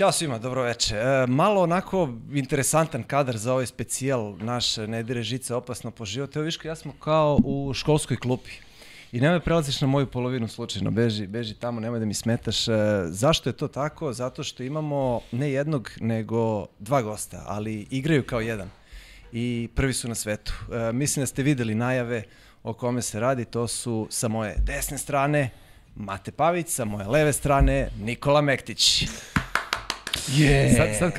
Ćao svima, dobro večer. Malo onako interesantan kadar za ovaj specijal naš Ne dire žice opasno po život. Evo Viško, ja smo kao u školskoj klupi. I nemoj prelaziš na moju polovinu slučajno, beži tamo, nemoj da mi smetaš. Zašto je to tako? Zato što imamo ne jednog, nego dva gosta, ali igraju kao jedan. I prvi su na svetu. Mislim da ste videli najave o kome se radi, to su sa moje desne strane Mate Pavić, sa moje leve strane Nikola Mektić. Yeah. Sad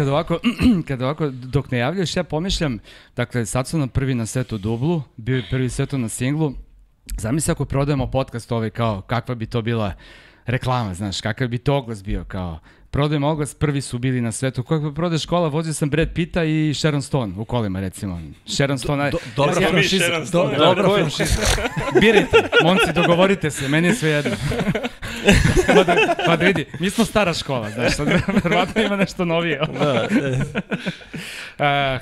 kad ovako, dok ne javljaš, ja pomišljam, dakle, sad su nam prvi na setu dublu, bio je prvi setu na singlu. Zamisli ako prodajemo podcast ovaj kao, kakva bi to bila reklama, znaš, kakav bi to oglas bio, kao, prodajemo oglas, prvi su bili na svetu. Kako prodaješ kola, vozio sam Brad Pitta i Sharon Stone u kolima, recimo. Sharon Stone... Dobra franšiza. Dobra franšiza. Birajte, momci, dogovorite se, meni je sve jedno. Pa da vidi, mi smo stara škola, znaš, sad verovatno ima nešto novije.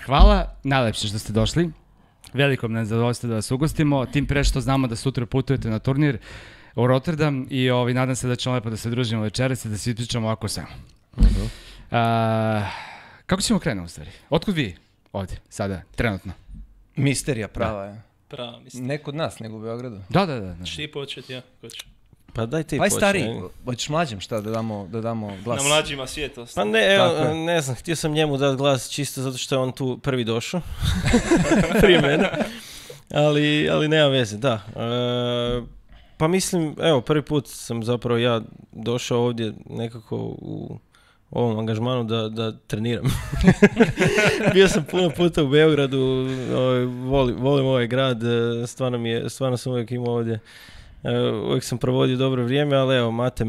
Hvala, najlepše što ste došli. Veliko nam je zadovoljstvo da vas ugostimo, tim pre što znamo da sutra putujete na turnir u Rotterdam i nadam se da ćemo lepo da se družimo večeras i da se ispričamo ovako samo. Kako ćemo krenuti u stvari? Otkud vi ovdje, sada, trenutno? Misterija prava je. Prava misterija. Ne kod nas, nego u Beogradu. Da. Šti početi, ja, ko će? Pa daj ti početi. Stariji, hoćeš mlađim šta da damo glas? Na mlađima svijetu. Pa ne, evo, ne znam, htio sam njemu dati glas čisto zato što je on tu prvi došao. Prije mene. Ali nema veze, da. Pa mislim, evo, prvi put sam zapravo ja došao ovdje nekako u ovom angažmanu da treniram. Bio sam puno puta u Beogradu, volim ovaj grad, stvarno sam uvijek imao ovdje. Uvijek sam provodio dobro vrijeme, ali evo, Mate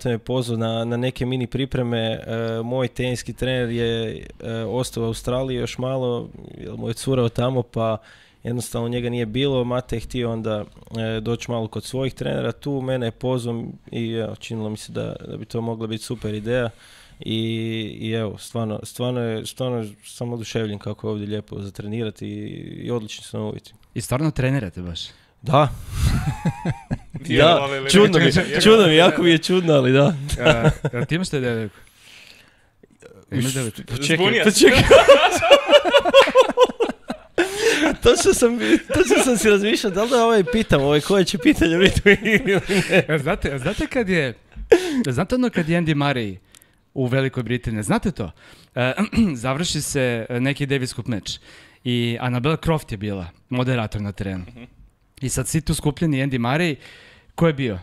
me pozvao na neke mini pripreme. Moj teniski trener je ostao u Australiji još malo, jer mu je curao tamo, pa jednostavno njega nije bilo. Mate je htio onda doći malo kod svojih trenera tu, mene je pozvao i evo, činilo mi se da bi to mogla biti super ideja. I evo, stvarno sam oduševljen kako je ovdje lijepo za trenirati i odlični su nam uvjeti. I stvarno trenirate baš? Da. Da, čudno mi, jako mi je čudno, ali da. Ti imaš te devojku? Čekaj. Točno sam si razmišljao, da li da pitam koje će pitanje biti ili ne. Znate ono kad je Andy Murray u Velikoj Britaniji, znate to? Završi se neki Davis Cup meč i Annabelle Croft je bila moderator na terenu. I sad svi tu skupljeni Andy Murray, ko je bio?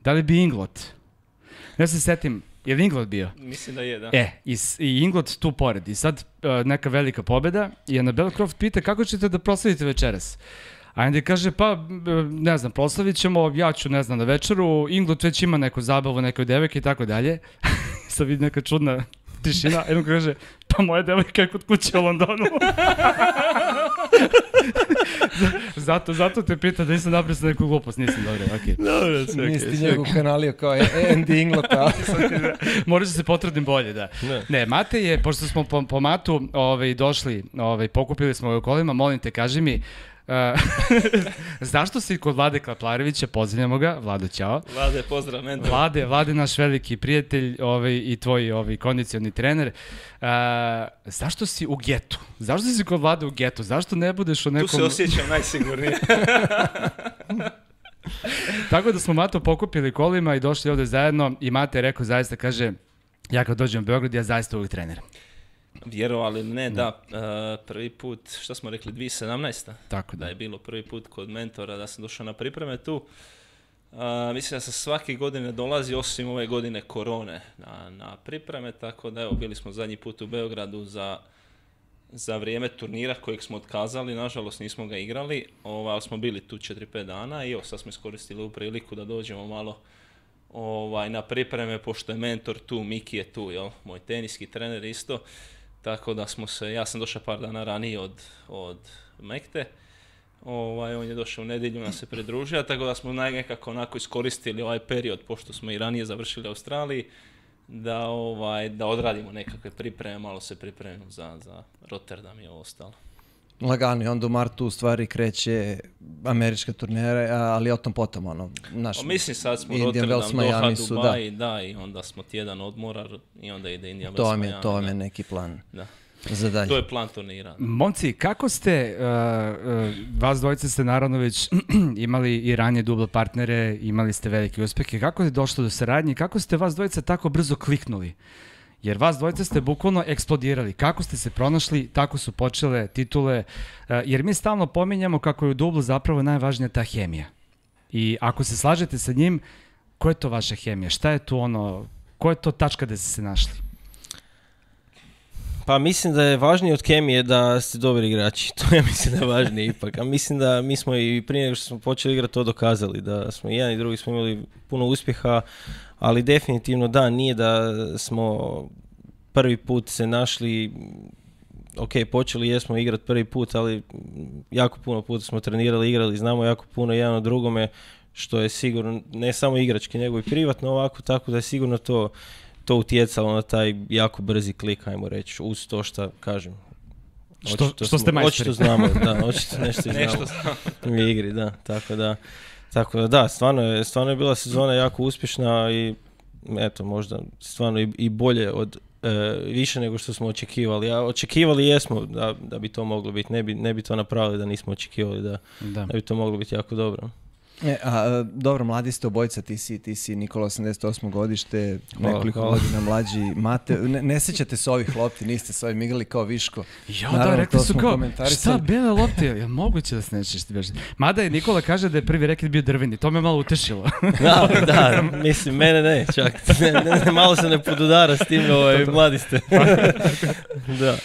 Da li bi Inglot? Ja se setim, je li Inglot bio? Mislim da je, da. I Inglot tu pored. I sad neka velika pobjeda i Annabelle Croft pita kako ćete da proslavite večeras? A Andy kaže, pa ne znam, proslavit ćemo, ja ću ne znam na večeru, Inglot već ima neku zabavu, nekoj devojke i tako dalje. Sad vidi neka čudna tišina, jednom kaže, pa moja devojka je kod kuće u Londonu. Zato te pita da nisam napisao neku glupost, nisam dobro, okej. Dobro, sve okej. Nisi ti njegov kanalio kao Andy Inglota. Možda se potrudim bolje, da. Ne, Mate je, pošto smo po Matu došli, pokupili smo u kolima, molim te, kaži mi, zašto si kod Vlade Klaplarevića, pozdravljamo ga, Vlado, ćao. Vlade, pozdrav, mentor. Vlade, naš veliki prijatelj i tvoj kondicioni trener. Zašto si u getu? Zašto si kod Vlade u getu? Zašto ne budeš u nekom... Tu se osjećam najsigurnije. Tako da smo Mato pokupili kolima i došli ovde zajedno i Mate je rekao, zaista kaže, ja kad dođem u Beograd, ja zaista uvijek treniram. Vjerovali ne, da, prvi put, što smo rekli, 2017. Tako da je bilo prvi put kod mentora da sam došao na pripreme tu. Mislim da sam svake godine dolazi, osim ove godine korone, na pripreme, tako da evo, bili smo zadnji put u Beogradu za vrijeme turnira kojeg smo otkazali, nažalost nismo ga igrali, ali smo bili tu 4-5 dana i evo sad smo iskoristili u priliku da dođemo malo na pripreme, pošto je mentor tu, Miki je tu, jel? Moj teniski trener isto. Tako da ja sam došao par dana ranije od Mekte, on je došao u nedjelju, nas se pridružio, tako da smo nekako onako iskoristili ovaj period, pošto smo i ranije završili u Australiji, da odradimo nekakve pripreme, malo se pripremimo za Rotterdam i ovo ostalo. Lagano i onda u martu u stvari kreće američka turnire, ali o tom potom, ono, naš... Mislim sad smo Indian Rotterdam, Wells, Doha, Miami su, Dubai, da, i onda smo tjedan odmora i onda ide Indian Wells, Miami. To vam je neki plan Da. za dalje. To je plan turnira. Momci, kako ste, vas dvojice ste naravno već imali i ranije duble partnere, imali ste velike uspehe, kako je došlo do saradnje i kako ste vas dvojice tako brzo kliknuli? Jer vas dvojice ste bukvalno eksplodirali. Kako ste se pronašli, tako su počele titule. Jer mi stalno pominjamo kako je u dublu zapravo najvažnija ta hemija. I ako se slažete sa njim, koja je to vaša hemija? Šta je tu ono, koja je to tačka gde ste se našli? Pa mislim da je važnije od kemije da ste dobri igrači. To je mislim da je važnije ipak. A mislim da mi smo i prije nego što smo počeli igrati to dokazali. Da smo i jedan i drugi smo imali puno uspjeha, ali definitivno da, nije da smo prvi put se našli, ok, počeli jesmo igrati prvi put, ali jako puno puta smo trenirali, igrali, znamo jako puno jedan od drugome, što je sigurno ne samo igrački, nego i privatno ovako, tako da je sigurno to utjecalo na taj jako brzi klik, ajmo reći, uz to što kažem. Što ste majstori. Očito znamo, da, očito nešto znamo u igri, da, tako da da, stvarno je bila sezona jako uspješna i eto, možda stvarno i bolje od više nego što smo očekivali. A očekivali jesmo da bi to moglo biti, ne bi to napravili da nismo očekivali da bi to moglo biti jako dobro. Dobro, mladi ste obojica, ti si Nikola 88. godište, nekoliko godina mlađi. Mate, ne sjećate se ovih lopti, niste s ovim igrali kao Viško. Ja, da, rekli su kao, šta, bele lopte, je moguće da se nećeš ti beži. Mada je Nikola kaže da je prvi reket bio drveni, to me malo utešilo. Da, mislim, mene ne, čak. Malo se ne podudara s tim, mladi ste. Da.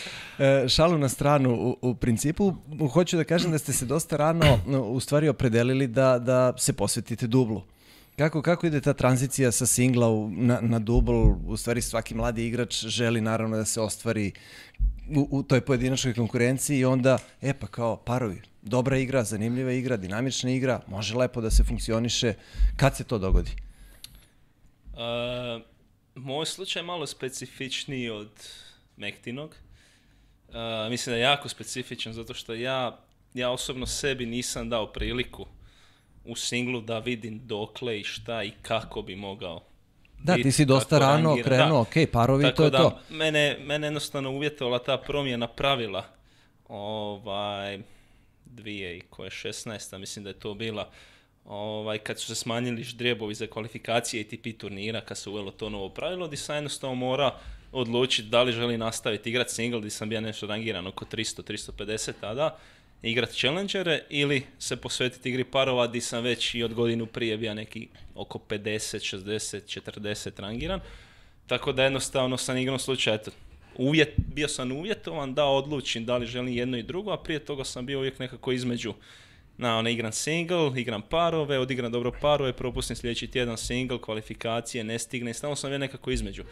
Šalu na stranu, u principu hoću da kažem da ste se dosta rano u stvari opredelili da se posvetite dublu. Kako ide ta tranzicija sa singla na dubl? U stvari svaki mladi igrač želi naravno da se ostvari u toj pojedinačnoj konkurenciji i onda, pa kao parovi, dobra igra, zanimljiva igra, dinamična igra, može lepo da se funkcioniše. Kad se to dogodi? Moj slučaj je malo specifičniji od Mektinog. Mislim da je jako specifičan zato što ja osobno sebi nisam dao priliku u singlu da vidim dokle i šta i kako bi mogao. Da, ti si dosta rano krenuo, ok, parovi, tako to je da, to. Mene jednostavno uvjetovala ta promjena pravila 2016. mislim da je to bila. Kad su se smanjili ždrijebovi za kvalifikacije ATP turnira, kad se uvelo to novo pravilo, gdje sam jednostavno mora odlučiti da li želi nastaviti igrati single, gdje sam bio nešto rangiran oko 300-350 tada, igrati challengere ili se posvetiti igri parova, gdje sam već i od godinu prije bio neki oko 50, 60, 40 rangiran. Tako da jednostavno sam igrao slučaj, bio sam uvjetovan da odlučim da li želim jedno i drugo, a prije toga sam bio uvijek nekako između. Igram single, igram parove, odigram dobro parove, propustim sljedeći tjedan single, kvalifikacije, ne stigne, stalno sam bio nekako između.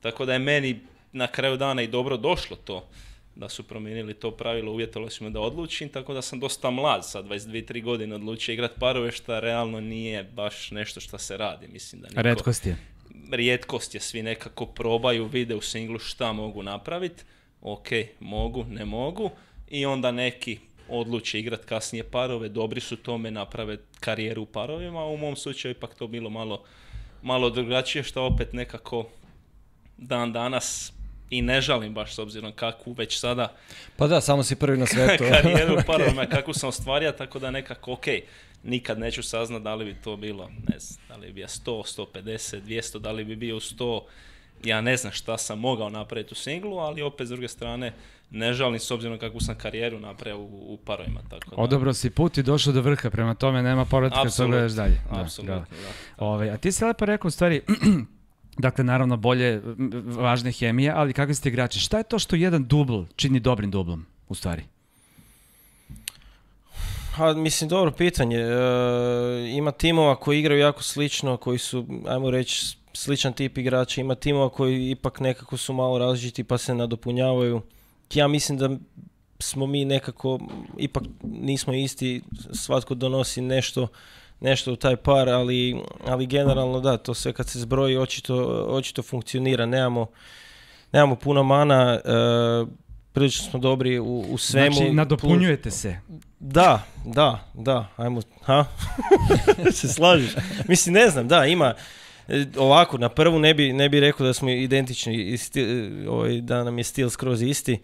Tako da je meni na kraju dana i dobro došlo to, da su promijenili to pravilo, uvjetovali su me da odlučim, tako da sam dosta mlad, sad 22-3 godine odlučio igrati parove, što realno nije baš nešto što se radi. Mislim da rijetkost je, svi nekako probaju, vide u singlu šta mogu napraviti, ok, mogu, ne mogu, i onda neki odluče igrati kasnije parove, dobri su tome, naprave karijeru u parovima, a u mom slučaju ipak to bilo malo drugačije, što opet nekako dan danas i ne žalim baš s obzirom kakvu već sada pa da, samo si prvi na svijetu karijeru u parovima, kakvu sam ostvario, tako da nekako ok, nikad neću saznat da li bi to bilo, ne znam, da li bi bio 100, 150, 200, da li bi bio 100, ja ne znam šta sam mogao napraviti u singlu, ali opet s druge strane ne žalim s obzirom kakvu sam karijeru napravio u parovima. Tako da. Odabrao si put i došao do vrha, prema tome nema povratka kad se gledaš dalje. Apsolutno, da. A ti si lepo rekao u stvari, dakle naravno bolje, važna hemija, ali kakvi ste igrači? Šta je to što jedan dubl čini dobrim dublom u stvari? Mislim, dobro pitanje. Ima timova koji igraju jako slično, koji su, ajmo reći, sličan tip igrača. Ima timova koji ipak nekako su malo različiti pa se nadopunjavaju. Ja mislim da smo mi nekako, ipak nismo isti, svatko donosi nešto u taj par, ali generalno da, to sve kad se zbroji očito funkcionira. Nemamo puno mana. prilično smo dobri u svemu. Znači, nadopunjujete se. Da, ajmo, se slažeš. Mislim, ne znam, da, ima, ovako, na prvu ne bi rekao da smo identični, da nam je stil skroz isti,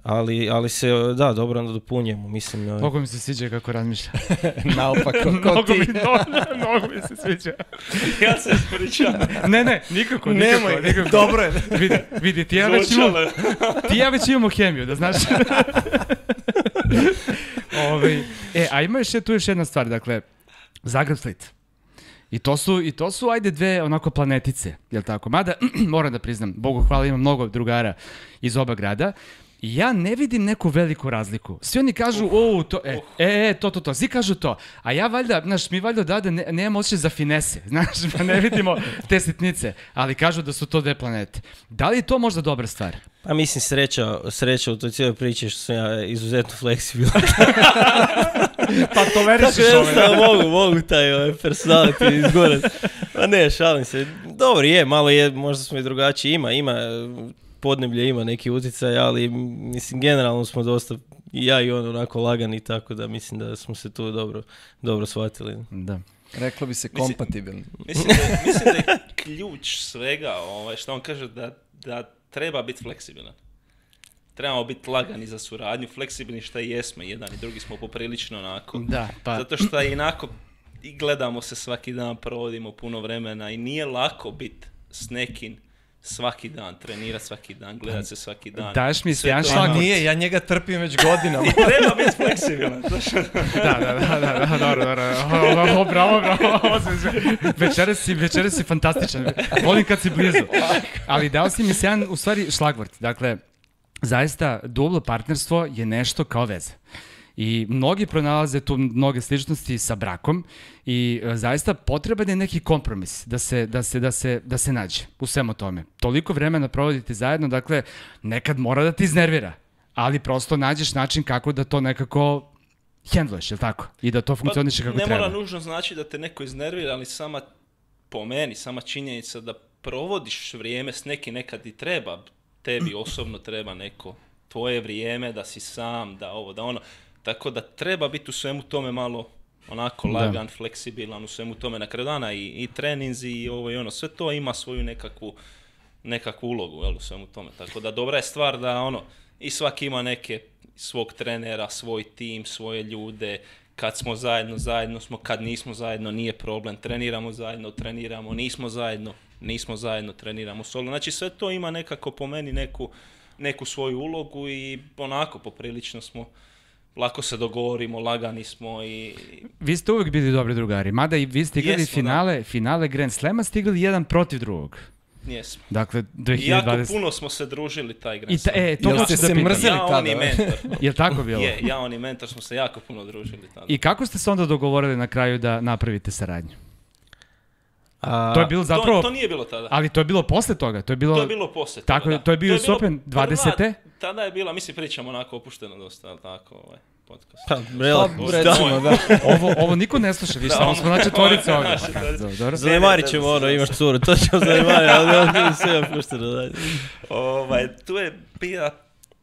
ali se, da, dobro nadopunjujemo, mislim. Mnogo mi se sviđa kako razmišlja. Naopako, kao ti. Mnogo mi se sviđa. Ja se ispričam. Ne, nikako. Dobro je. Vidi, ti ja već imamo hemiju, da znaš. A ima tu još jedna stvar, dakle, Zagreb Split. I to su, ajde, dve onako planetice, jel tako? Mada, moram da priznam, Bogu hvala, imam mnogo drugara iz oba grada, i ja ne vidim neku veliku razliku. Svi oni kažu, to, svi kažu to. A ja valjda, znaš, mi valjda odavde nemamo osjećaj za finese, znaš, pa ne vidimo te sitnice, ali kažu da su to dve planete. Da li je to možda dobra stvar? Pa mislim, sreća u toj cijeloj priči što sam ja izuzetno fleksibilan. Pa tolerišiš ove. Mogu taj personality izgorat. Pa ne, šalim se. Dobro je, malo je, možda smo i drugačiji. Ima podneblje, ima neki utjecaj, ali mislim, generalno smo dosta, i ja i on, onako lagani, tako da mislim da smo se tu dobro shvatili. Da. Reklo bi se kompatibilni. Mislim da je ključ svega, što on kaže, da treba biti fleksibilan. Trebamo biti lagani za suradnju, fleksibilni šta i jesmo, jedan i drugi smo poprilično onako. Da, pa. Zato što inako i gledamo se svaki dan, provodimo puno vremena i nije lako biti s nekim svaki dan, trenirati svaki dan, gledati se svaki dan. Daješ mi se jedan šlagvort. Nije, ja njega trpim već godinama. I treba biti fleksibilan. Da, bravo. Večeras si fantastičan. Volim kad si blizu. Ali dao si mi se jedan, u stvari, šlagvort. Dakle, zaista, dublo partnerstvo je nešto kao veza. I mnogi pronalaze tu mnoge sličnosti sa brakom i zaista potreban je neki kompromis da se nađe u svemu tome. Toliko vremena provodite zajedno, dakle, nekad mora da ti iznervira, ali prosto nađeš način kako da to nekako hendluješ, jel tako? I da to funkcioniše kako treba. Ne mora nužno znači da te neko iznervira, ali sama činjenica da provodiš vrijeme s nekim, nekad i treba, tebi osobno treba neko tvoje vrijeme, da si sam, da ovo, da ono. Tako da treba biti u svemu tome malo onako lagan, fleksibilan, u svemu tome na kraju dana i treninzi i ovo i ono. Sve to ima svoju nekakvu ulogu, jel, u svemu tome. Tako da dobra je stvar da i svaki ima svog trenera, svoj tim, svoje ljude. Kad smo zajedno smo, kad nismo zajedno, nije problem. Treniramo zajedno, nismo zajedno, treniramo solo. Znači sve to ima nekako po meni neku svoju ulogu i onako poprilično smo, lako se dogovorimo, lagani smo i... Vi ste uvijek bili dobri drugari, mada i vi ste igrali finale Grand Slema, ste igrali jedan protiv drugog. Jesmo. Dakle, 2020... I jako puno smo se družili taj Grand Slam. To ste se mrzeli tada? Ja, on i mentor. Je li tako bilo? Ja, on i mentor smo se jako puno družili tada. I kako ste se onda dogovorili na kraju da napravite saradnju? To je bilo zapravo... To nije bilo tada. Ali to je bilo posle toga? To je bilo posle toga, tako, da. To je bio US Open 20. Tada je bila, mislim, pričamo onako opušteno dosta, ali tako, podcast. Recimo, da. Ovo niko ne sluša, više, samo smo na četvorice ovdje. Zanemarit ćemo imaš curu, to ćemo zanemariti, ali sve opušteno. Tu je bila,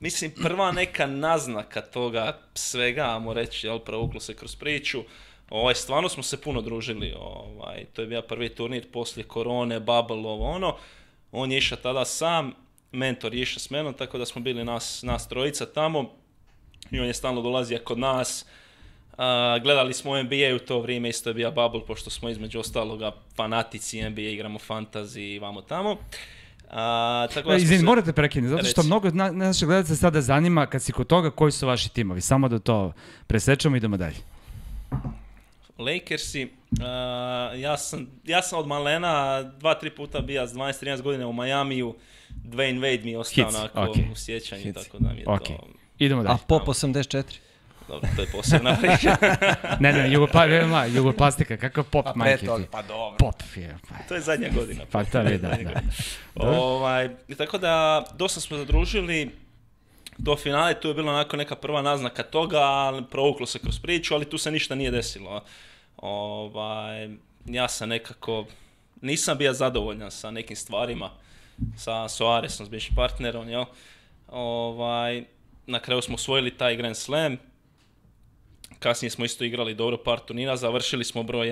mislim, prva neka naznaka toga svega, ajmo reći, jel, provuklo se kroz priču. Stvarno smo se puno družili, to je bio prvi turnir poslije korone, bubble, on je išao tada sam, mentor je išao s menom, tako da smo bili nas trojica tamo i on je stalno dolazio kod nas. Gledali smo NBA u to vrijeme, isto je bio bubble, pošto smo između ostaloga fanatici NBA, igramo fantasy i vamo tamo. Izvini, morate prekinuti, zato što mnogo naših gledalaca sada zanima, kad si kod toga, koji su vaši timovi, samo da to presečemo i idemo dalje. Lakersi, ja sam od malena 2-3 puta bio s 12-13 godina u Majamiju. Dwayne Wade mi je ostao u sjećanju, tako da mi je to... Idemo dalje. A Pop 84? Dobro, to je posebna priča. Ne, Jugoplastika, kakav Pop, majke ti. Pa dobro. Pop je. To je zadnja godina. Pa to je, da. Tako da, dosta smo zadružili. Do finale tu je bila onako neka prva naznaka toga, provuklo se kroz priču, ali tu se ništa nije desilo. Ja sam nekako, nisam bio zadovoljan sa nekim stvarima, sa Soaresom, s bivšim partnerom, jel? Na kraju smo osvojili taj Grand Slam. Kasnije smo isto igrali dobro par turnira, završili smo broj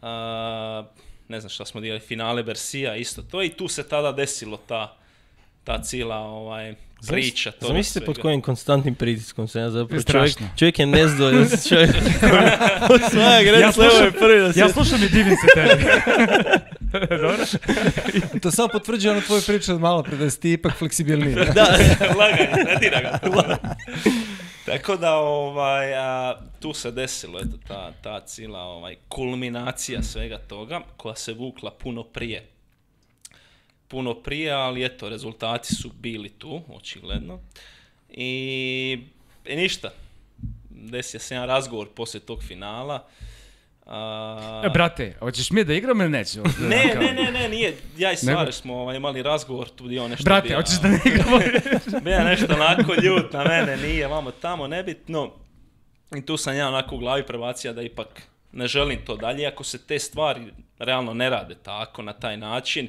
1. Ne znam šta smo igrali, finale Bersija, isto to. I tu se tada desilo ta cijela priča. Zamislite pod kojim konstantnim pritiskom se ja zapravo čovjek je nezdovoljan. Čovjek osvaja Grand Slam je prvi na svijetu. Ja slušam i divim se tebi. Dobro. To samo potvrđuje ono tvoju priču od malo pre, da si ti ipak fleksibilniji. Da, laganje, ne dira ga. Tako da tu se desilo ta cijela kulminacija svega toga koja se vukla puno prije, ali eto, rezultati su bili tu, očigledno. I ništa, desio se jedan razgovor poslije tog finala. Brate, hoćeš mi da igram ili neću? Ne, nije. Ja i Svareš smo imali razgovor, tu dio nešto. Brate, hoćeš da ne igramo? Bija nešto onako ljut na mene, nije, vamo tamo, nebitno. I tu sam ja onako u glavi prebacio da ipak ne želim to dalje, ako se te stvari realno ne rade tako, na taj način.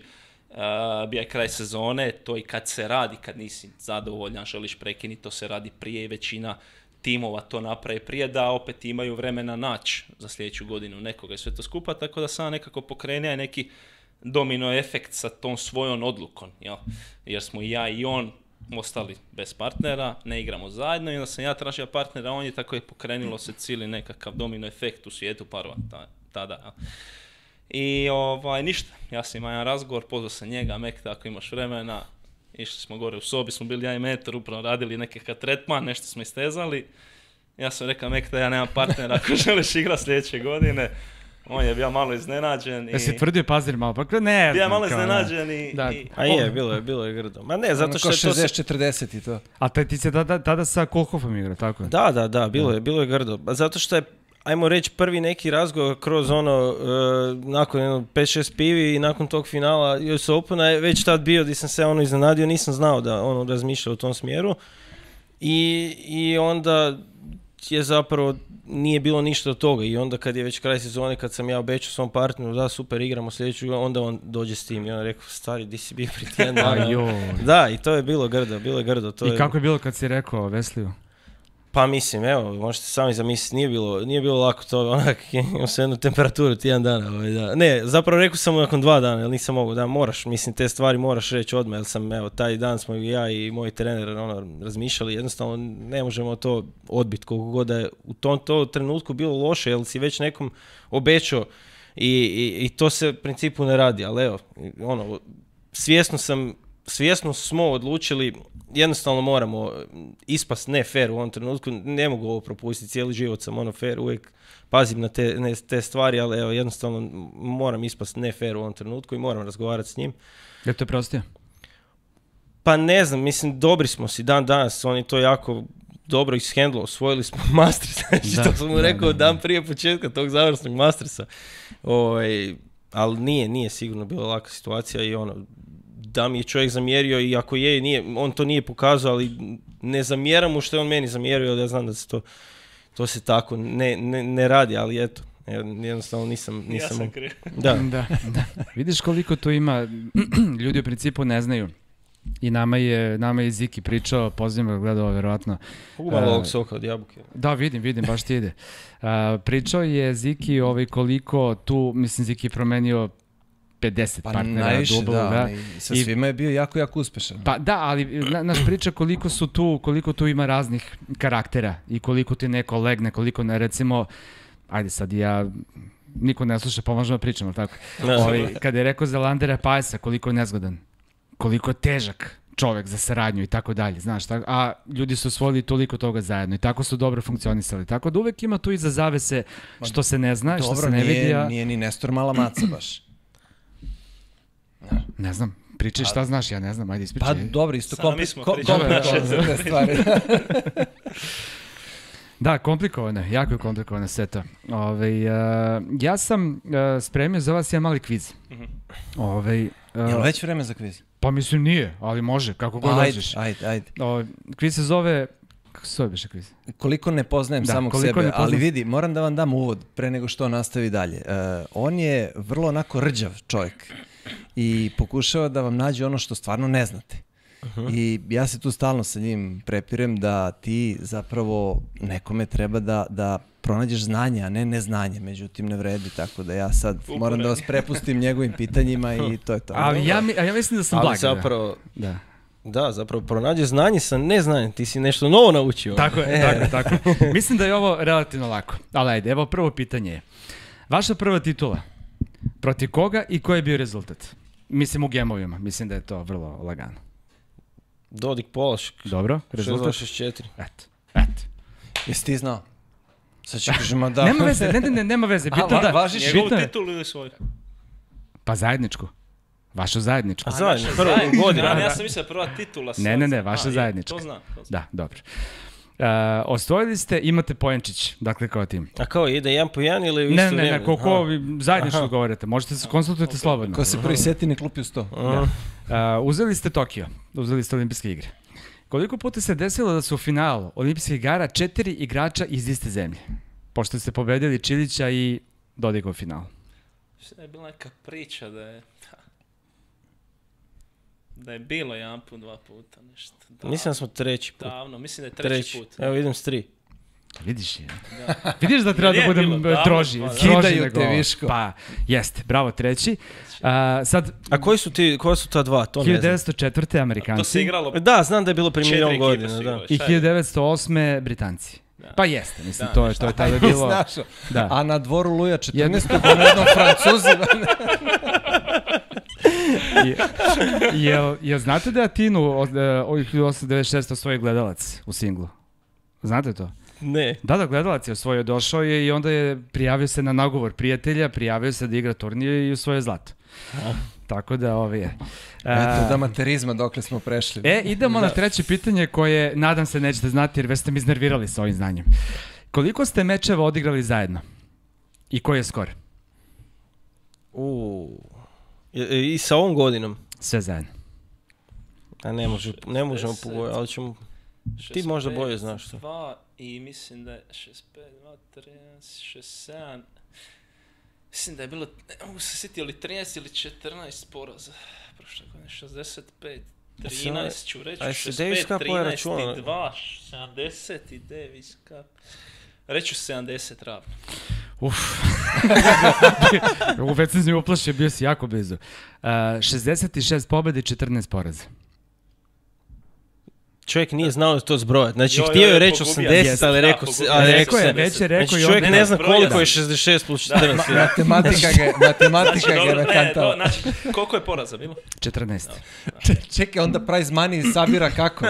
Bija je kraj sezone, to i kad se radi, kad nisi zadovoljan, želiš prekinuti, to se radi prije i većina timova to napravi prije, da opet imaju vremena naći za sljedeću godinu nekoga i sve to skupa, tako da sam nekako pokrenio neki domino efekt sa tom svojom odlukom, jel? Jer smo i ja i on ostali bez partnera, ne igramo zajedno i onda sam ja tražio partnera, on je tako je pokrenulo se cijeli nekakav domino efekt u svijetu parova tada. Jel? I ništa, ja sam imao jedan razgovor, pozvao sam njega, Mek, ako imaš vremena, išli smo gore u sobi, smo bili ja i Metar, upravo radili nekakav tretman, nešto smo istezali. Ja sam rekao Mek da ja nemam partnera ako želiš igrati sljedeće godine. On je bio malo iznenađen. Jesi tvrdio Pazir malo, pa ne. Bio malo iznenađen i... A je, bilo je grdo. Ma ne, zato što je to... 60-40 i to. A ti se tada sa Kolhofom igra, tako je? Da, bilo je grdo. Zato što je, ajmo reći, prvi neki razgovor kroz nakon 5-6 pivi i nakon tog finala US Opena je već tad bio gdje sam se iznenadio, nisam znao da razmišlja u tom smjeru. I onda je zapravo nije bilo ništa od toga i onda kad je već kraj sezone, kad sam ja obećao svom partneru da super igramo sljedeću, onda on dođe s tim i on rekao, stari, di si bio prije tjedan dana? Da, i to je bilo grdo. Kako je bilo kad si rekao Vesliju? Pa mislim, evo, možete sami zamisliti, nije bilo lako to, onak, imao sam jednu temperaturu tjedan dana. Da. Ne, zapravo rekao sam mu nakon 2 dana, jer nisam mogao, da moraš, mislim, te stvari moraš reći odmah, jer sam, evo, taj dan smo ja i moj trener razmišljali, jednostavno ne možemo to odbiti, koliko god da je u tom trenutku bilo loše, jer si već nekom obećao i to se u principu ne radi, ali evo, svjesno smo odlučili, jednostavno moramo ispast ne fair u ovom trenutku, ne mogu ovo propustiti, cijeli život sam fair, uvijek pazim na te stvari, ali evo, jednostavno moram ispast ne fair u ovom trenutku i moram razgovarati s njim. Je to prostio? Pa ne znam, mislim, dobri smo si dan danas, on je to jako dobro ishendlo, osvojili smo Masters, znači to sam mu rekao dan prije početka tog završnog Mastersa, ali nije sigurno bila laka situacija i da mi je čovjek zamjerio i ako nije, on to nije pokazao, ali ne zamjeram mu što je on meni zamjerio, jer ja znam da se to se tako ne radi, ali eto, jednostavno nisam... Ja sam kriv. Da. Vidiš koliko tu ima, ljudi u principu ne znaju. I nama je Ziki pričao, pozivam ga gledao verovatno. Malo ovog soka od jabuke. Da, vidim, baš ti ide. Pričao je Ziki koliko tu, mislim, Ziki promenio 50 partnera najviše, dublu, da. I sa svima je bio jako uspešan. Pa da, ali naš priča koliko tu ima raznih karaktera i koliko ti neko legne, koliko ne, recimo, ajde sad ja, niko ne sluša, pomožemo pričamo, tako? Kada je rekao za Landera Pajesa, koliko je nezgodan, koliko je težak čovjek za saradnju i tako dalje, znaš, tako, a ljudi su osvojili toliko toga zajedno i tako su dobro funkcionisali, tako da uvek ima tu iza zavese što se ne zna, što se ne vidi. Dobro, nije ni Nestor mala maca baš. Ne znam, pričaj šta znaš, ja ne znam, ajde ispričaj. Pa dobro, isto komplikovano za te stvari. Da, komplikovane, jako je komplikovana seta. Ja sam spremio za vas jedan mali kviz. Jel već vreme za kviz? Pa mislim nije, ali može, kako god dođeš. Ajde. Kviz se zove... Kako se zove biše kviz? Koliko ne poznajem samog sebe, ali vidi, moram da vam dam uvod pre nego što nastavi dalje. On je vrlo onako rđav čovjek i pokušava da vam nađe ono što stvarno ne znate. I ja se tu stalno sa njim prepirem da ti zapravo nekome treba da pronađeš znanje, a ne neznanje, međutim ne vredi, tako da ja sad moram da vas prepustim njegovim pitanjima i to je to. Ali ja mislim da sam Ali blag. zapravo, Da. da, zapravo pronađe znanje sa neznanjem, ti si nešto novo naučio. Tako je, tako. Mislim da je ovo relativno lako. Ali ajde, evo prvo pitanje je. Vaša prva titula, protiv koga i koji je bio rezultat? Mislim u gemovima, mislim da je to vrlo lagano. Dodik Polašk. Dobro, rezultat? 6-2-6-4. Eto. Jesi ti znao? Sad će kažemo da... Nema veze, nema veze. Bitno da... važiš Njegovu bitno je- titulu ili svoju? Pa zajedničku. Vašu zajedničku. A zajedno, Naša prvo zajednička, godinu. Ja sam mislio prva titula. Ne, vaša zajednička. To znam. Da, dobro. Osvojili ste, imate poenčić, dakle kao tim. A kao, ide jedan po jedan ili u isto vrijeme? Ne, koliko vi zajedničko govorite, možete se konsultujete slobodno. Ko se prvi seti ne klupi u 100. Uzeli ste Tokio, uzeli ste olimpijske igre. Koliko puta se desilo da su u finalu olimpijskih igara 4 igrača iz iste zemlje? Pošto ste pobedili Čilića i Dodika u finalu. Što je bila neka priča da je bilo jedan put, 2 puta, nešto. Mislim da smo treći put. Davno, mislim da je treći put. Evo idem s 3. Vidiš je. Vidiš da treba da Nije budem bilo davno, droži. pa da. stroži Kidaju nego te ovo. Viško. Pa, jeste, bravo treći. Sad, A koja su ta dva? To ne znam. 1904. Amerikanci. To se igralo Da, znam da je bilo prije 4 milion ekipe godina, su da. igrale. I Šta je? 1908. Britanci. Pa jeste, mislim, Da, to je tada bilo... Znaš, Da. a na dvoru Luja 14. jednom Francuzima. Jel znate da je Atinu od 1896 osvojio gledalac u singlu? Znate to? Ne. Da, gledalac je osvojio, došao je i onda je prijavio se na nagovor prijatelja, prijavio se da igra turnir i osvojio zlato. Tako da ovo je. Eto, da materizma dokle smo prešli. Idemo na treće pitanje koje, nadam se, nećete znati jer već ste mi iznervirali sa ovim znanjem. Koliko ste mečeva odigrali zajedno? I koji je skor? I sa ovom godinom? Sve zajedno. A ne možemo pogovoriti, ali ćemo... Ti možda bolje znaš to. 2 i mislim da je 65, 2, 13, 67... Mislim da je bilo, ne mogu se sjetiti, ili 13 ili 14 poraza. Prošle godine 65, 13 ću reći, 65, 13 i 2, 70 i Davis Cup. Reću 70 ravno. Već sam s njim uplašio, bio si jako blizu. 66 pobjede i 14 poraza. Čovjek nije znao to zbrojati. Znači, Jo, htio je jo, reći pogubio 80, sam. ali Da, rekao pogubio ali sam. rekao Rekao je, se. već je rekao Znači, i čovjek onda... ne zna zbrojao. koliko je 66 plus 14. Matematika ga je nakantala. Znači, koliko je poraza bilo? 14. Čekaj, onda prize money sabira kako?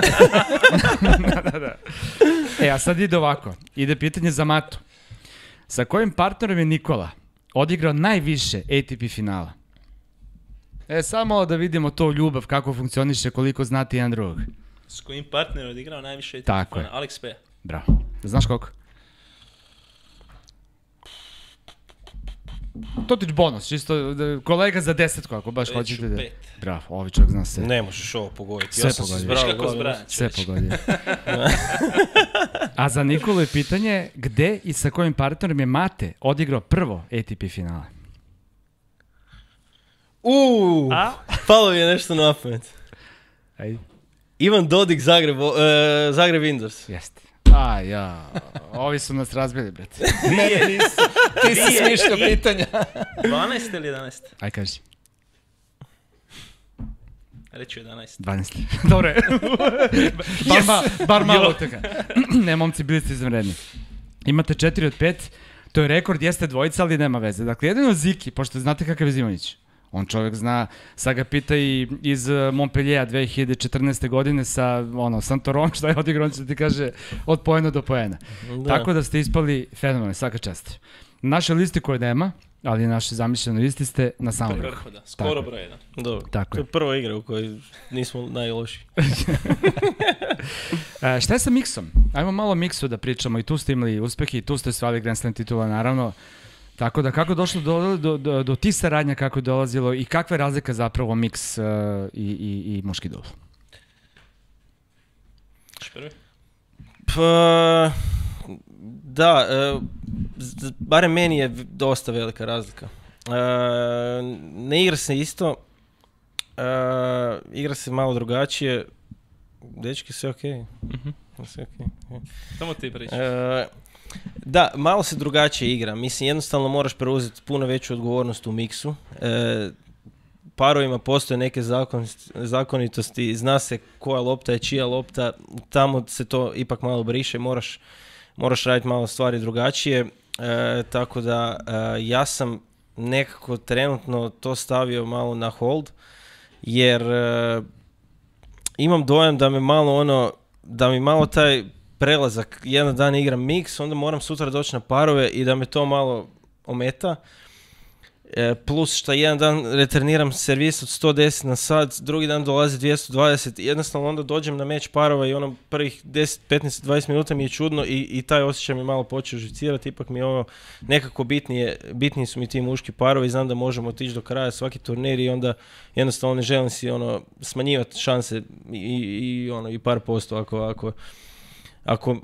Da. A sad ide ovako. Ide pitanje za Matu. Sa kojim partnerom je Nikola odigrao najviše ATP finala? Samo da vidimo to ljubav, kako funkcioniše, koliko znate jedan drugog. S kojim partnerom odigrao najviše ATP Tako finala? Alex P. Bravo. Znaš koliko? Totić bonus, čisto kolega za 10 ako baš hoćete da... 5. Bravo, ovi čovjek zna sve. Ne možeš ovo pogoditi. Sve Ja sam se pogodio. Viš zbrao. kako zbrajam, Sve čovječe. pogodio. A za Nikolu je pitanje gde i sa kojim partnerom je Mate odigrao prvo ATP finale? Palo mi je nešto na pamet. Ajde. Ivan Dodik, Zagreb Indoors. Jeste. Ovi su nas razbili, brate. Ne, nisu. Ti si smišljao pitanja. 12 ili 11? Aj kaži. Reću 11. 12. Dobro je. Bar malo od toga. Ne, momci, bili ste izvanredni. Imate 4 od 5. To je rekord, jeste dvojica, ali nema veze. Dakle, jedino Ziki, pošto znate kakav je Zimonjić. On čovjek zna, sad ga pita i iz Montpelliera 2014. godine sa Santorom, šta je odigrao, on će ti kaže od poena do poena. Da. Tako da ste ispali fenomenalni, svaka čast. Na našoj listi koje nema, ali na našoj zamišljenoj listi ste na samom vrhu. Vrhu, da. Skoro broj 1. Dobro. Tako To je. je prva igra u kojoj nismo najlošiji. Šta je sa miksom? Ajmo malo miksu da pričamo, i tu ste imali uspehe, i tu ste osvajali Grand Slam titula, naravno. Tako da, kako je došlo do tih saradnja, kako je dolazilo i kakva je razlika zapravo miks i muški dubl? Prvi? Pa, da, barem meni je dosta velika razlika. Ne igra se isto, igra se malo drugačije. Dečki, sve okej. Sve okej. Samo ti pričaš. Da, malo se drugačije igra. Mislim, jednostavno moraš preuzeti puno veću odgovornost u miksu. Parovima postoje neke zakonitosti, zna se koja lopta je čija lopta, tamo se to ipak malo briše, moraš raditi malo stvari drugačije. Tako da ja sam nekako trenutno to stavio malo na hold, jer imam dojam da mi malo taj prelazak, jedan dan igram mix, onda moram sutra doći na parove i da me to malo ometa. Plus što jedan dan returniram servis od 110 na sat, drugi dan dolazi 220, jednostavno onda dođem na meč parova i ono prvih 10, 15, 20 minuta mi je čudno i taj osjećaj mi malo počeo živcirati, ipak mi je ovo nekako bitniji su mi ti muški parovi, znam da možemo otići do kraja svaki turnir i onda jednostavno ne želim si smanjivati šanse i par posto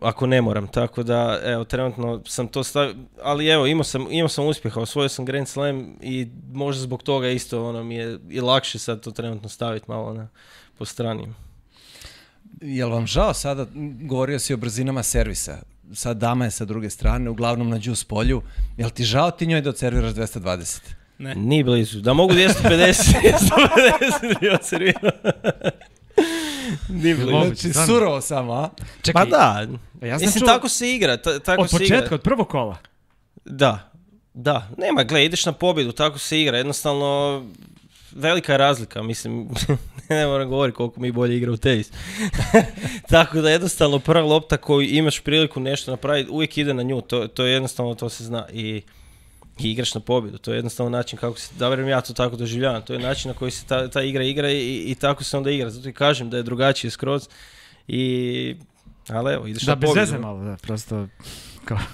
ako ne moram, tako da evo trenutno sam to stavio, ali evo imao sam uspjeha, osvojio sam Grand Slam i možda zbog toga isto mi je i lakše sad to trenutno staviti malo po strani. Jel vam žao sada, govorio si o brzinama servisa, sad dama je sa druge strane, uglavnom na juice polju, jel ti žao ti njoj da odserviraš 220? Ne. Ni blizu, da mogu 250 bi odservirao. Znači, surovo samo, a? Čekaj, Pa da, ja sam mislim čuo tako se igra. Tako od se početka, igra. od prvog kola. Da, nema, gle, ideš na pobjedu, tako se igra, jednostavno velika je razlika, mislim, ne moram govoriti koliko mi bolje igra u tenis. Tako da jednostavno prva lopta koju imaš priliku nešto napraviti, uvijek ide na nju, to je jednostavno, to se zna i igraš na pobjedu, to je jednostavno način kako se, da verujem ja to tako doživljavam, to je način na koji se ta igra i tako se onda igra, zato i kažem da je drugačije skroz ali evo, ideš na pobjedu. Da, bez veze malo, da, prosto...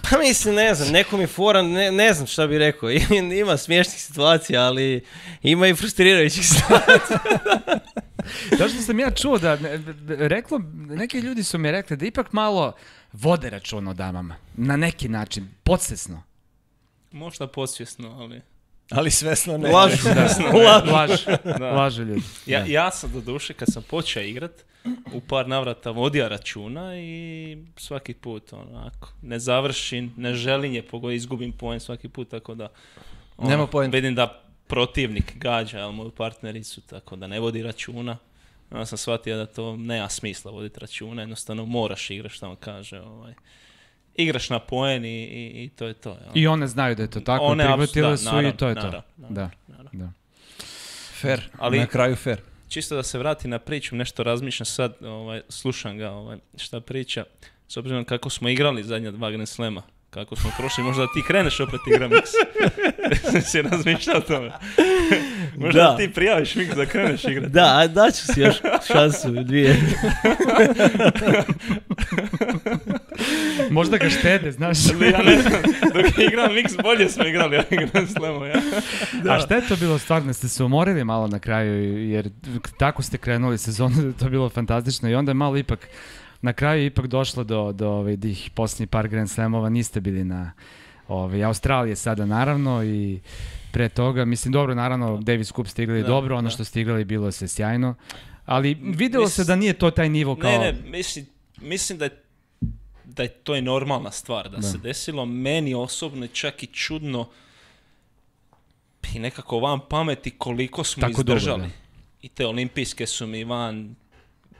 Pa mislim, ne znam, neko mi fora, ne znam šta bi rekao, ima smiješnih situacija, ali ima i frustrirajućih situacija. To što sam ja čuo da, neki ljudi su mi rekli da ipak malo vode računa o damama, na neki način, podsvjesno. Možda podsvjesno, ali... Ali svesno ne. Lažu ljudi. Ja sam do duše, kad sam počeo igrat, u par navrata vodio računa i svaki put onako, ne završim, ne želim je izgubim poen svaki put, tako da nema poenta. Vidim da protivnik gađa moju partnericu, tako da ne vodi računa. Onda sam shvatio da to nema smisla voditi računa, jednostavno moraš igrati što vam kaže. Igraš na poen i to je to. Ja. I one znaju da je to tako, prihvatile su naravno, i to je to. Da. Fair, ali, na kraju fair. Čisto da se vrati na priču, nešto razmišljam sad, slušam ga šta priča, s obzirom kako smo igrali zadnja 2 Grand Slema, kako smo prošli, možda da ti kreneš opet igra mix. Si razmišljao o tome. Možda da ti prijaviš mix da kreneš igrati. Da, daću si još šansu, 2. Možda ga štede, znaš. Ja ne znam, dok igram mix bolje smo igrali Grand Slemu, ja. A šta je to bilo stvarno? Ste se umorili malo na kraju, jer tako ste krenuli sezonu, to je bilo fantastično i onda je malo ipak na kraju ipak došlo do tih posljednjih par Grand Slamova, niste bili na Australije sada naravno i pre toga, mislim dobro, naravno Davis Cup ste igrali dobro, ono što ste igrali bilo se sjajno, ali vidjelo se da nije to taj nivo kao... Ne, mislim da je to normalna stvar da se desilo, meni osobno je čak i čudno i nekako van pameti koliko smo tako izdržali. Dobro, i te olimpijske su mi van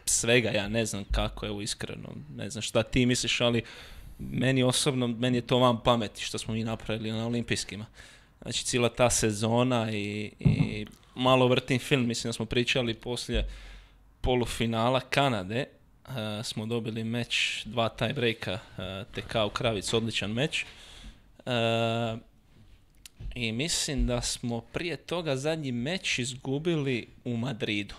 svega, ja ne znam kako, evo iskreno, ne znam šta ti misliš, ali meni osobno, meni je to van pameti što smo mi napravili na olimpijskima. Znači cijela ta sezona i malo vrtim film, mislim da smo pričali poslije polufinala Kanade, smo dobili meč, 2 tie breaka, TK u Kravic, odličan meč. I mislim da smo prije toga zadnji meč izgubili u Madridu.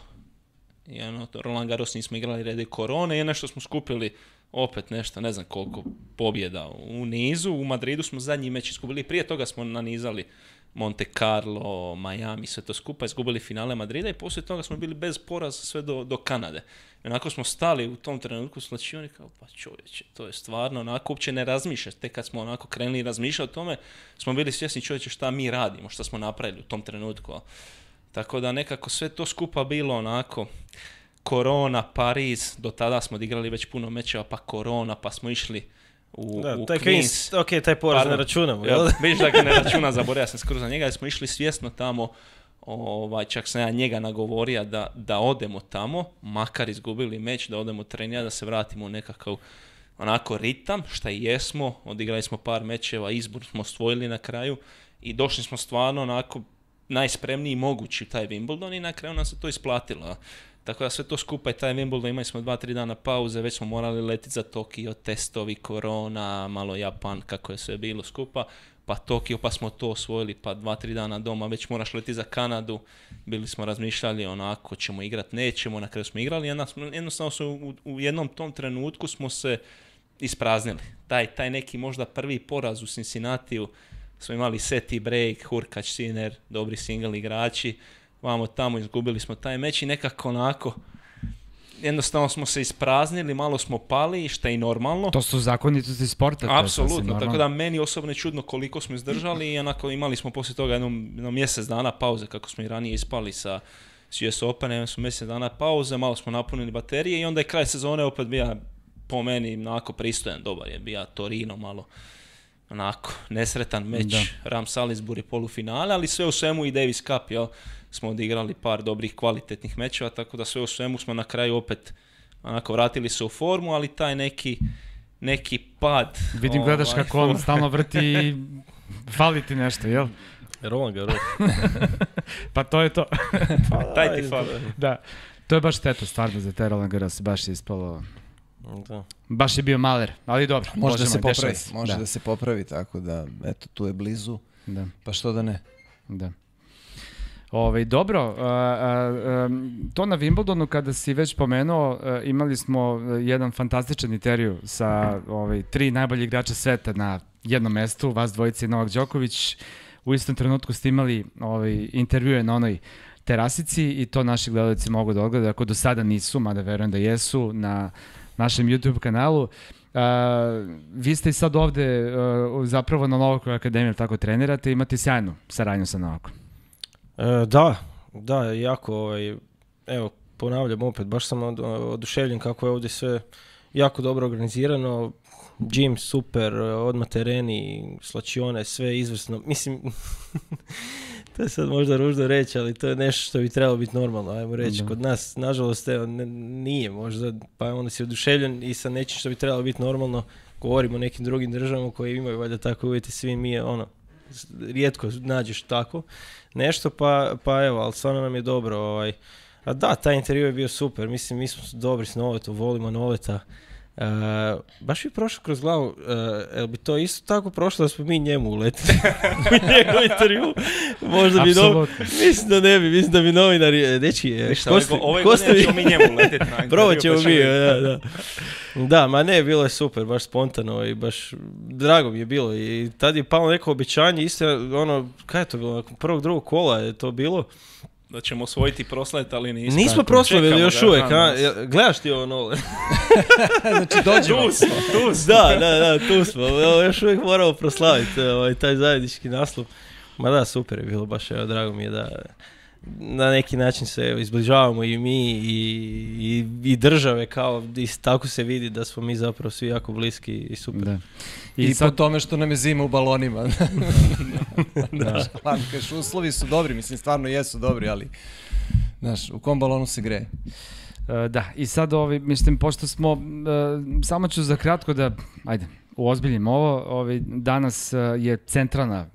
I Roland Garros nismo igrali radi korone i nešto smo skupili opet nešto, ne znam koliko pobjeda u nizu. U Madridu smo zadnji meč izgubili, prije toga smo nanizali Monte Carlo, Miami, sve to skupa, izgubili finale Madrida i poslije toga smo bili bez poraza sve do Kanade. I onako smo stali u tom trenutku slačioni kao, pa čovječe, to je stvarno, onako uopće ne razmišljaš. Tek kad smo onako krenuli razmišljati o tome, smo bili svjesni čovječe šta mi radimo, šta smo napravili u tom trenutku. Tako da nekako sve to skupa bilo onako Korona, Pariz, do tada smo odigrali već puno mečeva, pa Korona, pa smo išli u Queens. Ok, taj poraz ne računamo. Vidiš da ga ne računa, zaboravio sam skoro za njega, jer smo išli svjesno tamo, čak sam ja njega nagovorio da odemo tamo, makar izgubili meč, da odemo trenirati, da se vratimo u nekakav onako ritam, šta i jesmo, odigrali smo par mečeva, izbor smo osvojili na kraju i došli smo stvarno onako najspremniji mogući u taj Wimbledon i na kraju nam se to isplatilo. Tako da sve to skupa i taj Wimbledon, imali smo 2-3 dana pauze, već smo morali letiti za Tokio, testovi, korona, malo Japan, kako je sve bilo skupa, pa Tokio, pa smo to osvojili, pa 2-3 dana doma, već moraš letiti za Kanadu, bili smo razmišljali onako, ćemo igrati, nećemo, na kraju smo igrali, jednostavno u jednom tom trenutku smo se ispraznili. Taj neki možda prvi poraz u Cincinnatiju, smo imali set i break, Hurkacz, Sinner, dobri single igrači, vamo tamo izgubili smo taj meč i nekako onako, jednostavno smo se ispraznili, malo smo pali, što je i normalno. To su zakonitosti sporta. Apsolutno, tako da meni osobno je čudno koliko smo izdržali i onako imali smo poslije toga jedno mjesec dana pauze, kako smo i ranije ispali sa US Open, imali smo mjesec dana pauze, malo smo napunili baterije i onda je kraj sezone opet bio po meni onako pristojan, dobar je bio Torino malo. Onako, nesretan meč, Ram Salisbury polufinale, ali sve u svemu i Davis Cup, jel, smo odigrali par dobrih kvalitetnih mečeva, tako da sve u svemu smo na kraju opet onako vratili se u formu, ali taj neki pad. Vidim, gledaš kako on stalno vrti i fali ti nešto, jel? Roman ga Pa to je to. Taj ti fali. Da, to je baš šteta stvarno za te Roland Garros, baš je ispalo. Da. Baš je bio maler, ali dobro. Može da se popravi, tako da, eto, tu je blizu, pa što da ne. Da. Dobro, to na Wimbledonu kada si već pomenuo, imali smo jedan fantastičan intervju sa 3 najbolji igrača sveta na jednom mestu, vas dvojice i Novak Đoković. U istom trenutku ste imali intervjue na onoj terasici i to naši gledalci mogu da odgledaju, ako do sada nisu, mada verujem da jesu, na našem YouTube kanalu. Vi ste i sad ovde zapravo na Novakoj akademiji, tako trenirate, imate sjajnu saradnju sa Novakom. Da, jako, evo, ponavljam opet, baš sam oduševljen kako je ovdje sve jako dobro organizirano, gym super, odmah tereni, slačione, sve izvrsno, mislim, to je sad možda ružno reći, ali to je nešto što bi trebalo biti normalno, ajmo reći, kod nas, nažalost, evo, nije možda, pa onda si oduševljen i sa nečim što bi trebalo biti normalno, govorimo o nekim drugim državama koji imaju valjda tako uvjeti, svi mi, rijetko nađeš tako nešto, pa evo, ali stvarno nam je dobro, a da, taj intervju je bio super, mislim, mi smo dobri s Noletom, volimo Noleta, baš bi prošlo kroz glavu, jel bi to isto tako prošlo da smo mi njemu uletili u njegov intervju? Možda bi mislim da ne bi, mislim da bi novinari, dečki, ove godine ćemo mi njemu uletiti na intervju. Probat ćemo mi, da, ma ne, bilo je super, baš spontano i baš drago mi je bilo i tad je palo neko obećanje, isto kaj je to bilo, prvog, drugog kola je to bilo. Da ćemo osvojiti proslaviti, ali nismo. Nismo proslavili još uvijek, gledaš ti ovo Nole? Znači dođemo. Tu smo. Da, tu smo. Još uvijek moramo proslaviti taj zajednički naslov. Ma da, super je bilo, baš drago mi je da na neki način se izbližavamo i mi i države, kao tako se vidi da smo mi zapravo svi jako bliski i super. Da. I sad... po tome što nam je zima u balonima. Znaš, kažeš, uslovi su dobri, mislim, stvarno jesu dobri, ali znaš, u kom balonu se greje? Da, i sad, mislim, pošto smo, samo ću za kratko da, uozbiljim ovo, danas je centralna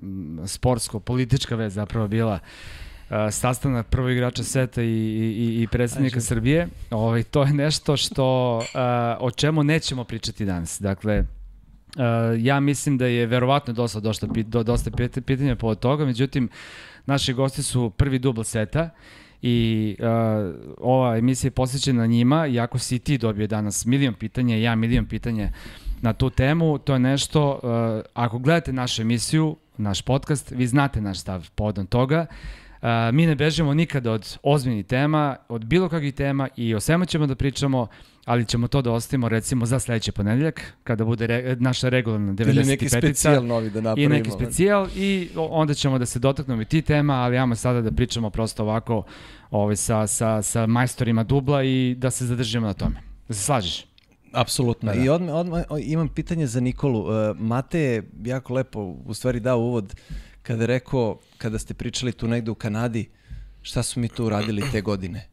sportsko-politička vez zapravo bila sastanak prvog igrača sveta i predsjednika Srbije. To je nešto o čemu nećemo pričati danas. Dakle, ja mislim da je verovatno dosta pitanja povod toga, međutim, naši gosti su prvi dubl sveta i ova emisija je posvećena njima, i ako si ti dobio danas milion pitanja, ja milion pitanja na tu temu, to je nešto, ako gledate našu emisiju, naš podcast, vi znate naš stav povodom toga. Mi ne bežimo nikada od ozbiljnih tema, od bilo kakvih tema i o svemu ćemo da pričamo, ali ćemo to da ostavimo recimo za sledeći ponedeljak, kada bude naša regularna 95-ica. Ili neki specijal novi da napravimo. I neki specijal i onda ćemo da se dotaknemo i ti tema, ali ajmo sada da pričamo prosto ovako sa majstorima dubla i da se zadržimo na tome. Da se slažeš? Apsolutno. Da. I odmah imam pitanje za Nikolu. Mate je jako lepo u stvari dao uvod kada je rekao, kada ste pričali tu negde u Kanadi, šta su mi tu uradili te godine.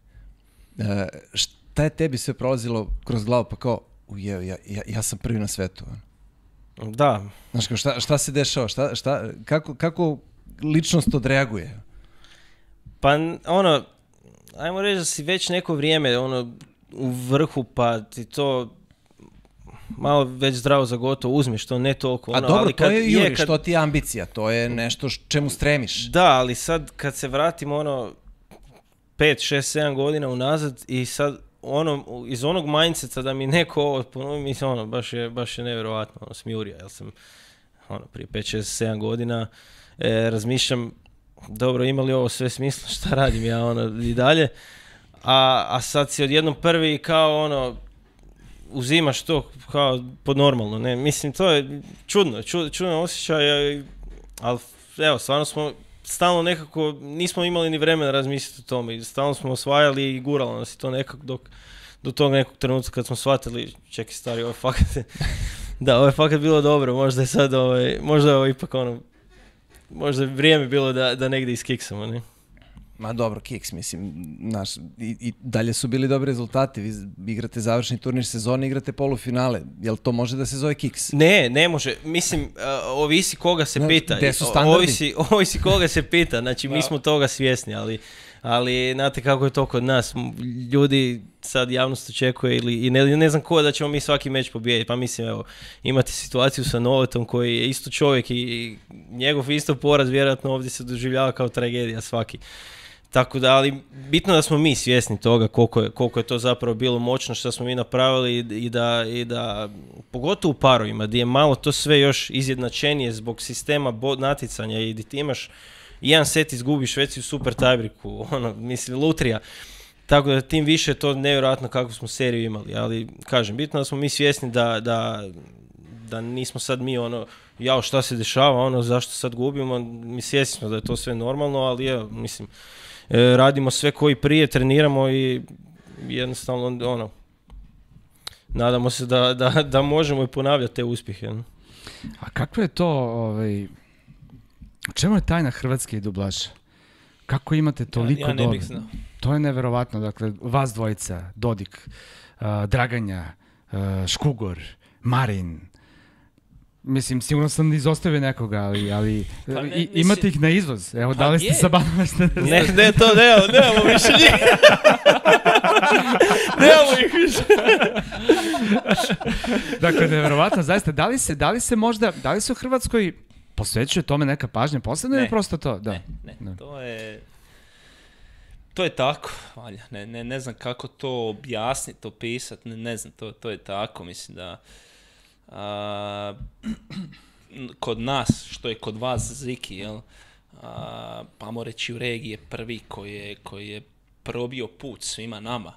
Šta je tebi sve prolazilo kroz glavu, pa kao, ja sam prvi na svetu. Da. Znaš, kao, šta se dešava, kako ličnost odreaguje? Pa ajmo reći da si već neko vrijeme u vrhu, pa ti to malo već zdravo za gotovo uzmeš, to ne toliko. A dobro, ali to je Juri, što ti je ambicija, to je nešto čemu stremiš. Da, ali sad kad se vratim 5, 6, 7 godina unazad i sad iz onog mindseta da mi neko ovo ponovi, mislim, baš je nevjerovatno, smijurija, jer sam prije 5, 6, 7 godina razmišljam, dobro, ima li ovo sve smisla, šta radim ja i dalje, a sad si odjednom prvi kao uzimaš to kao pod normalno, ne, mislim, to je čudno osjećaj, ali evo, stvarno smo stalno nekako, nismo imali ni vremena razmisliti o tome i stalno smo osvajali i guralo nas i to nekako do tog nekog trenutka kad smo shvatili, čekaj stari, ovo je fakat bilo dobro, možda je sad možda je ipak možda je vrijeme bilo da negdje iskiksamo, ne? Ma dobro, kiks, mislim, i dalje su bili dobri rezultati, vi igrate završni turnir sezone, igrate polufinale, jel to može da se zove kiks? Ne može, mislim, ovisi koga se pita. Gde su standardi? Ovisi koga se pita, znači mi smo toga svjesni, ali znate kako je to kod nas, ljudi sad javnost očekuje i ne znam ko da ćemo mi svaki meč pobijediti, pa mislim, evo, imate situaciju sa Novatom koji je isto čovjek i njegov isto poraz vjerojatno ovdje se doživljava kao tragedija svaki. Tako da, ali bitno da smo mi svjesni toga koliko je to zapravo bilo moćno što smo mi napravili i da pogotovo u parovima gdje je malo to sve još izjednačenije zbog sistema natjecanja i gdje ti imaš jedan set izgubiš, već si u super tiebreaku, mislim, lutrija. Tako da tim više je to nevjerojatno kakvu smo seriju imali, ali kažem, bitno da smo mi svjesni da nismo sad mi jao šta se dešava, zašto sad gubimo, mi svjesni smo da je to sve normalno, ali evo, mislim, radimo sve koji prije, treniramo i jednostavno nadamo se da možemo i ponavljati te uspjehe. Ne? A kako je to, u čemu je tajna hrvatske dublaže? Kako imate toliko ja ne bih znao. To je neverovatno, dakle, vas dvojica, Dodik, Draganja, Škugor, Marin, mislim, sigurno sam izostavio nekoga, ali imate ih na izvoz. Evo, da li ste sa Banove? Ne, to nemamo više njih. Nemamo ih više. Dakle, nevjerovatno, zaista, da li se u Hrvatskoj posvećuje tome neka pažnja posebno ili prosto to? Da. Ne. To je tako, valja. Ne znam kako to objasniti, opisati, ne znam, to je tako, mislim da kod nas, što je kod vas Ziki, jel, pa ajmo reći u regiji je prvi koji je probio put svima nama,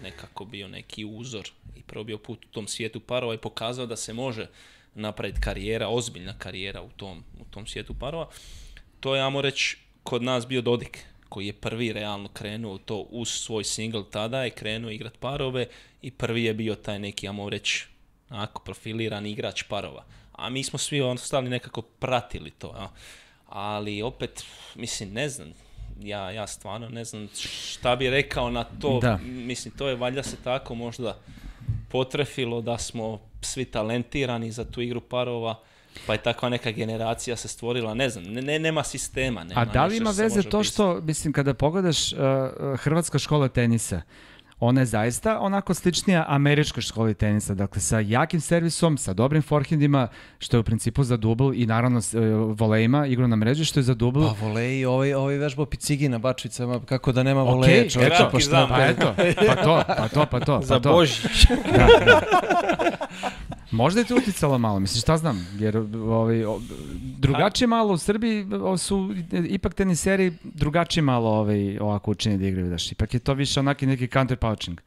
nekako bio neki uzor i probio put u tom svijetu parova i pokazao da se može napraviti karijera, ozbiljna karijera u tom svijetu parova. To je, ajmo reći, kod nas bio Dodik, koji je prvi realno krenuo to uz svoj single, tada je krenuo igrat parove i prvi je bio taj neki, ajmo reći, profiliran igrač parova. A mi smo svi ostali nekako pratili to. Ja. Ali opet, mislim, ne znam, ja stvarno ne znam šta bi rekao na to. Da. Mislim, to je valjda se tako možda potrefilo da smo svi talentirani za tu igru parova, pa je takva neka generacija se stvorila, ne znam, nema sistema. Nema. A da li ima veze to što, mislim, kada pogledaš Hrvatska škola tenisa, ona je zaista onako sličnija američkoj školi tenisa, dakle sa jakim servisom, sa dobrim forehandima, što je u principu za dubl i naravno volejima, igru na mreži, što je za dubl. Pa voleji, ovaj vežbao picigi na bačvicama, kako da nema voleja, čovječe, pa šta? Pa to. Za Božić. Da. Možda je to uticalo malo, mislim, šta znam, jer drugačije malo u Srbiji su ipak teniseri drugačije malo ovako učini da igraju, daš. Ipak je to više onaki neki counter pouching.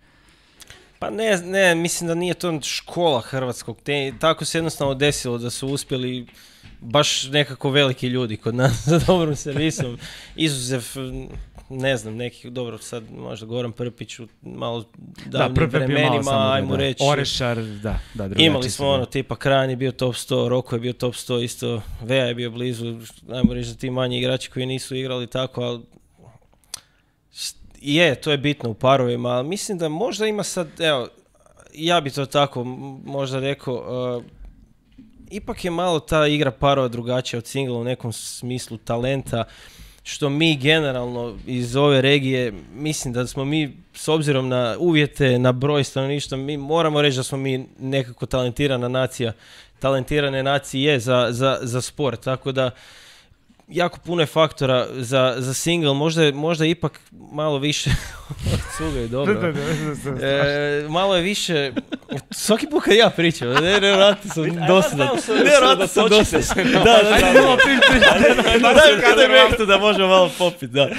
Pa ne, mislim da nije to škola hrvatskog. Tako se jednostavno desilo da su uspjeli baš nekako veliki ljudi kod nas za dobrom servisom. Izuzev, ne znam, nekih, dobro, sad možda Goran Prpić u malo davnim vremenima, ajmo reći. Orešar, da, drugačije. Imali smo ono, tipa Kran je bio top 100, Roko je bio top 100, isto Veja je bio blizu, ajmo reći, za ti manji igrači koji nisu igrali tako, ali to je bitno u parovima, ali mislim da možda ima sad, evo, ja bi to tako možda rekao, ipak je malo ta igra parova drugačija od singla u nekom smislu talenta, što mi generalno iz ove regije, mislim da smo mi, s obzirom na uvjete, na broj stanovništva, mi moramo reći da smo mi nekako talentirana nacija, talentirane nacije za sport, tako da jako puno je faktora za single, možda ipak malo više cugaju, dobro. Malo je više, svaki put kad ja pričam, nevjerojatno sam dosadan. Nevjerojatno sam dosadan. Daj mektu da možemo malo popiti, da.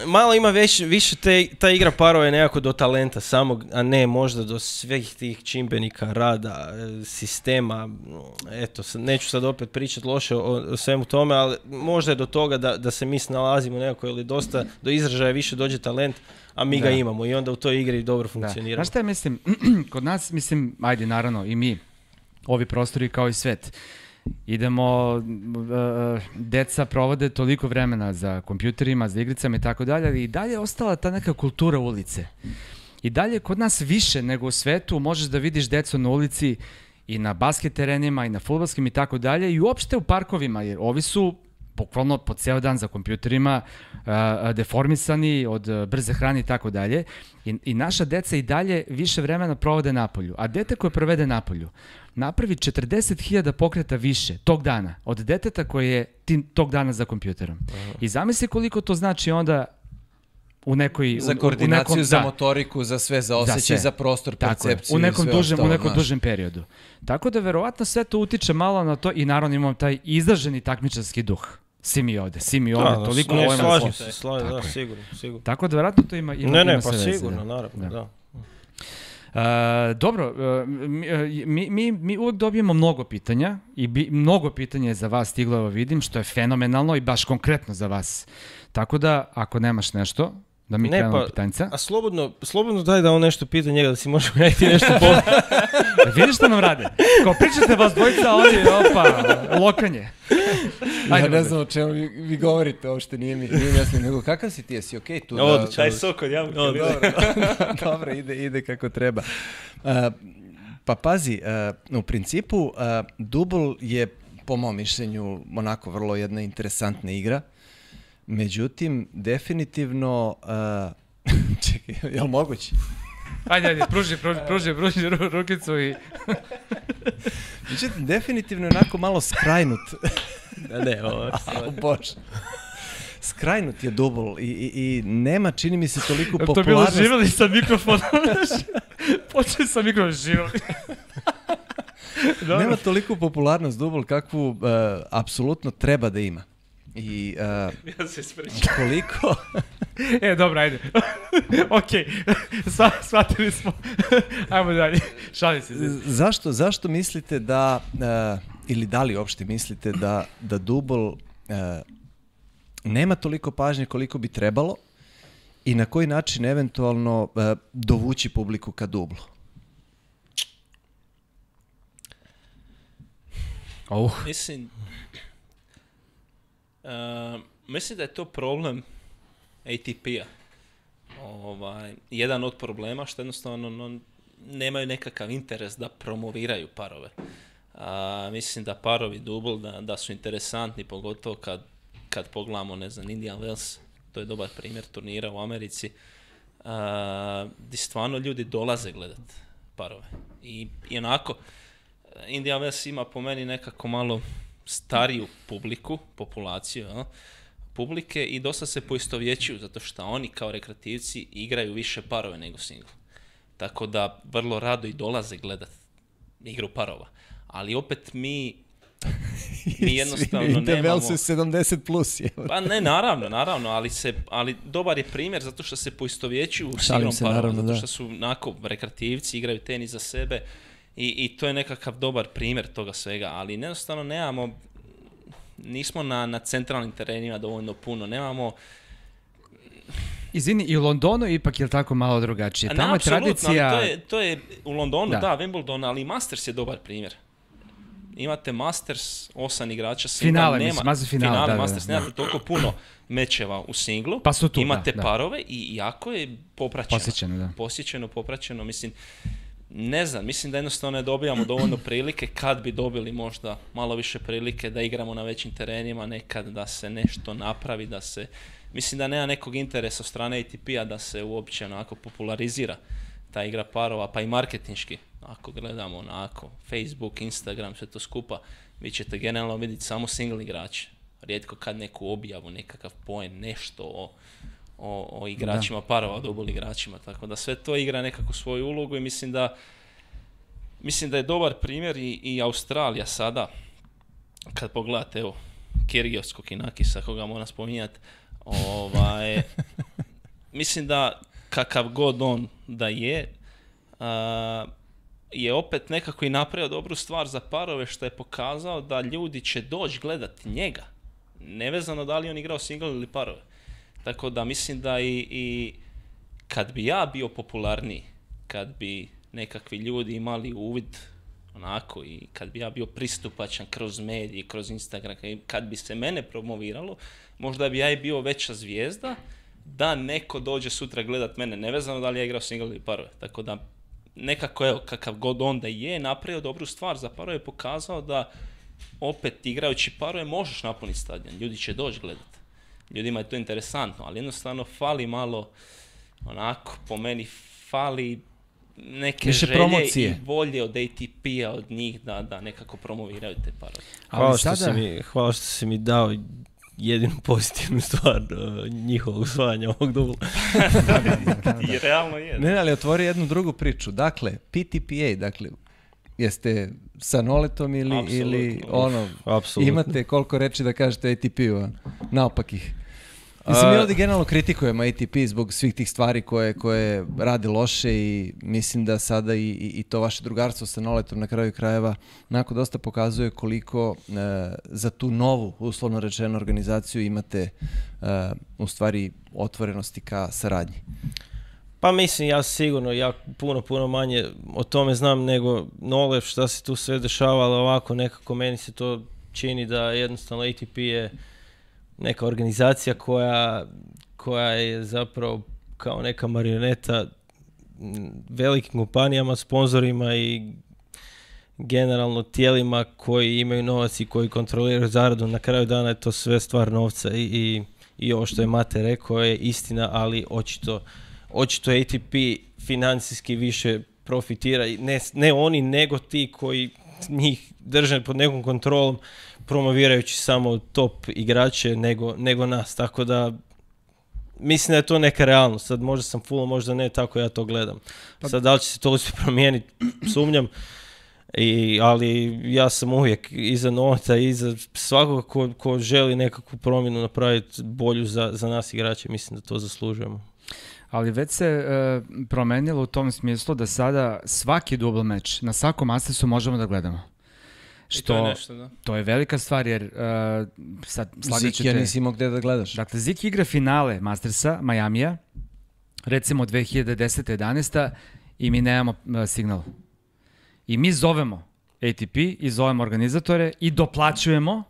Malo ima više ta igra parova je nekako do talenta samog, a ne možda do svih tih čimbenika, rada, sistema. Eto, neću sad opet pričati loše o svemu tome, ali možda je do toga da se mi snalazimo nekako ili dosta do izražaja više dođe talent, a mi ga imamo i onda u toj igri dobro funkcioniramo. Znaš šta ja mislim, kod nas, mislim, ajde naravno i mi, ovi prostori kao i svet, idemo, deca provode toliko vremena za kompjuterima, za igricama i tako dalje, ali i dalje je ostala ta neka kultura ulice. I dalje kod nas više nego u svetu možeš da vidiš decu na ulici i na basket terenima i na fudbalskim i tako dalje i uopšte u parkovima, jer ovi su bukvalno po ceo dan za kompjuterima, deformisani od brze hrane i tako dalje. I naša deca i dalje više vremena provode napolju. A dete koje provede napolju napravi 40.000 pokreta više tog dana od deteta koje je tog dana za kompjuterom. I zamisli koliko to znači onda u nekoj... Za koordinaciju, za motoriku, za sve, za osjećaj, za prostor, percepciju. U nekom dužem periodu. Tako da verovatno sve to utiče malo na to i naravno imamo taj izraženi takmičarski duh. Svi mi ovde, toliko slažem se, sigurno. Tako da verovatno to ima sve veze. Pa sigurno, naravno, da. Dobro, mi uvek dobijemo mnogo pitanja i mnogo pitanja je za vas stiglo, evo vidim, što je fenomenalno i baš konkretno za vas. Tako da, ako nemaš nešto, da mi krenemo pitanjca. A slobodno daj da on nešto pita njega, da si možemo najti nešto pomoći. Vidiš što nam rade? Kao pričate vas dvojica, ovdje, lokanje. Ja ne znam o čemu vi govorite, uopšte nije mi jasno, nego kakav si ti, jesi okej tu? Taj sok od jabuke. Dobro, ide kako treba. Pa pazi, u principu, Dubl je, po mom mišljenju, onako vrlo jedna interesantna igra. Međutim, definitivno... Čekaj, je li moguće? Ajde, pruži rukicu i... Međutim, definitivno je onako malo skrajnut. Ne, ovo... Bože. Skrajnut je Dubl i nema, čini mi se, toliko popularnost. To je bilo živjeli sa mikrofonom. Počeli sa mikrofonom živjeli. Nema toliko popularnost Dubl kakvu apsolutno treba da ima. I ja se ispričam. Koliko... Dobro, ajde. Okej, shvatili smo. Ajmo dalje, šalim se. Zašto mislite da, ili da li uopšte mislite da Dubl nema toliko pažnje koliko bi trebalo i na koji način eventualno dovući publiku ka Dublu? Mislim da je to problem ATP-a. Jedan od problema što jednostavno nemaju nekakav interes da promoviraju parove. Mislim da parovi Dubl da su interesantni, pogotovo kad pogledamo, ne znam, Indian Wells, to je dobar primjer turnira u Americi, gdje stvarno ljudi dolaze gledat parove. I onako, Indian Wells ima po meni nekako malo stariju populaciju, publike i dosta se poistovjećuju zato što oni kao rekreativci igraju više parove nego single. Tako da vrlo rado i dolaze gledat igru parova. Ali opet mi... Mi jednostavno Interval nemamo... su 70 plus. Pa ne, naravno, ali dobar je primjer zato što se poistovjećuju s Šalim igrom se, parova, naravno, zato da. što su onako rekreativci, igraju tenis za sebe i to je nekakav dobar primjer toga svega, ali jednostavno nismo na centralnim terenima dovoljno puno, nemamo... Izvini, i u Londonu ipak je tako malo drugačije. Tamo je apsolutno, tradicija... ali to je u Londonu, Da. da, Wimbledon, ali i Masters je dobar primjer. Imate Masters, 8 igrača Finale, mislim, Masters finale, da. Masters, nemate toliko puno mečeva u singlu. Pa su tu, imate da. parove i jako je popraćeno. Posjećeno, da. Popraćeno, mislim, ne znam, mislim da jednostavno ne dobijamo dovoljno prilike, kad bi dobili možda malo više prilike da igramo na većim terenima, nekad da se nešto napravi, da se... Mislim da nema nekog interesa od strane ATP-a da se uopće onako popularizira ta igra parova, pa i marketinški. Ako gledamo onako Facebook, Instagram, sve to skupa, vi ćete generalno vidjeti samo single igrače. Rijetko kad neku objavu, nekakav poen, nešto o igračima parova, o double igračima. Tako da sve to igra nekako svoju ulogu i mislim da je dobar primjer i Australija sada, kad pogledate, evo, Kyrgios Kokinakisa, koga moram spominjati, mislim da kakav god on da je opet nekako i napravio dobru stvar za parove, što je pokazao da ljudi će doći gledati njega, nevezano da li on igrao single ili parove. Tako da mislim da i kad bi ja bio popularniji, kad bi nekakvi ljudi imali uvid onako i kad bi ja bio pristupačan kroz medije, kroz Instagram, kad bi se mene promoviralo, možda bi ja i bio veća zvijezda da neko dođe sutra gledat mene, nevezano da li ja igrao single ili parove. Tako da nekako, evo, kakav god onda je, napravio dobru stvar za parove, pokazao da opet igrajući parove možeš napuniti stadion, ljudi će doći gledat. Ljudima je to interesantno, ali jednostavno fali malo, onako, po meni fali neke više želje promocije i volje od ATP-a, od njih da nekako promoviraju te parove. Hvala što si mi dao jedinu pozitivnu stvar njihovog usvajanja ovog dubla. I realno je. Ne, ali otvori jednu drugu priču. Dakle, PTPA, dakle, jeste sa Noletom ili ono, Apsolutno. imate koliko reči da kažete ATP-u, naopak ih. Mislim, mi ovdje generalno kritikujemo ATP zbog svih tih stvari koje rade loše i mislim da sada i to vaše drugarstvo sa Noletom na kraju krajeva onako dosta pokazuje koliko za tu novu, uslovno rečeno, organizaciju imate u stvari otvorenosti ka saradnji. Pa mislim, ja sigurno, puno manje o tome znam nego Nole, šta se tu sve dešava, ali ovako nekako meni se to čini da jednostavno ATP je neka organizacija koja je zapravo kao neka marioneta velikim kompanijama, sponzorima i generalno tijelima koji imaju novac i koji kontroliraju zaradu. Na kraju dana je to sve stvar novca i ovo što je Mate rekao je istina, ali očito ATP financijski više profitira, ne oni nego ti koji njih drže pod nekom kontrolom, promovirajući samo top igrače nego nas, tako da mislim da je to neka realnost. Sad možda sam full, možda ne, tako ja to gledam. Sad da li će se to uspjeti promijeniti, sumnjam, ali ja sam uvijek iza Noleta, iza svakoga ko želi nekakvu promjenu napraviti bolju za nas igrače, mislim da to zaslužujemo. Ali već se promenilo u tom smislu da sada svaki double meč na svakom Mastersu možemo da gledamo. To je nešto, da. To je velika stvar jer sad Ziki, ja nisi imao gdje da gledaš. Dakle, Ziki igra finale Mastersa, Majamija, recimo 2010-11 i mi nemamo signal. I mi zovemo ATP i zovemo organizatore i doplaćujemo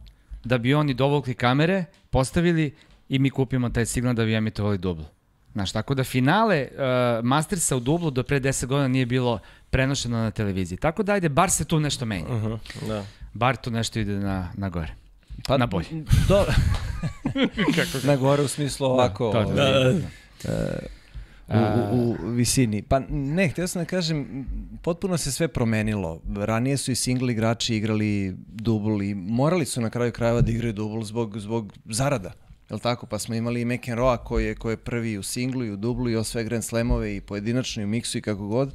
da bi oni dovukli kamere, postavili i mi kupimo taj signal da bi emitovali dublu. Znaš, tako da finale Mastersa u dublu do pre 10 godina nije bilo prenošeno na televiziji. Tako da ajde, bar se tu nešto menja. Da. Bar tu nešto ide na gore. Pa, na bolje. Na gore u smislu ovako. U visini. Pa ne, htio sam da kažem, potpuno se sve promenilo. Ranije su i single igrači igrali dubl i morali su na kraju krajeva da igraju dubl zbog zarada. Jel tako? Pa smo imali i McEnroe koji je prvi u singlu i u dublu i sve Grand Slamove i pojedinačno i u miksu i kako god.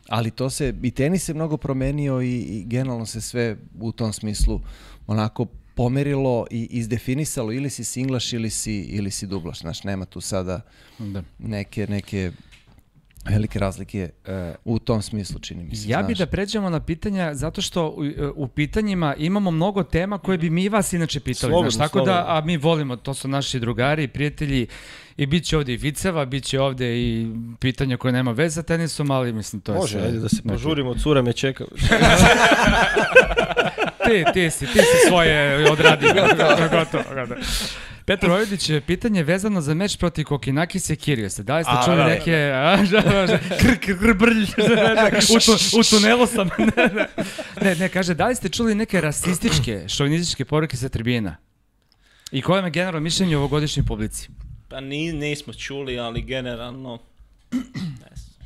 Ali to se, i tenis se mnogo promenio i generalno se sve u tom smislu onako pomerilo i izdefinisalo, ili si singlaš ili si dublaš. Znaš, nema tu sada neke velike razlike u tom smislu, čini mi se. Ja bih da pređemo na pitanja, zato što u pitanjima imamo mnogo tema koje bi mi vas inače pitali. Slobodno, znaš, tako da, a mi volimo, to su naši drugari i prijatelji, i bit će ovdje i viceva, bit će ovdje i pitanja koje nema veze sa tenisom, ali mislim to je Može, sve. ajde da se požurimo, cura me čeka. Ti si svoje odradio. Gotovo. Petar Vojvodić, pitanje vezano za meč protiv Kokinakisa i Kyrgiose. Da li ste čuli neke... U tunelu sam. Ne, kaže, da li ste čuli neke rasističke, šovinističke poruke sa tribina? I koje je generalno mišljenje o ovogodišnjoj publici? Pa nismo čuli, ali generalno,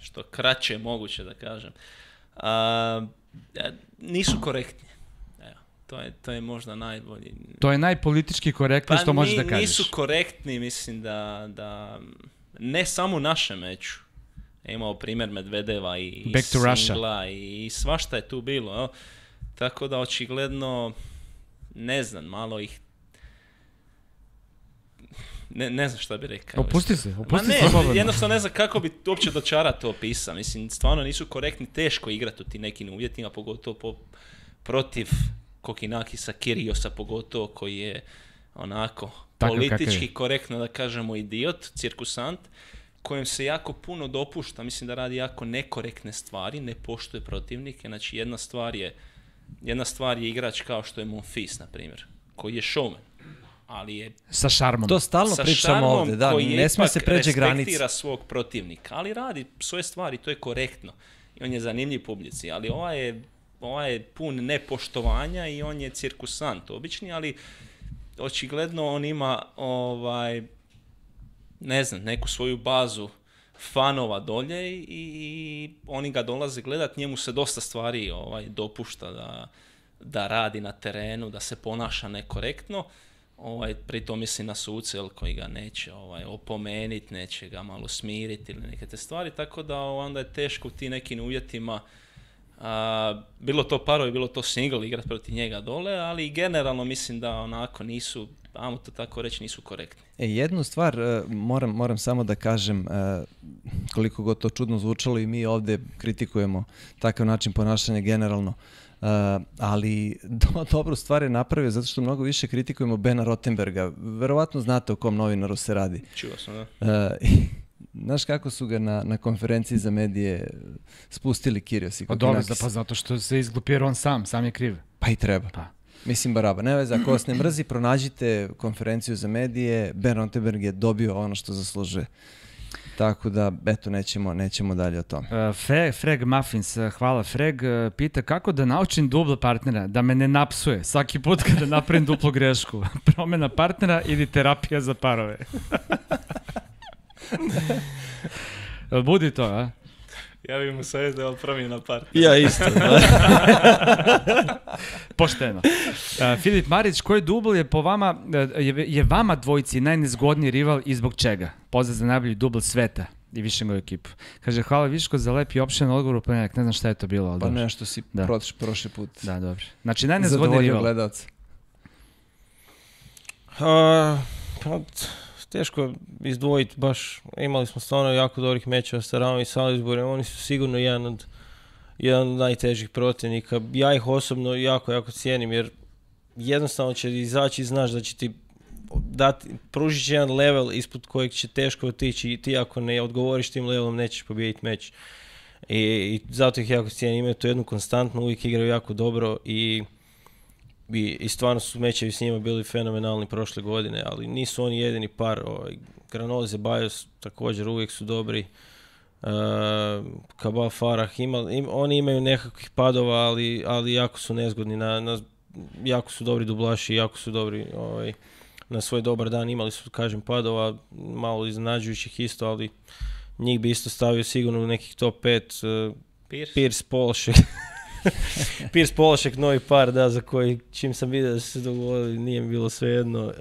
što kraće je moguće da kažem, nisu korektni. To je možda najbolji. To je najpolitički korektno što možeš da kažeš. Nisu korektni, mislim da ne samo u našem meču. Imao primjer Medvedeva i singla i svašta je tu bilo. Tako da očigledno, ne znam, malo ih... Ne znam šta bi rekao. Opusti se. Jednostavno ne znam kako bi uopće dočara to opisao. Mislim, stvarno nisu korektni, teško igrati u tim nekim uvjetima, pogotovo protiv Kokinakisa, Kyrgiosa pogotovo, koji je onako politički korektno da kažemo idiot, cirkusant, kojem se jako puno dopušta, mislim da radi jako nekorektne stvari, ne poštuje protivnike. Znači jedna stvar je igrač kao što je Monfils, na primjer, koji je showman, ali je sa šarmom. To stalno pričamo ovdje, da, ne smije se pređe granice. Respektira svog protivnika, ali radi svoje stvari, to je korektno. I on je zanimljiv publici, ali ovaj je pun nepoštovanja i on je cirkusant obični, ali očigledno on ima ne znam, neku svoju bazu fanova dolje i oni ga dolaze gledat, njemu se dosta stvari dopušta da radi na terenu, da se ponaša nekorektno. Pritom misli na suce koji ga neće opomeniti, neće ga malo smiriti ili neke te stvari, tako da onda je teško u tim nekim uvjetima, bilo to parovi, bilo to single, igrati protiv njega dole, ali generalno mislim da onako nisu, ajmo to tako reći, nisu korektni. Jednu stvar moram samo da kažem, koliko god to čudno zvučalo, i mi ovdje kritikujemo takav način ponašanja generalno, ali dobru stvar je napravio zato što mnogo više kritikujemo Bena Rottenberga. Verovatno znate o kom novinaru se radi. Čuo sam, da. Znaš kako su ga na konferenciji za medije spustili Kyrgios i Kokinakis? Pa zato što se izglupio on sam je kriv. Pa i treba. Mislim, baraba. Ne veze, ako vas ne mrzi, pronađite konferenciju za medije. Ben Rottenberg je dobio ono što zaslužuje. Tako da, eto, nećemo dalje o tome. Freg Muffins, hvala Freg, pita kako da naučim dublo partnera, da me ne napsuje svaki put kada napravim duplu grešku. Promjena partnera ili terapija za parove. Budi to, a? Ja bih mu savjet da promjena partnera. Ja isto. Pošteno. Filip Marić, koji dubl je po vama, je vama dvojici najnezgodniji rival i zbog čega? Pozdrav za najbolji dubl sveta i Višengovu ekipu. Kaže, hvala Viško za lep i opšten odgovor u ponedjeljak. Ne znam šta je to bilo, ali pa dobro. nešto si prošli put. Da, dobro. Znači, najnezgodniji rival. Gledalca. Teško izdvojiti, baš imali smo stvarno jako dobrih mečeva sa Ramom i Salisburyem, oni su sigurno jedan od najtežih protivnika. Ja ih osobno jako cijenim, jer jednostavno će izaći i znaš da će ti pružit će jedan level ispod kojeg će teško otići i ti ako ne odgovoriš tim levelom nećeš pobijediti meč. I zato ih jako cijenim, imaju to jednu konstantnu, uvijek igraju jako dobro i stvarno su mečevi s njima bili fenomenalni prošle godine, ali nisu oni jedini par. Granoze, Bajos također uvijek su dobri. Cabal, Farah, oni imaju nekakvih padova, ali jako su nezgodni, jako su dobri dublaši, jako su dobri na svoj dobar dan. Imali su, kažem, padova, malo iznenađujućih isto, ali njih bi isto stavio sigurno u nekih top 5. Pierce, Polšek. Pierce, Polšek, novi par, da, za koji čim sam vidio da su se dogovorili, nije mi bilo svejedno.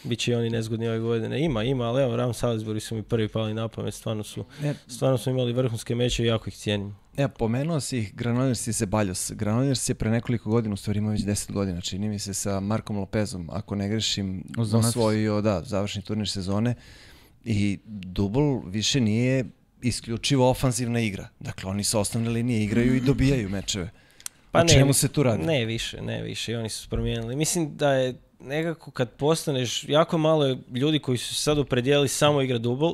Biće i oni nezgodni ove godine. Ima, ali evo, Rams Salisbury su mi prvi pali na pamet, stvarno su imali vrhunske meče i jako ih cijenim. Pomenuo si ih Granollers i Ceballos. Granollers je pre nekoliko godina, u stvari ima već 10 godina, čini mi se, sa Markom Lopezom, ako ne grešim, osvojio završni turnir sezone i Dubl više nije isključivo ofanzivna igra. Dakle, oni sa osnovne linije igraju i dobijaju mečeve. O čemu se tu radi? Ne više, i oni su promijenili. Mislim da je nekako kad postaneš, jako malo je ljudi koji su se sad opredijelili samo igra dubl,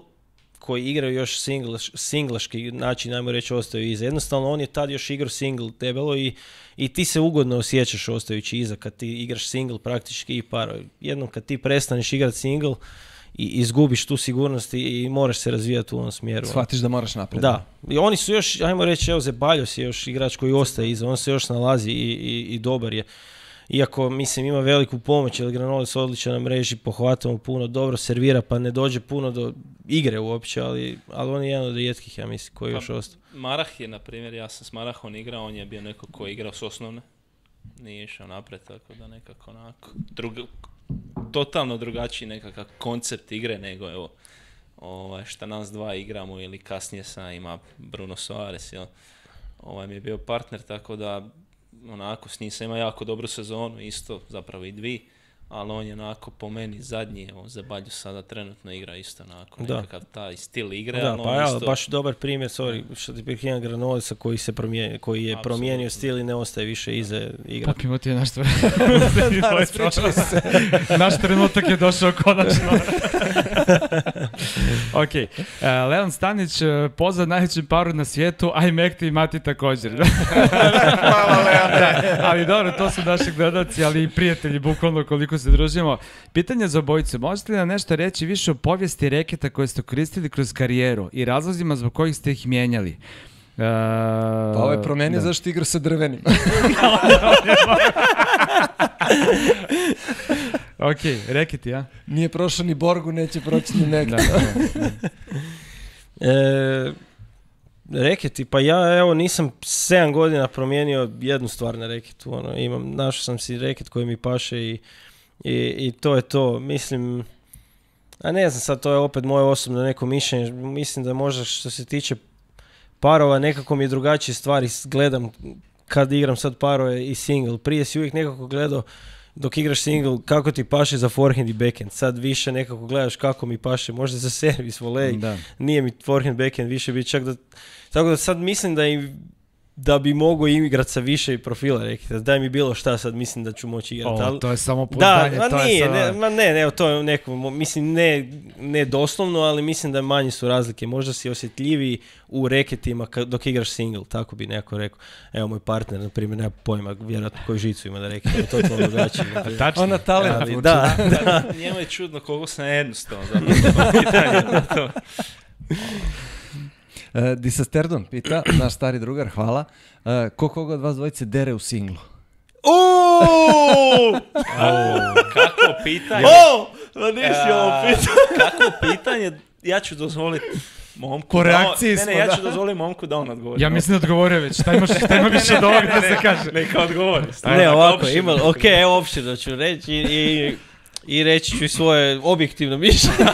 koji igraju još singlaški način, najmo reći, ostaju iza. Jednostavno, on je tad još igrao single debelo i ti se ugodno osjećaš ostajući iza kad ti igraš single praktički i paro. Jednom kad ti prestaneš igrati single i izgubiš tu sigurnost i moraš se razvijati u ovom smjeru. Shvatiš da moraš naprijed. Da. I oni su još, ajmo reći, evo Zeballos je još igrač koji ostaje iza, on se još nalazi i dobar je. Iako, mislim, ima veliku pomoć, jer Granollers odličan na mreži, pohvatamo puno, dobro servira, pa ne dođe puno do igre uopće, ali on je jedan od rijetkih, ja mislim, koji još ostao. Marah je, na primjer, ja sam s Marahom igrao, on je bio neko ko je igrao s osnovne, nije išao napred, tako da nekako onako, totalno drugačiji nekakav koncept igre nego, evo, šta nas dva igramo, ili kasnije ima Bruno Soares, mi je bio partner, tako da onako s njim sam ima jako dobru sezonu, isto zapravo i dvi, ali on je onako po meni zadnji, Zeballos sada trenutno igra isto onako nekakav taj stil igre. Da, pa isto... baš dobar primjer, što ti prihijam Granollersa koji je promijenio stil i ne ostaje više iza igra. Popimo ti je naš naš trenutak je došao konačno. Ok, Leon Stanić, pozdrav najvećem paru na svijetu, a i Mekti i Mati također. Hvala Leon. Ali dobro, to su naši gledalci, ali i prijatelji, bukvalno koliko se družimo. Pitanje za obojicu, možete li nam nešto reći više o povijesti reketa koje ste koristili kroz karijeru i razlozima zbog kojih ste ih mijenjali? Pa ovo je promenio zašto igra sa drvenim. Ok, reketi, ja? Nije prošao ni Borgu, neće proći ni nekada. Reketi, pa ja evo nisam 7 godina promijenio jednu stvar na reketu. Našao sam si reket koji mi paše i to je to. Mislim, a ne znam sad, to je opet moje osobno neko mišljenje. Mislim da možda što se tiče parova nekako mi je drugačije stvari gledam kad igram sad parove i single. Prije si uvijek nekako gledao dok igraš single kako ti paše za forehand i backhand. Sad više nekako gledaš kako mi paše, možda za servis, volej, nije mi forehand, backhand, više bi čak da... Tako da sad mislim da bi mogao igrati sa više profila, rekli. Daj mi bilo šta, sad mislim da ću moći igrati. Ali... To je samo pouzdanje. To je neko, mislim, ne doslovno, ali mislim da manje su razlike. Možda si osjetljiviji u reketima dok igraš single, tako bi neko rekao. Evo, moj partner, na primjer, nema pojma, vjerojatno koju žicu ima da rekao, to je to drugačije. Ona talent. Da. Njemu je čudno koliko sam jednostavno za pitanje. Disasterdon pita, naš stari drugar, hvala. Ko koga od vas dvojice dere u singlu? Kako pitanje? Nisi ovo pitanje. Kako pitanje, ja ću dozvoliti momku. Po reakciji smo, ja ću dozvoliti momku da on odgovori. Ja mislim da odgovorio već, šta ima više od ovoga da se kaže. Neka odgovori. Ne, ovako, evo opširno ću reći i reći ću svoje objektivno mišljenje.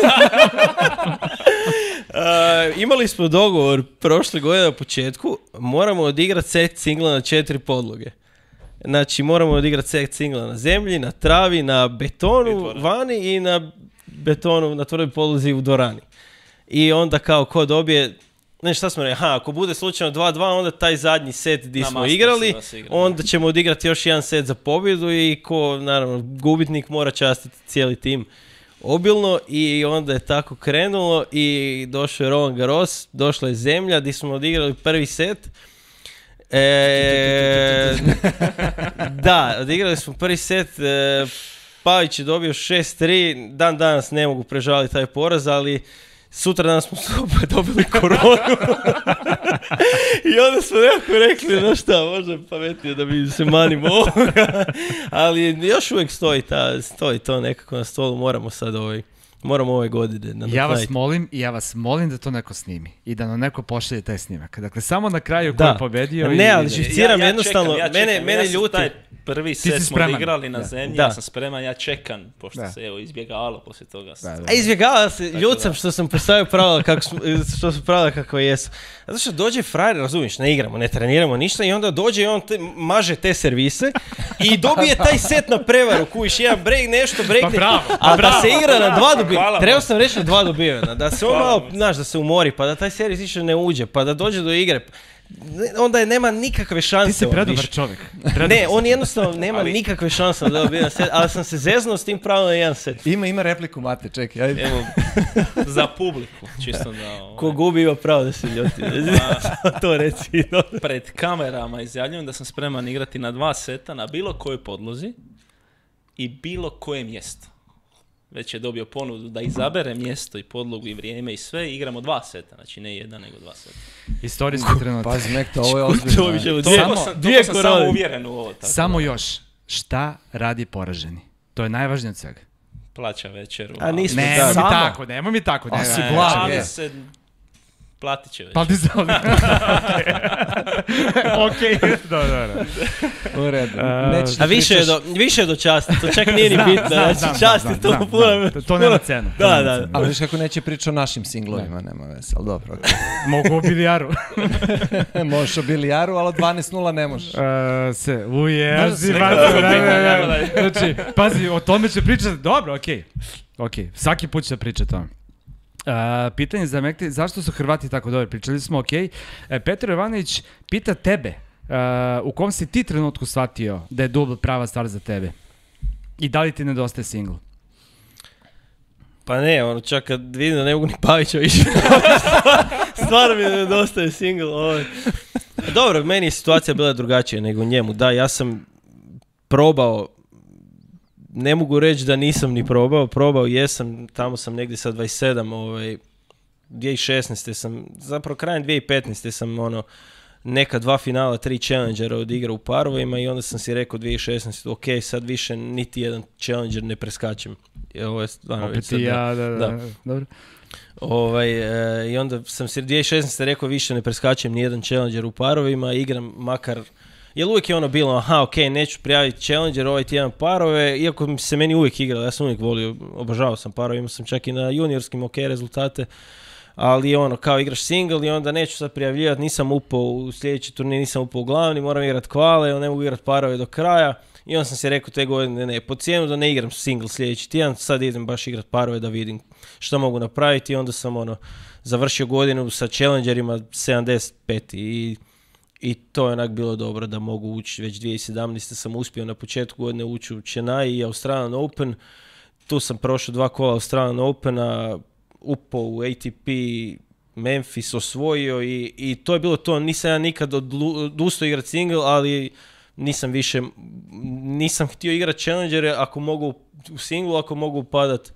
Imali smo dogovor prošle godine na početku, moramo odigrati set singla na 4 podloge. Znači, moramo odigrati set singla na zemlji, na travi, na betonu vani i na betonu, na tvrdoj podlozi u dvorani. I onda kao ko dobije, šta smo rekli, ako bude slučajno 2-2, onda taj zadnji set gdje smo igrali, onda ćemo odigrati još jedan set za pobjedu i ko, naravno, gubitnik mora častiti cijeli tim obilno i onda je tako krenulo i došao je Roland Garros, došla je zemlja gdje smo odigrali prvi set. Da, odigrali smo prvi set, Pavić je dobio 6-3, dan danas ne mogu prežaliti taj poraz, ali sutra danas smo opet dobili koronu. I onda smo nekako rekli, no šta, možda je pametnije da bi se manimo ovoga. Ali još uvijek stoji to nekako na stolu, moramo sad Moram ove godine. Ja vas molim da to neko snimi i da nam neko pošalje taj snimak. Dakle, samo na kraju ko je pobedio. Ne, ali živciram jednostavno, mene ljuti. Prvi set smo odigrali na zemlji, ja sam spreman, ja čekam, pošto se izbjegavalo poslije toga. A izbjegavalo se, ljud sam što sam postavio pravila što su pravila kako jesu. Zato što dođe frajer, razumiješ, ne igramo, ne treniramo ništa i onda dođe i on maže te servise i dobije taj set na prevaru, kuviš jedan break, nešto breakne, a da se igra na 2 dobivena, trebao sam reći na 2 dobivena, da se on malo, znaš, da se umori, pa da taj servis više ne uđe, pa da dođe do igre. Onda nema nikakve šanse. Ti si predobar čovjek. Ne, on jednostavno nema nikakve šanse da dobije na set, ali sam se zeznuo s tim pravilno na jedan set. Ima repliku, Mate, čekaj. Ajde. Evo, za publiku, čisto da... Ko gubi ima pravo da se ljuti. To reci. Pred kamerama izjavljujem da sam spreman igrati na 2 seta, na bilo kojoj podlozi i bilo koje mjesto. Već je dobio ponudu da izabere mjesto i podlogu i vrijeme i sve i igramo 2 seta, znači ne 1 nego 2 seta. Istorijski trenutak. Pazi, Mekta, ovo je ozbiljno. Toliko sam samo uvjeren u ovo. Tako samo još, šta radi poraženi? To je najvažnije od svega. Plaća večeru. A nismo nemoj mi tako. A si blag. Platit će već. Platit se ovdje. Okej, dobro. U redu. A više je do časti, to čak nije ni bitno. Znači časti to puno. To nema cenu. Da. Ali viš kako neće pričati o našim singlovima, nema veze, ali dobro. Mogu o bilijaru. Možeš o bilijaru, ali 12-0 ne možeš. Znači, pazi, o tome će pričati. Dobro, okej. Svaki put će pričati o tome. Pitanje za Mekti, zašto su Hrvati tako dobri? Pričali smo, Petar Jovanović pita tebe, u kom si ti trenutku shvatio da je dubl prava stvar za tebe? I da li ti nedostaje single? Pa ne, čak kad vidim da ne mogu ni Pavića više. Stvarno mi nedostaje single. Dobro, meni je situacija bila drugačija nego njemu. Da, ja sam probao, ne mogu reći da nisam ni probao jesam, tamo sam negdje sa 27, 2016. sam, zapravo krajem 2015. sam neka 2 finala, 3 challengera odigrao u parovima i onda sam si rekao 2016. ok, sad više niti jedan challenger ne preskačem. Ovo je stvarno opet i ja, da. Dobro. I onda sam si 2016. rekao više ne preskačem ni jedan challenger u parovima, igram makar. Jer uvijek je bilo, neću prijaviti challenger ovaj tjedan parove, iako se meni uvijek igralo, ja sam uvijek volio, obožavao sam parove, imao sam čak i na juniorskim rezultate, ali kao igraš single i onda neću sad prijavljivati, nisam upao u sljedeći turnir, nisam upao u glavni, moram igrati kvale, ne mogu igrati parove do kraja i onda sam se rekao te godine, po cijenu da ne igram single sljedeći tjedan, sad idem baš igrati parove da vidim što mogu napraviti i onda sam završio godinu sa challengerima 75 i to je onak bilo dobro da mogu ući, već 2017. sam uspio na početku godine ući u Chennai i Australian Open, tu sam prošao 2 kola Australian Opena, upao u ATP, Memphis osvojio i to je bilo to, nisam ja nikad odustao igrati single, ali nisam htio igrati challengere ako mogu u singlu, ako mogu upadat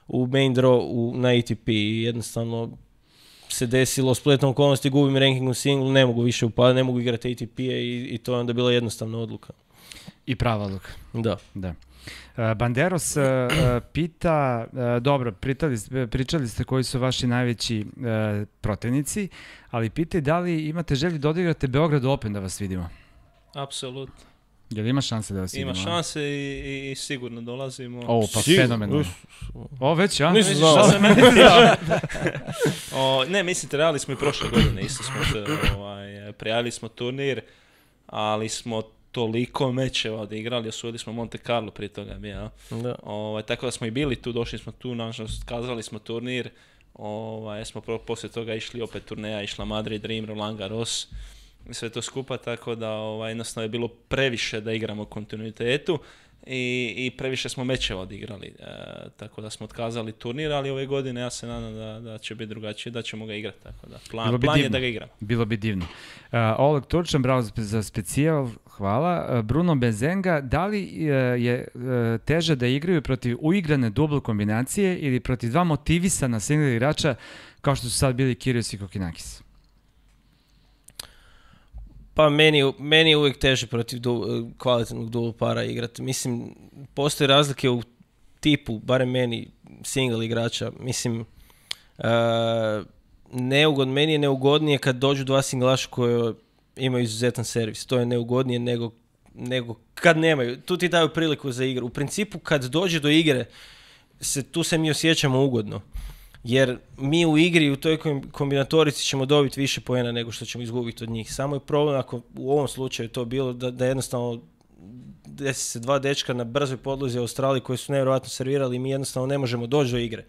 u main draw na ATP i jednostavno se desilo spletom okolnosti, gubim ranking u singlu, ne mogu više upadati, ne mogu igrati ATP-e i to je onda bila jednostavna odluka. I prava odluka. Da. Banderos pita, dobro, pričali ste koji su vaši najveći protivnici, ali pitaj da li imate želju da odigrate Beograd Open da vas vidimo? Apsolutno. Jel ima šanse da vas vidimo? Ima šanse i sigurno dolazimo. Ovo pa fenomenalno. Ovo već, ja? Nisam ne, mislite, realni smo i prošle godine. Isto smo prijavili smo turnir, ali smo toliko mečeva odigrali, osvojili smo Monte Carlo prije toga. Tako da smo i bili tu, došli smo tu, nažalost, kazali smo turnir. Smo poslije toga išli opet turneja, išla Madrid Dream, Roland Garros. Sve to skupa, tako da jednostavno je bilo previše da igramo u kontinuitetu i previše smo mečeva odigrali, tako da smo otkazali turnir, ali ove godine ja se nadam da će biti drugačije, da ćemo ga igrati, tako da plan je da ga igramo. Bilo bi divno. Oleg Turčan, bravo za specijal, hvala. Bruno Bezenga, da li je teže da igraju protiv uigrane dubl kombinacije ili protiv 2 motivisana single igrača kao što su sad bili Kyrgios i Kokinakis? Pa meni je uvijek teže protiv kvalitetnog dubl para igrati. Mislim, postoje razlike u tipu, barem meni, single igrača, mislim, meni je neugodnije kad dođu dva singlaša koji imaju izuzetan servis. To je neugodnije nego kad nemaju. Tu ti daju priliku za igru. U principu kad dođe do igre, tu se mi osjećamo ugodno. Jer mi u igri, u toj kombinatorici ćemo dobiti više poena nego što ćemo izgubiti od njih. Samo je problem ako u ovom slučaju to bilo da jednostavno desi se dva dečka na brzoj podlozi u Australiji koji su nevjerojatno servirali i mi jednostavno ne možemo doći do igre.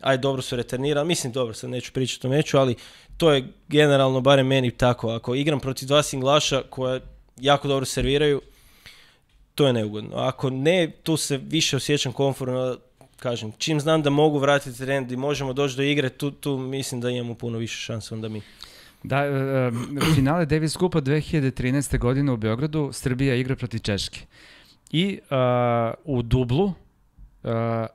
Ajde, dobro su returnirali, mislim dobro, sad neću pričati o meču, ali to je generalno, barem meni tako. Ako igram protiv dva singlaša koja jako dobro serviraju, to je neugodno. Ako ne, tu se više osjećam komfortno, kažem, čim znam da mogu vratiti trend i možemo doći do igre, tu mislim da imamo puno više šanse onda mi. Da, finale Davis Cupa 2013. godine u Beogradu, Srbija igra protiv Češke. I u dublu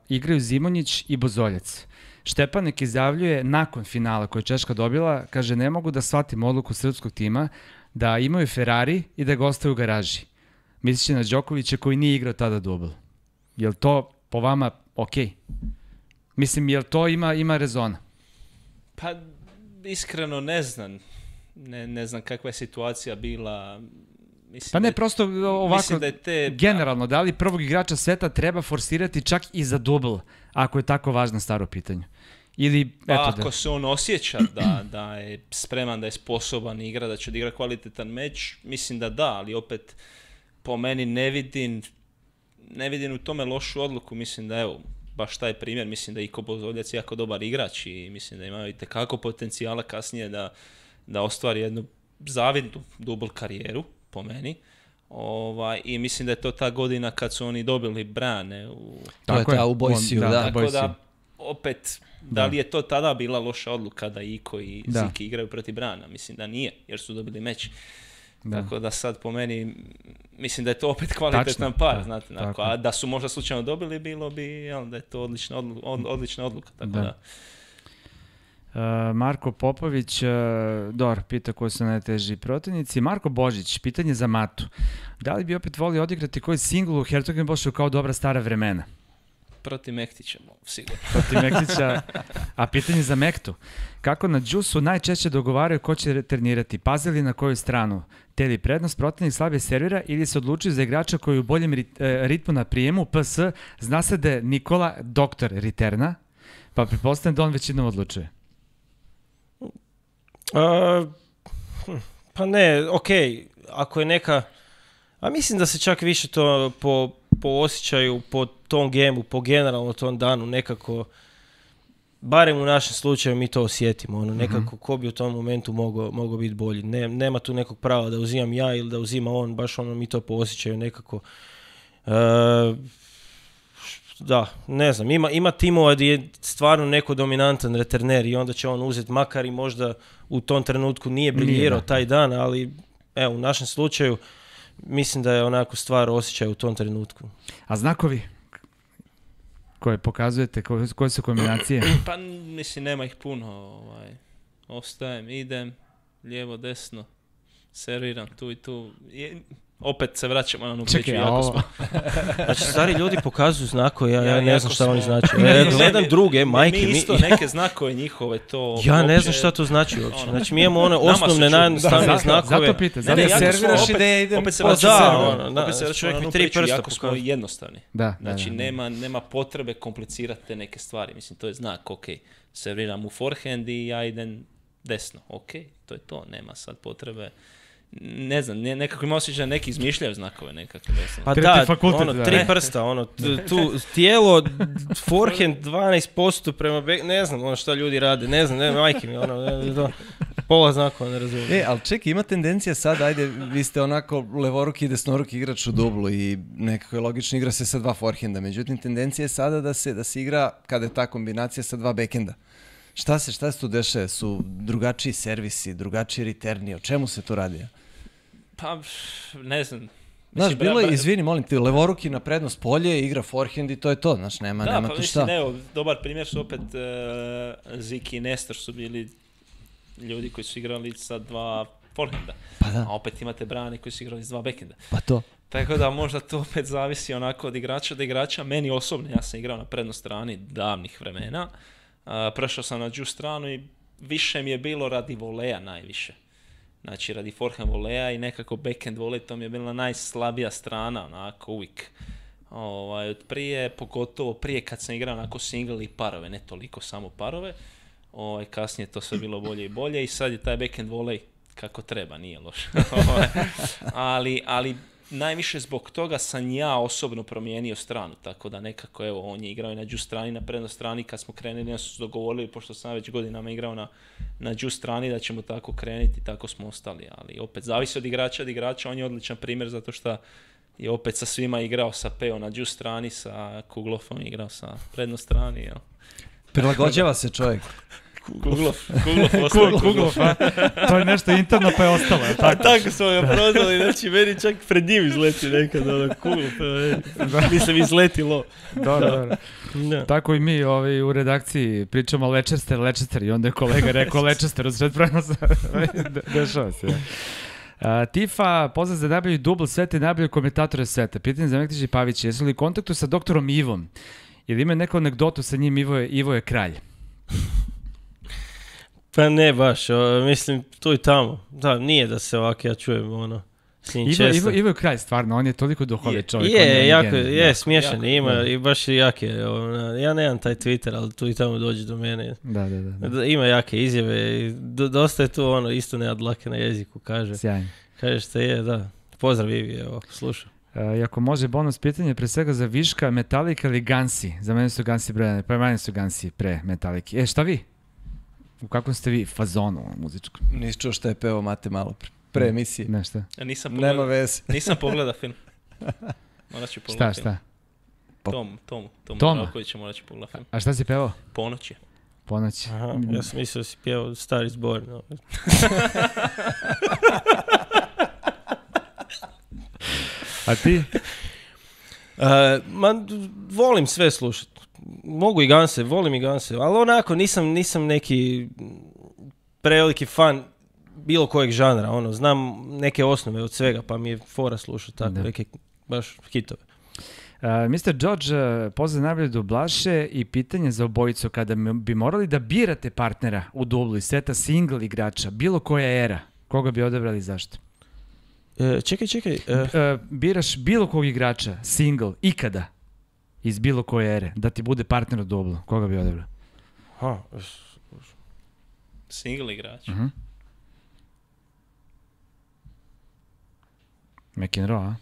igraju Zimonjić i Bozoljac. Štepanek izjavljuje nakon finala koje je Češka dobila, kaže, ne mogu da shvatim odluku srpskog tima da imaju Ferrari i da ga ostaju u garaži. Misliće na Đokovića koji nije igrao tada dubl. Je li to po vama okej? Mislim, je li to ima rezona? Pa, iskreno ne znam. Ne znam kakva je situacija bila. Mislim pa ne, prosto ovako, generalno, da li prvog igrača sveta treba forsirati čak i za dubl, ako je tako važno staro pitanje? Ili, ako se on osjeća da je spreman, da je sposoban igra, da će odigra kvalitetan meč, mislim da, ali opet po meni ne vidim u tome lošu odluku. Mislim da, evo, baš taj primjer, mislim da je Iko Bozoljac jako dobar igrač i mislim da ima itekako potencijala kasnije da ostvari jednu zavidnu dubl karijeru, po meni. I mislim da je to ta godina kad su oni dobili brane. To je ta u Boysiju, da. Tako da, opet, da li je to tada bila loša odluka da Iko i Ziki igraju protiv Brana? Mislim da nije, jer su dobili meč. Da. Tako da sad po meni, mislim da je to opet kvalitetan par, znate. A da su možda slučajno dobili, bilo bi da je to odlična odluka. Tako da. Marko Popović, pita koji su najteži protivnici. Marko Božić, pitanje za Matu. Da li bi opet volio odigrati koji singl u Hertogenbošu kao dobra stara vremena? Protiv Mektića, sigurno. Protiv Mektića. A pitanje za Mektu. Kako na džusu najčešće dogovaraju ko će returnirati? Paze li na koju stranu? Te li prednost protivnik slabije servira ili se odlučuju za igrača koji u boljem ritmu na prijemu? PS, zna se da je Nikola doktor returna, pa pretpostavljam da on većinom odlučuje. Pa ne, okej, ako je neka, a mislim da se čak više to po osjećaju, po tom gemu, po generalno tom danu nekako, barem u našem slučaju mi to osjetimo, nekako ko bi u tom momentu mogao biti bolji. Nema tu nekog prava da uzimam ja ili da uzima on, baš mi to po osjećaju nekako. Da, ne znam, ima timova gdje je stvarno neko dominantan returner i onda će on uzeti, makar i možda u tom trenutku nije briljirao taj dan, ali evo, u našem slučaju mislim da je onako stvar osjećaj u tom trenutku. A znakovi koje pokazujete, koje su kombinacije? Pa mislim, nema ih puno. Ostajem, idem, lijevo, desno, serviram tu i tu. Opet se vraćamo na onu priču. Znači, stari ljudi pokazuju znakove, ja ne znam šta oni znači. Gledam druge, majke. Mi isto neke znakove njihove to... Ja ne znam šta to znači uopće. Znači, mi imamo one osnovne, najjednostavnije znakove. Zato pita. Serviraš i da idem. Opet se vraćamo na onu priču, jako smo jednostavni. Znači, nema potrebe komplicirati te neke stvari. Mislim, to je znak, ok, serviram u forehand i ja idem desno. Ok, to je to, nema sad potrebe. Ne znam, nekako ima osjećaj da neki izmišljaju znakove nekako. Pa da, tri prsta, tu tijelo, forehand 12% prema ne znam šta ljudi rade, ne znam, majke mi, pola znakova ne razumijem. Ali čekaj, ima tendencija sad, ajde, vi ste onako levoruki i desnoruki igrač u dublu i nekako je logično igra se sa dva forehanda, međutim tendencija je sada da se igra, kada je ta kombinacija sa dva backhanda. Šta se tu dešava? Su drugačiji servisi, drugačiji returni, o čemu se tu radi? Pa, ne znam. Znaš, bilo je, izvini, molim ti, levoruki na prednost polje, igra forehand i to je to, znaš, nema tu šta. Da, pa mislim, dobar primjer su opet Ziki i Nestor su bili ljudi koji su igrali sa dva forehanda. Pa da. A opet imate Brani koji su igrali s dva backhanda. Pa to. Tako da možda to opet zavisi onako od igrača do igrača. Meni osobno, ja sam igrao na prednoj strani davnih vremena. Prešao sam na džu stranu i više mi je bilo radi voleja najviše. Znači radi forehand voleja i nekako backhand volej, to mi je bila najslabija strana, onako uvijek. Od prije, pogotovo prije kad sam igrao onako single i parove, ne toliko samo parove. Kasnije to sve bilo bolje i bolje i sad je taj backhand volej kako treba, nije loše. ali najviše zbog toga sam ja osobno promijenio stranu, tako da nekako, evo, on je igrao i na džu strani, na prednoj strani, kad smo krenuli, ja su dogovorili, pošto sam već godinama igrao na džu strani, da ćemo tako krenuti, tako smo ostali, ali opet zavisi od igrača, on je odličan primjer, zato što je opet sa svima igrao, sa Peo na džu strani, sa Kuglofom igrao sa prednoj strani, jel? Prilagođava se čovjek. Kuglov, a? To je nešto interno pa je ostalo, je tako? Tako smo ga prozvali, znači meni čak pred njim izleti nekad, Kuglov, mislim izletilo. Dobro. Tako i mi u redakciji pričamo Leicester i onda je kolega rekao Leicester u sred prenosa. Dešava se. Tifa, pozdrav za najbolji dubl sveta i najbolji komentatora sveta. Pitanje za Mektić i Pavić, jesu li u kontaktu sa doktorom Ivom? Ili ima neku anegdotu sa njim, Ivo je kralj? Pa ne baš, mislim tu i tamo. Da, nije da se ovako ja čujem s njim često. Ivo je kralj, stvarno, on je toliko duhovit čovjek. Je smiješan, ima i baš je jake. Ja nemam taj Twitter, ali tu i tamo dođe do mene. Da. Ima jake izjave i dosta je tu isto nema dlake na jeziku, kaže. Sjajno. Kaže što je, da. Pozdrav Ivi, evo, slušam. I ako može bonus pitanje, pre svega za Viška, Metallica ili Gansi? Za mene su Gansi brojane, pa mene su Gansi pre Metallica. Šta vi? U kakvom ste vi fazonu muzičkom? Nisi čuo šta je peo Mate malo pre emisije. Nešto. Ja nema veze. Nisam pogledao film. Morat ću pogledati film. Šta? Tom Rakovića morat ću pogledati film. A šta si pevao? Ponoći. Aha, ja sam mislio da si pjevao Star is Born. A ti? Volim sve slušati. Mogu i Ganse, volim i Ganse, ali onako nisam neki preveliki fan bilo kojeg žanra, znam neke osnove od svega, pa mi je fora slušati tako, neke baš hitove. Mr. George, pozdrav najbolje dublaše i pitanje za obojicu, kada bi morali da birate partnera u dublu iz seta single igrača, bilo koja era, koga bi odabrali i zašto? Čekaj. Biraš bilo kog igrača, single, ikada, iz bilo koje ere, da ti bude partner u dublu, koga bi odabrao? Single igrač. McEnroe, a?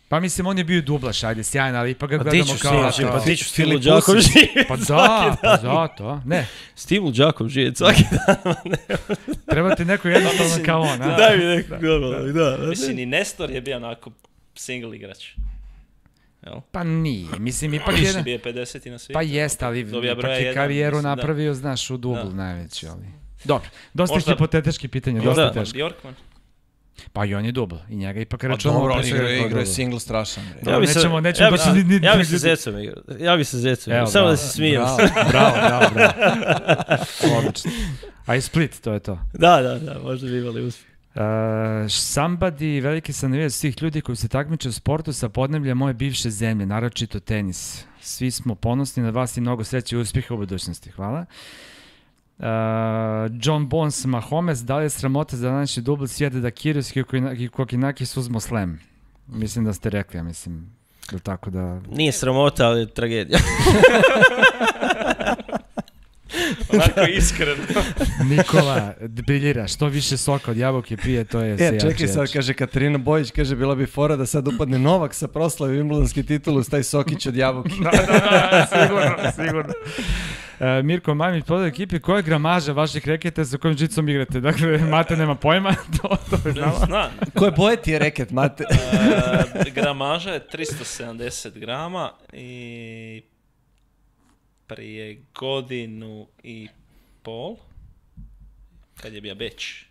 Pa mislim, on je bio dublaš, ajde, sjajan, ali ipak ga gledamo kao... Pa ti ću Stivu Đakov živjeti. Pa zato, ne. Stivu Đakov živjeti svaki dan. Treba ti neko jednostavno kao on, a? Daj mi neko normalno, da. Mislim, i Nestor je bio onako single igrač. Pa nije, mislim, ipak je... Više bio 50 na svijetu. Pa jest, ali ipak je karijeru napravio, znaš, u dublu najveći, ali... Dobro, dosta hipotetički pitanja, dosta teško. Bjorkman. Pa i on je dubl, i njega ipak računamo... Dobro, on igra single strašan. Nećemo baš... Ja bi se Zecom igrao, samo da se smijem. Bravo. Odlično. A i Split, to je to. Da, možda bi imali uspjeh. Somebody, veliki sam navijat svih ljudi koji se takmiče u sportu sa podneblja moje bivše zemlje, naročito tenis. Svi smo ponosni na vas i mnogo sreće i uspjeha u budućnosti. Hvala. John Bones Mahomes, da li je sramota za današnji dubl sjede da Kyrgios i Kokinakis uzmu slam? Mislim da ste rekli, ja mislim, tako da... Nije sramota, ali je tragedija. Onako iskreno. Nikola, briljira, što više soka od jabuke pije, to je sve jače. Čekaj sad, kaže Katarina Bojić, kaže bila bi fora da sad upadne Novak sa proslavi Wimbledonski titulu s taj sokić od jabuke. Da, sigurno. Mirko Majmić, podao ekipi, koja je gramaža vaših reketa sa kojim žicom igrate? Dakle, Mate nema pojma, to je znamo. Znam. Koje boje ti je reket, Mate? Gramaža je 370 grama i prije godinu i pol, kad je bio Beč.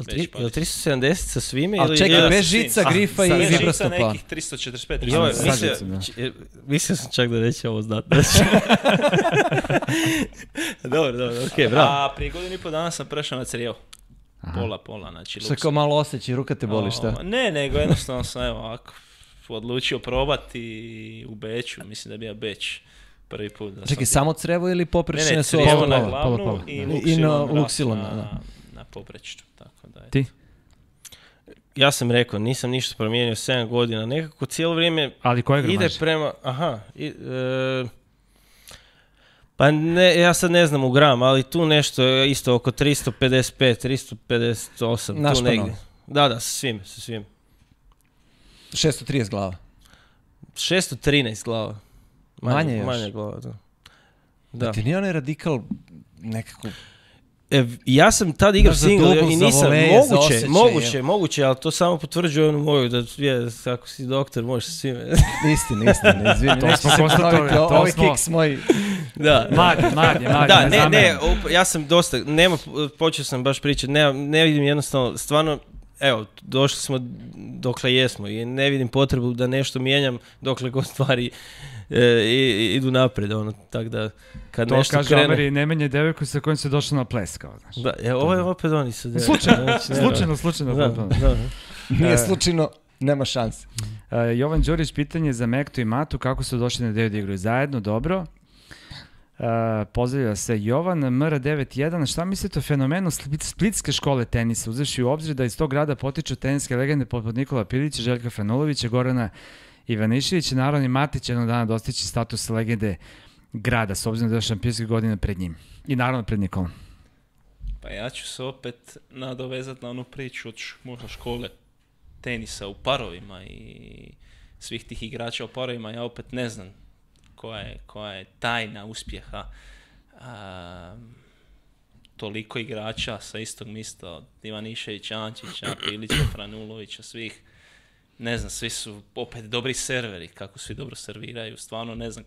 Je li 370 sa svime? Ali čekaj, bez žica, grifa i vibrostopla. Žica nekih 345. Mislio sam čak da neće ovo znati. Dobro, okej, bravo. A prije godinu i pol dana sam prešao na crijevo. Pola, znači... Što kao malo osjeći, ruka te boli, šta? Ne, nego jednostavno sam, evo, ovako, odlučio probati u Beču, mislim da je bio Beč prvi put. Čekaj, samo crevo ili poprečne su crijevo na ovo? glavnu i Luxilon na poprečnu. Tako da je. Ti? Ja sam rekao, nisam ništa promijenio 7 godina, nekako cijelo vrijeme Ali koje ide gramaže? prema... Pa ne, ja sad ne znam u gram, ali tu nešto isto oko 355, 358, Naš tu negdje. Da, sa svim. 630 glava. 613 glava. Manje još. Manje glava, da. Da. Ti nije onaj radikal nekako... Ja sam tad igrao single i nisam, moguće, ali to samo potvrđuje onu moju, da je, ako si doktor, možeš sa svime. Istina, izvini. To smo konstatovali, Ovi kiks moji... Da. Mladi, Da, ne, ja sam dosta, počeo sam baš pričati, ne vidim jednostavno, stvarno, evo, došli smo dokle jesmo i ne vidim potrebu da nešto mijenjam dokle god stvari idu naprijed, tako da kad to nešto kaže krene... Omeri, ne menje devojku sa kojom se došao na ples, kao znaš. Da, ovo je opet oni se... Slučajno. Da. Nije slučajno, nema šanse. Jovan Đurić, pitanje za Mektu i Matu, kako su došli na ideju da igraju zajedno, dobro. Pozdravlja se Jovan, MR91, šta mislite o fenomenu splitske škole tenisa, uzevši u obzir da iz tog grada potiču teniske legende poput Nikola Pilića, Željka Franulovića, Gorana Ivaniševića, naravno i Matić jednog dana dostići status legende grada, s obzirom da je šampionske godine pred njim. I naravno pred Nikolom. Pa ja ću se opet nadovezati na onu priču od možda škole tenisa u parovima i svih tih igrača u parovima. Ja opet ne znam koja je tajna uspjeha toliko igrača sa istog mista, od Ivaniševića, Ančića, Pilića, Franulovića, svih. Ne znam, svi su opet dobri serveri, kako svi dobro serviraju. Stvarno ne znam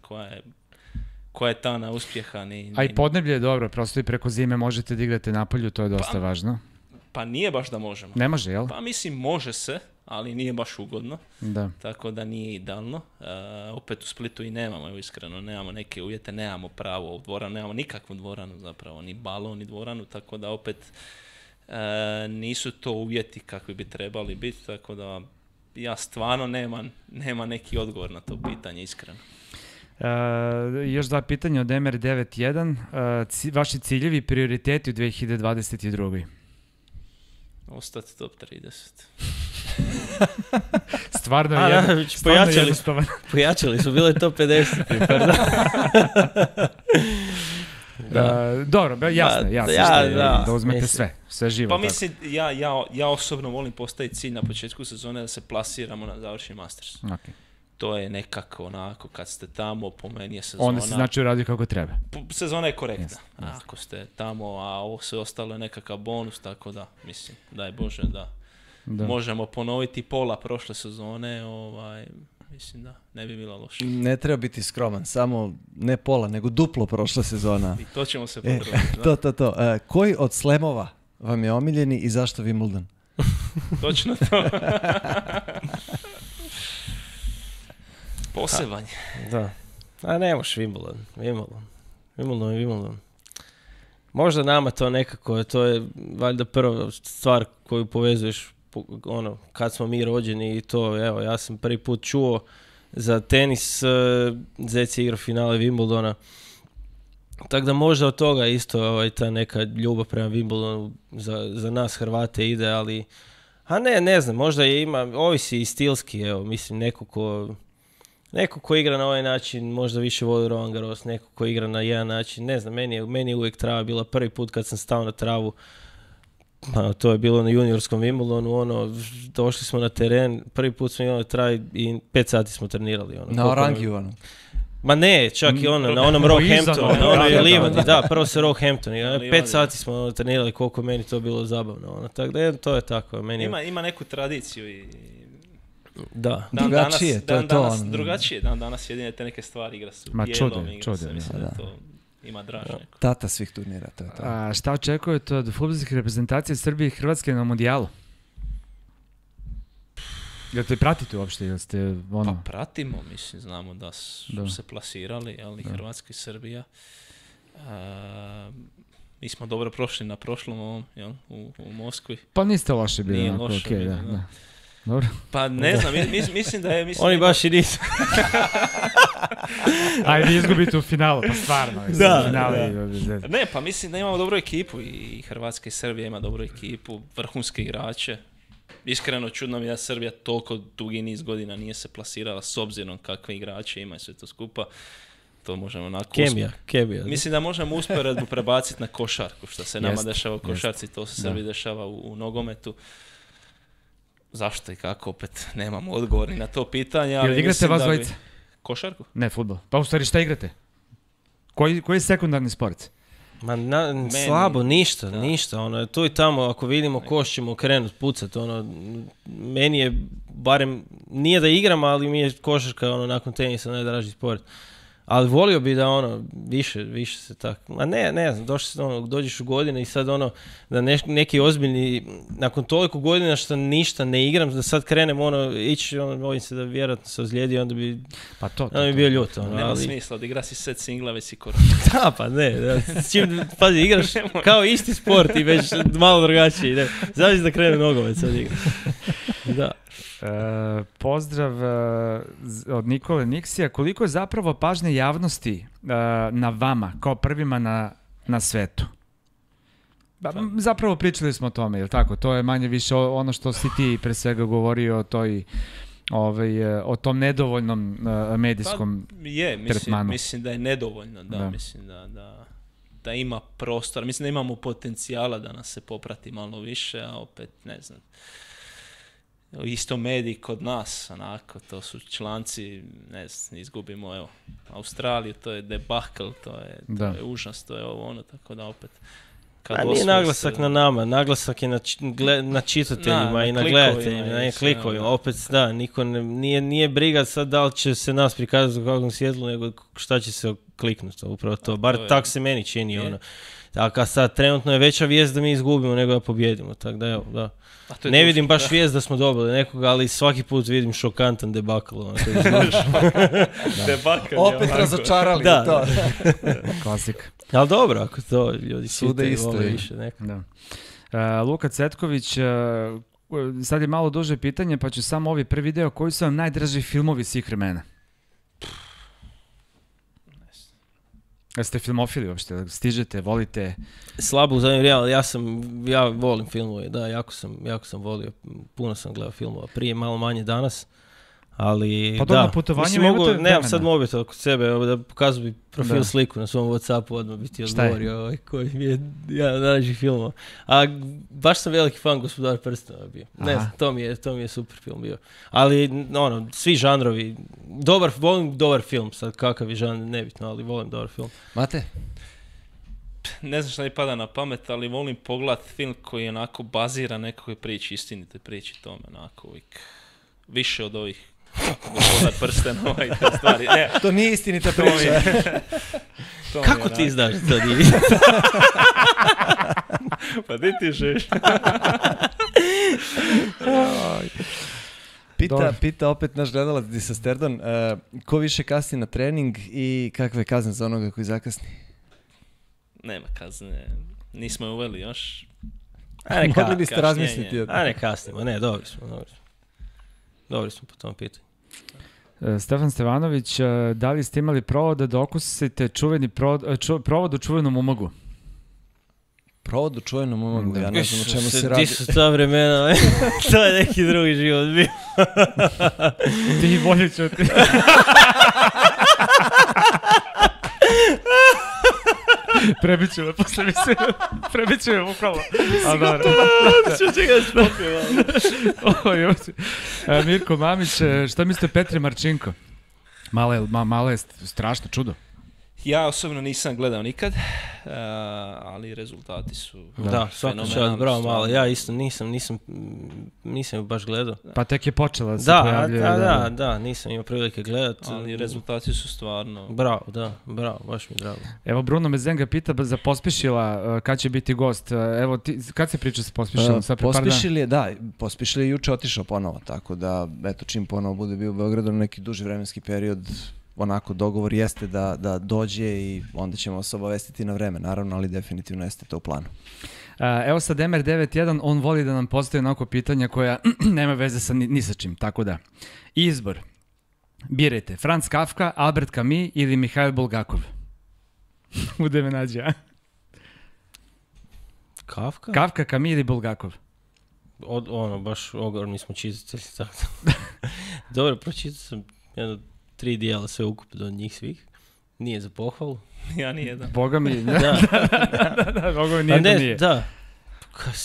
koja je ta na uspjeha. A i podneblje je dobro, prosto i preko zime možete da igrate napolju, to je dosta važno. Pa nije baš da možemo. Ne može, jel? Pa mislim može se, ali nije baš ugodno. Da. Tako da nije idealno. Opet u Splitu i nemamo, iskreno, nemamo neke uvjete, nemamo pravo u dvoranu, nemamo nikakvu dvoranu zapravo, ni balon, ni dvoranu, tako da opet nisu to uvjeti kakvi bi trebali biti, tako da ja stvarno nema neki odgovor na to pitanje, iskreno. Još dva pitanja od MR91. Vaši ciljevi i prioriteti u 2022. Ostati top 30. Stvarno jednostavan. Pojačali su, bilo je top 50. Dobro, jasno, da uzmete sve živo. Pa mislim, ja osobno volim postaviti cilj na početku sezone da se plasiramo na završni Masters. Okay. To je nekako onako, kad ste tamo, po meni je sezona... Onda se znači uradio kako treba. Sezona je korektna. Ako ste tamo, a ovo sve ostalo je nekakav bonus, tako da, mislim, daj Bože da možemo ponoviti pola prošle sezone, mislim da ne bi bilo loše. Ne treba biti skroman, samo ne pola, nego duplo prošla sezona. I to ćemo se potruditi. To. Koji od slemova vam je omiljeni i zašto Wimbledon? Točno to. Poseban. Da. A ne možeš Wimbledon. Možda nama to nekako, to je valjda prva stvar koju povezuješ kad smo mi rođeni i to, evo, ja sam prvi put čuo za tenis, Zec je igrao finale Wimbledona. Tako da možda od toga isto ta neka ljubav prema Wimbledonu za nas Hrvate ide, ali ne znam, možda ovisi i stilski, evo, mislim, neko ko igra na ovaj način možda više voli Roland Garros, neko ko igra na jedan način, ne znam, meni je uvijek trava bila prvi put kad sam stao na travu, to je bilo na juniorskom Wimbledonu, došli smo na teren, prvi put smo imali travi i 5 sati smo trenirali. Na Orangiju, Ma ne, čak i na onom Roehamptonu, na onoj livadi, prvo se Roehampton, 5 sati smo trenirali, koliko meni to bilo zabavno, tako da to je tako. Ima neku tradiciju i... Da. Drugačije, to je to. Drugačije, danas jedine te neke stvari igra su bijelom, igra se, mislim da to ima draž neko. Tata svih turnira, to je to. A šta očekujete od fudbalskih reprezentacija Srbije i Hrvatske na Mundijalu? Jel te pratite uopšte? Pa pratimo, mislim, znamo da su se plasirali, ali Hrvatska i Srbija. Mi smo dobro prošli na prošlom ovom, u Moskvi. Pa niste loše bili. Nije loše okay, bili, da. Dobro. Pa ne znam, mislim da je... Oni baš i nisu. Ajde, izgubite u finalu, pa stvarno. Ne, pa mislim da imamo dobru ekipu i Hrvatska i Srbija ima dobru ekipu, vrhunske igrače. Iskreno čudno mi da Srbija toliko dugi niz godina nije se plasirala s obzirom kakve igrače ima i sve to skupa. To možemo onako... Kemija. Mislim da možemo usporedbu prebaciti na košarku, što se nama dešava u košarci, to se Srbiji dešava u nogometu. Zašto i kako, opet nemamo odgovor ni na to pitanje. Jel igrate vas dvojice? Košarku? Ne, fudbal. Pa u stvari šta igrate? Koji je sekundarni sport? Ma slabo, ništa. Ono, tu i tamo, ako vidimo koš ćemo krenuti pucat. Ono, meni je, barem, nije da igram, ali mi je košarka nakon tenisa najdraži sport. Ali volio bi da više se tako, ne znam, dođeš u godine i sad da neki ozbiljni, nakon toliko godina što ništa ne igram, da sad krenem ići, bojim se da vjerojatno se ozlijedi, onda bi, bi bio ljut. Nema smisla, odigra si set singla, već si korona. Da, pa ne, s čim, pazi, igraš kao isti sport i već malo drugačiji, zavisi da krene nogomet sad igraš. Da. Pozdrav od Nikole Niksija. Koliko je zapravo pažnje javnosti na vama, kao prvima na svetu? Zapravo pričali smo o tome, jel tako? To je manje više ono što si ti pre svega govorio o tom nedovoljnom medijskom tretmanu. Mislim da je nedovoljno, mislim da ima prostor, mislim da imamo potencijala da nas se poprati malo više, a opet ne znam. Isto mediji kod nas, onako, to su članci, ne znam, izgubimo, Australiju, to je debakl, to je užas, to je tako da opet... Nije naglasak na nama, naglasak je na čitateljima i na gledateljima, na klikovima, opet niko nije briga sad da li će se nas prikazati u kakvom svjetlu, nego šta će se kliknuti, upravo to, bar tako se meni čini, Tako, sad trenutno je veća vijest da mi izgubimo nego da pobjedimo, tako da evo, da. Ne vidim baš vijest da smo dobili nekoga, ali svaki put vidim šokantan debakl. Opet razočarali to. Klasik. Ali dobro, ako to ljudi sude isto više nekako. Luka Cetković, sad je malo duže pitanje, pa ću samo ovi prvi deo. Koji su vam najdraži filmovi svih vremena? Jeste filmofili uopšte? Stižete, volite? Slabo u zadnje vrijeme, ali ja volim filmove, da, jako sam volio, puno sam gledao filmova, prije malo manje danas, ali pa na putovanje nemam sad mobitel kod sebe, da pokazu bi profil sliku na svom WhatsAppu, odmah bi ti odgovorio koji mi je jedan najdražih filmova. A baš sam veliki fan Gospodara prstenova bio. Ne znam, to mi je super film bio. Ali svi žanrovi, volim dobar film, sad kakav je žanr, nebitno, ali volim dobar film. Mate? Ne znam šta mi pada na pamet, ali volim pogledat film koji je onako bazira nekakve priči, istinite priči tome, onako uvijek više od ovih Gospodar prstenova i te stvari. Ne. To nije istinita priča. Kako ti znaš to nije? Pa di ti živiš? Pita opet naš gledalac Disa Sterdon, ko više kasni na trening i kakve kazne za onoga koji zakasni? Nema kazne, nismo je uveli još. Mogli biste razmisliti. Ne kasnimo, ne, dobri smo. Dobri smo po tom pitanju. Stefan Stevanović, da li ste imali provod da okusite provod u čuvenom umagu? Provod u čuvenom umagu, ja ne znam o čemu se radi. Ti su ta vremena, to je neki drugi život bio. Ti bolje čuti. Prebiću me, posle mi se prebiću me bukvalno. Mirko Mamić, šta mislite Petre Marčinko? Malo je strašno čudo. Ja osobno nisam gledao nikad, ali rezultati su fenomenalni. Bravo, malo. Ja isto nisam baš gledao. Pa tek je počela da se pojavljuje. Da, nisam imao prilike gledati. Ali rezultati su stvarno... Bravo, baš mi drago. Evo, Bruno Mezenga pita za Pospišila, kad će biti gost. Evo, kad se priča sa Pospišilom? Pospišil je juče otišao ponovo, tako da, eto, čim ponovo bude bio u Beogradu na neki duži vremenski period, onako dogovor jeste da dođe i onda ćemo se obavestiti na vreme, naravno, ali definitivno jeste to u planu. Evo sad Emer 91, on voli da nam postaje onako pitanja koja nema veze sa ni sa čim, tako da. Izbor. Birajte, Franz Kafka, Albert Camus ili Mihail Bulgakov. Bude me nađe, a? Kafka? Kafka, Camus ili Bulgakov? Baš ogromni smo čitatelji. Dobro, pročitao sam 3 dijela sve ukupno od njih svih. Nije za pohvalu. Ja nijedan. Boga mi, Da. da, Boga mi nije. Da.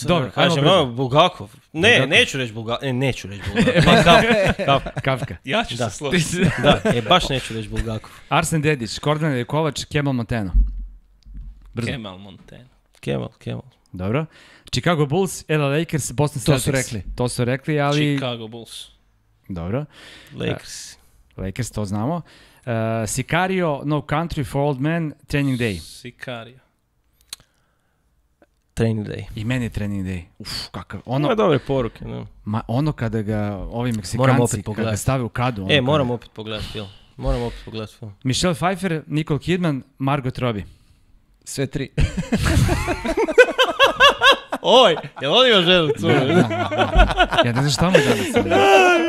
Dobro, kažem, Bulgakov. Neću reći Bulgakov. Neću reći Bulgakov. Kafka. Ja ću se složiti. Da, baš neću reći Bulgakov. Arsen Dedić, Kordan Kovač, Kemal Monteno. Brzo. Kemal Monteno. Kemal. Dobro. Chicago Bulls, LA Lakers, Boston Celtics. To su rekli, ali... Chicago Bulls. Dobro. Lakers, to znamo. Sicario, No Country for Old Men, Training Day. Sicario. Training Day. I meni je Training Day. Kakav. Ima dobre poruke. No. Ono kada ga ovi Meksikanci, kada ga stave u kadu. Moram opet pogledati film. Michelle Pfeiffer, Nicole Kidman, Margot Robbie. Sve 3. Oj, jel on ima ženu curu? Ja ne znam šta mu danas.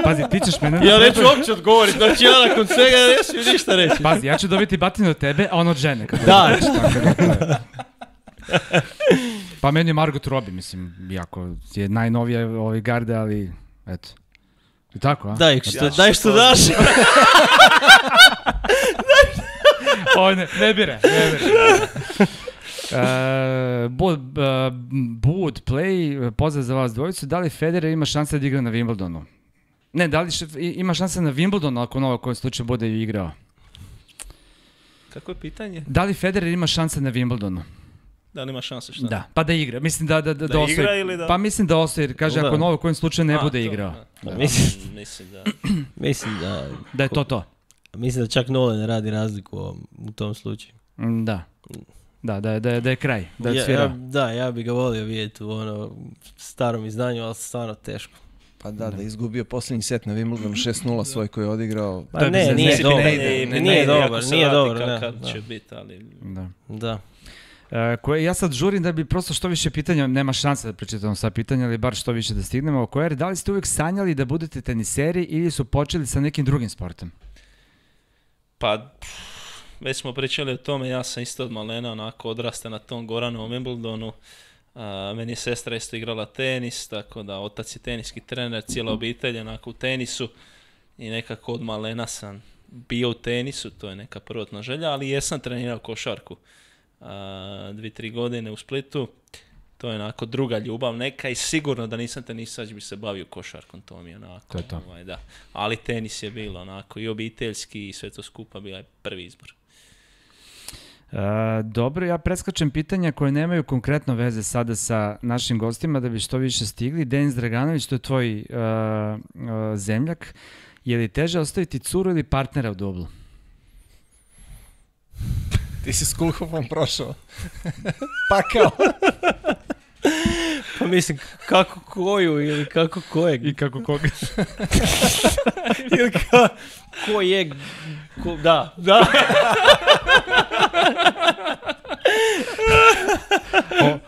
Pazi, ti ćeš mene... Ja neću uopće odgovoriti, znači ja nakon svega neću ništa reći. Pazi, ja ću dobiti batinu od tebe, a on od žene. Da. Pa meni je Margot Robbie, mislim, jako je najnovija ovi garde, ali eto. I tako, a? Daj što daš. Oj, ne bire. Boot Play, pozdrav za vas dvojicu. Da li Federer ima šanse da igra na Wimbledonu? Ne, da li ima šanse na Wimbledonu ako ono koji slučaj bude igrao? Kako je pitanje? Da li Federer ima šanse na Wimbledonu? Da li ima šanse šta? Da, pa da igra. Mislim da osvoji. Igra ili da... Pa mislim da osvoji, jer kaže ako novo kojim slučaju ne bude igrao. Mislim da... Da je to. Mislim da čak Nolan ne radi razliku u tom slučaju. Da. Da je kraj, da je svirao. Ja bi ga volio vidjeti u starom izdanju, ali stvarno teško. Pa da izgubio posljednji set na Wimbledonu 6-0 svoj koji je odigrao. Pa nije dobar. Kad će biti, ali... Da. Ja sad žurim da bi prosto što više pitanja, nema šanse da prečitamo sva pitanja, ali bar što više da stignemo. Da li ste uvijek sanjali da budete teniseri ili su počeli sa nekim drugim sportom? Pa... Već smo pričali o tome, ja sam isto od malena onako odrasta na tom Goranovom Wimbledonu. Meni je sestra isto igrala tenis, tako da otac je teniski trener, cijela obitelj onako u tenisu i nekako od malena sam bio u tenisu, to je neka prvotna želja, ali jesam trenirao košarku 2-3 godine u Splitu. To je onako druga ljubav neka i sigurno da nisam tenisač bi se bavio košarkom, to mi je onako. To. Da. Ali tenis je bilo onako i obiteljski i sve to skupa bio je prvi izbor. Dobro, ja preskačem pitanja koje nemaju konkretno veze sada sa našim gostima da bi što više stigli. Denis Draganović, to je tvoj zemljak. Je li teže ostaviti curu ili partnera u dublu? Ti si s Kulhofom prošao. Pakao. Pa mislim, kako koju ili kako kojeg? I kako koga? Ili kojeg? Da.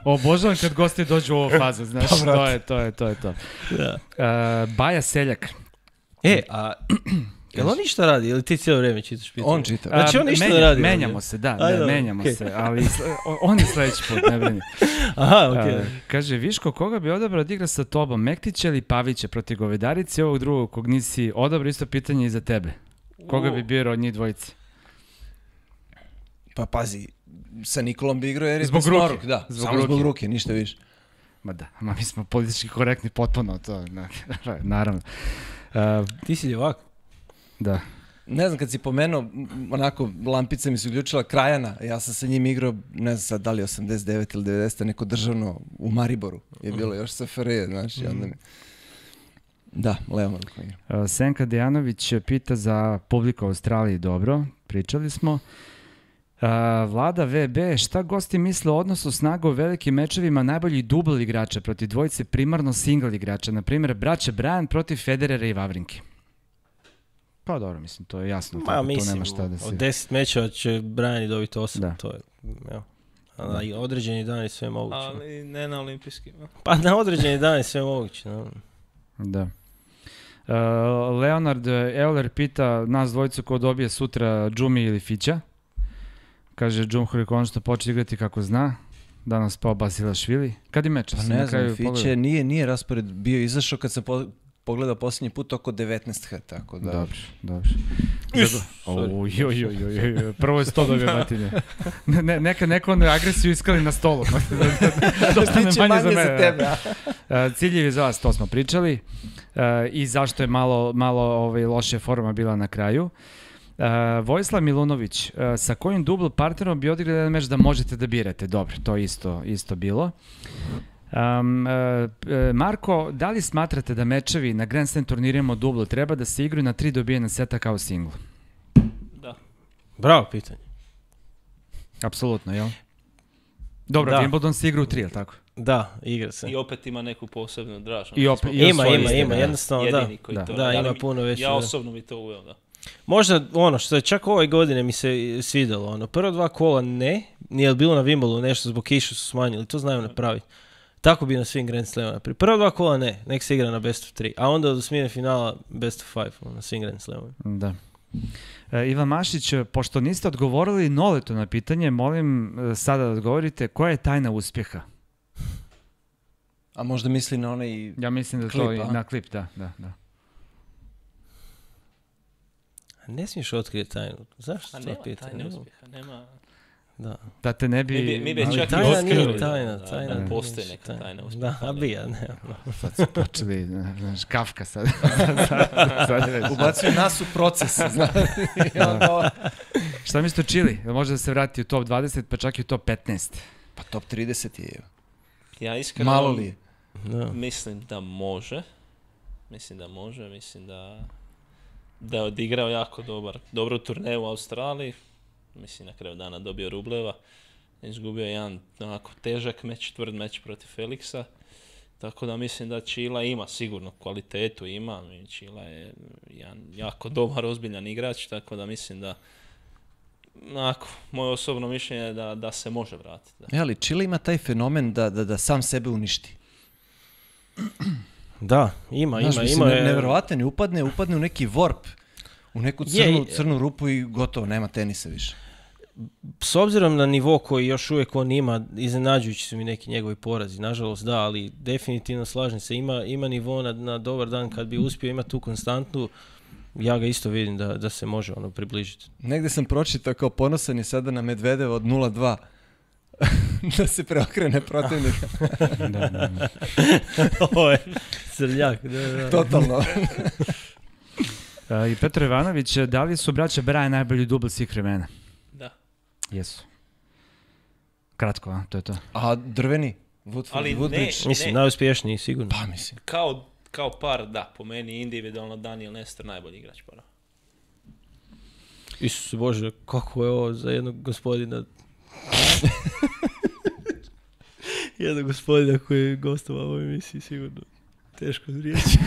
Obožavam kad gosti dođu u ovu fazu, znaš, to je to. Da. Baja Seljak. Jel on ništa radi ili ti cijelo vrijeme čitaš pitanje? On čita. Znači on ništa ne radi. Menjamo se, menjamo se, ali on je sljedeći put, ne brini. Aha, okej. Kaže, Viško, koga bi odabrao da igra sa tobom, Mektića ili Pavića protiv Govedarice i ovog drugog kog nisi odabrao, isto pitanje i za tebe. Koga bi birao od njih dvojice? Pa pazi, sa Nikolom bi igrao jer je zbog ruke. Da, samo zbog ruke, ništa više. Ma da, mi smo politički korektni potpuno, to, naravno. Ti si ljevak? Da. Ne znam, kad si pomenuo, onako, lampica mi se uključila Krajana, ja sam sa njim igrao, ne znam sad da li 89 ili 90, neko državno u Mariboru je bilo još SFRJ, znaš, i onda mi... Da, levom rukom igram. Senka Dejanović pita za publiku u Australiji, dobro, pričali smo. Vlada VB, šta gosti misle o odnosu snaga u velikim mečevima najboljih dubl igrača protiv dvojice primarno single igrača, na primjer braće Bryan protiv Federera i Vavrinke? Pa dobro, mislim, to je jasno. Ma, tako, mislim, to nema šta da se... od 10 mečeva će Brian dobiti 8, Da. to je, evo. A na određeni dan je sve moguće. Ali ne na olimpijskim. Pa na određeni dan je sve moguće. No. Da. Leonard Euler pita nas dvojicu ko dobije sutra Džumi ili Fića. Kaže, Džumhur konačno početi igrati kako zna. Danas pao Basilašvili. Kad je meč? Pa ne znam, Fiće nije raspored bio izašao kad sam pogledao posljednji put oko 19h, tako da... Dobro. Prvo je 100 dobio batine. Neka onu agresiju iskali na stolu. Dosta ne manje za tebe. Ciljevi za vas, to smo pričali. I zašto je malo loše forma bila na kraju. Vojislav Milunović, sa kojim dubl partnerom bi odigrali jedan meč da možete da birate? Dobro, to je isto bilo. Marko, da li smatrate da mečevi na Grand Slam turnirima dublo treba da se igraju na 3 dobijena seta kao singl? Da. Bravo pitanje. Apsolutno, jel? Dobro, Wimbledon se igra u 3, jel tako? Da, igra se. I opet ima neku posebnu draž. Ima, jednostavno, jedini koji to da, ima puno veće. Ja osobno bi to uveo, da. Možda ono što je čak ove godine mi se svidjelo, prva 2 kola nije bilo na Wimbledonu nešto zbog kiše su smanjili, to znaju napraviti. Tako bi na svim Grand Slamima. Prva 2 kola nek se igra na best of 3, a onda od osmine finala best of 5 na svim Grand Slamima. Da. Ivan Mašić, pošto niste odgovorili Noletu na pitanje, molim sada da odgovorite koja je tajna uspjeha? A možda misli na onaj Ja mislim da klip, to na klip, da. Ne smiješ otkriti tajnu. Zašto to pitanje? Tajne uspjeha, nema... Da te ne bi... Mi bi čak i tajna otkrili nije tajna. da postoji neka tajna uspjeha. Da, a bija, ne. Sad su počeli, znaš, Kafka sad. Ubacuju nas u proces, znaš. Šta mislite o Čili? Može da se vrati u top 20, pa čak i u top 15? Pa top 30 je. Ja iskreno... Malo li je? Mislim da može. Mislim da je odigrao jako dobru turneju u Australiji. Mislim, na kraju dana dobio Rubleva. Izgubio jedan onako težak meč, tvrd meč protiv Felixa. Tako da mislim da Čila ima sigurno kvalitetu, ima. Čila je jedan jako dobar, ozbiljan igrač, tako da mislim da moje osobno mišljenje je da se može vratiti. Ali Čila ima taj fenomen da sam sebe uništi. Da, ima. Nevjerovatan je, upadne u neki warp, u neku crnu rupu i gotovo, nema tenisa više. S obzirom na nivo koji još uvijek on ima, iznenađujući su mi neki njegovi porazi, nažalost da, ali definitivno slažem se, ima nivo na dobar dan kad bi uspio imati tu konstantnu, ja ga isto vidim da se može približiti. Negde sam pročitao kao ponosan je sada na Medvedeva od 0-2. Da se preokrene protivnika. Da. Ovo je srljak. Da. Totalno. I Petro Ivanović, da li su braća Braja najbolji dubl svih vremena? Da. Jesu. Kratko, a? To je to. A drveni? Woodbridge? Mislim, najuspješniji, sigurno. Pa mislim. Kao par, da. Po meni individualno Daniel Nestor najbolji igrač para. Isuse Bože, kako je ovo za jednog gospodina... jednog gospodina koji je gostovao u ovoj emisiji, sigurno teško riječi.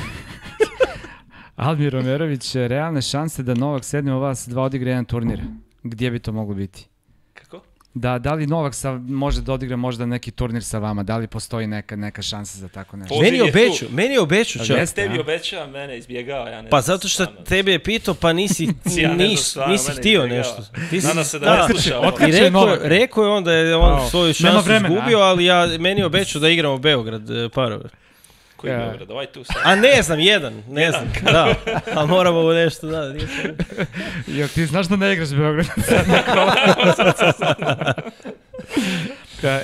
Almir Romerović, realne šanse da Novak sedne u vas 2 odigra jedan turnir. Gdje bi to moglo biti? Kako? Da li Novak može da odigra možda neki turnir sa vama? Da li postoji neka šansa za tako nešto? Meni je obećao čak. Tebi obećao, mene izbjegao. Ja ne pa zato što tebe je pitao, pa nisi htio nešto. Nadam se da ne slušao. Rekao je on da je on svoju šansu izgubio, ali meni je obećao da igramo Beograd parove. Koji Beograd? Ovaj tu sad. A ne znam, ne znam, da. A moramo mu nešto, da. Jel ti znaš da ne igraš Beograd?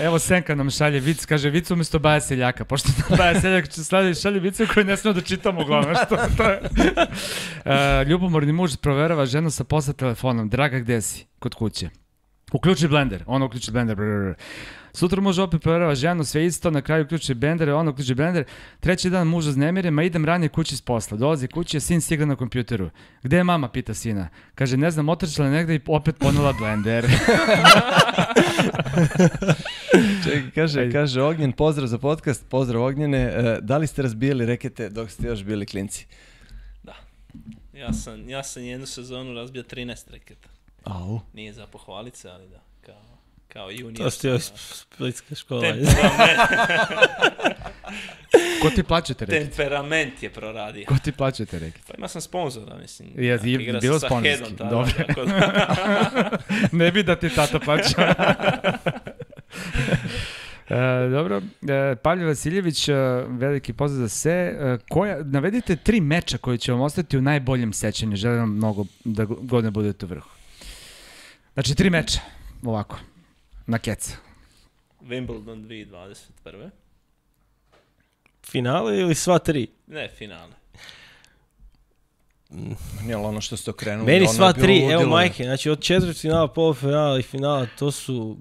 Evo Senka nam šalje vic, kaže vic umjesto Baja Seljaka, pošto Baja Seljak šalje vice koje ne smijemo da čitamo uglavnom. Ljubomorni muž proverava ženu sa posla telefonom. Draga, gde si? Kod kuće. Uključi blender, ono uključi blender. Sutra muž opet proverava ženu, sve isto, na kraju uključi blender, ono uključi blender. Treći dan muž uznemire, ma idem ranije kući s posla. Dolazi kući, sin si igra na kompjuteru. Gde je mama, pita sina. Kaže, ne znam, otrčala negde i opet ponela blender. Čekaj, kaže Ognjen, pozdrav za podcast, pozdrav Ognjene. Da li ste razbijali rekete dok ste još bili klinci? Da. Ja sam jednu sezonu razbio 13 reketa. Au. Nije za pohvalit se, ali da, kao junior. To ste joj splitska škola. Ko ti plaća te reket? Temperament je proradio. Ko ti plaća te reket? Pa ima sam sponzora, mislim. Bilo sponzorski, dobro. Ne bi da ti tata plaća. Dobro, Pavle Vasiljević, veliki pozdrav za sve. Navedite 3 meča koji će vam ostati u najboljem sećanju. Želim vam mnogo da godine budete u vrhu. Znači 3 meča, ovako, na keca. Wimbledon 2021. Finale ili sva 3? Ne, finale. Nije ono što ste okrenuli. Meni ono sva je bilo 3, ludilo. evo majke, znači od četvrtfinala, polufinala i finala, to su,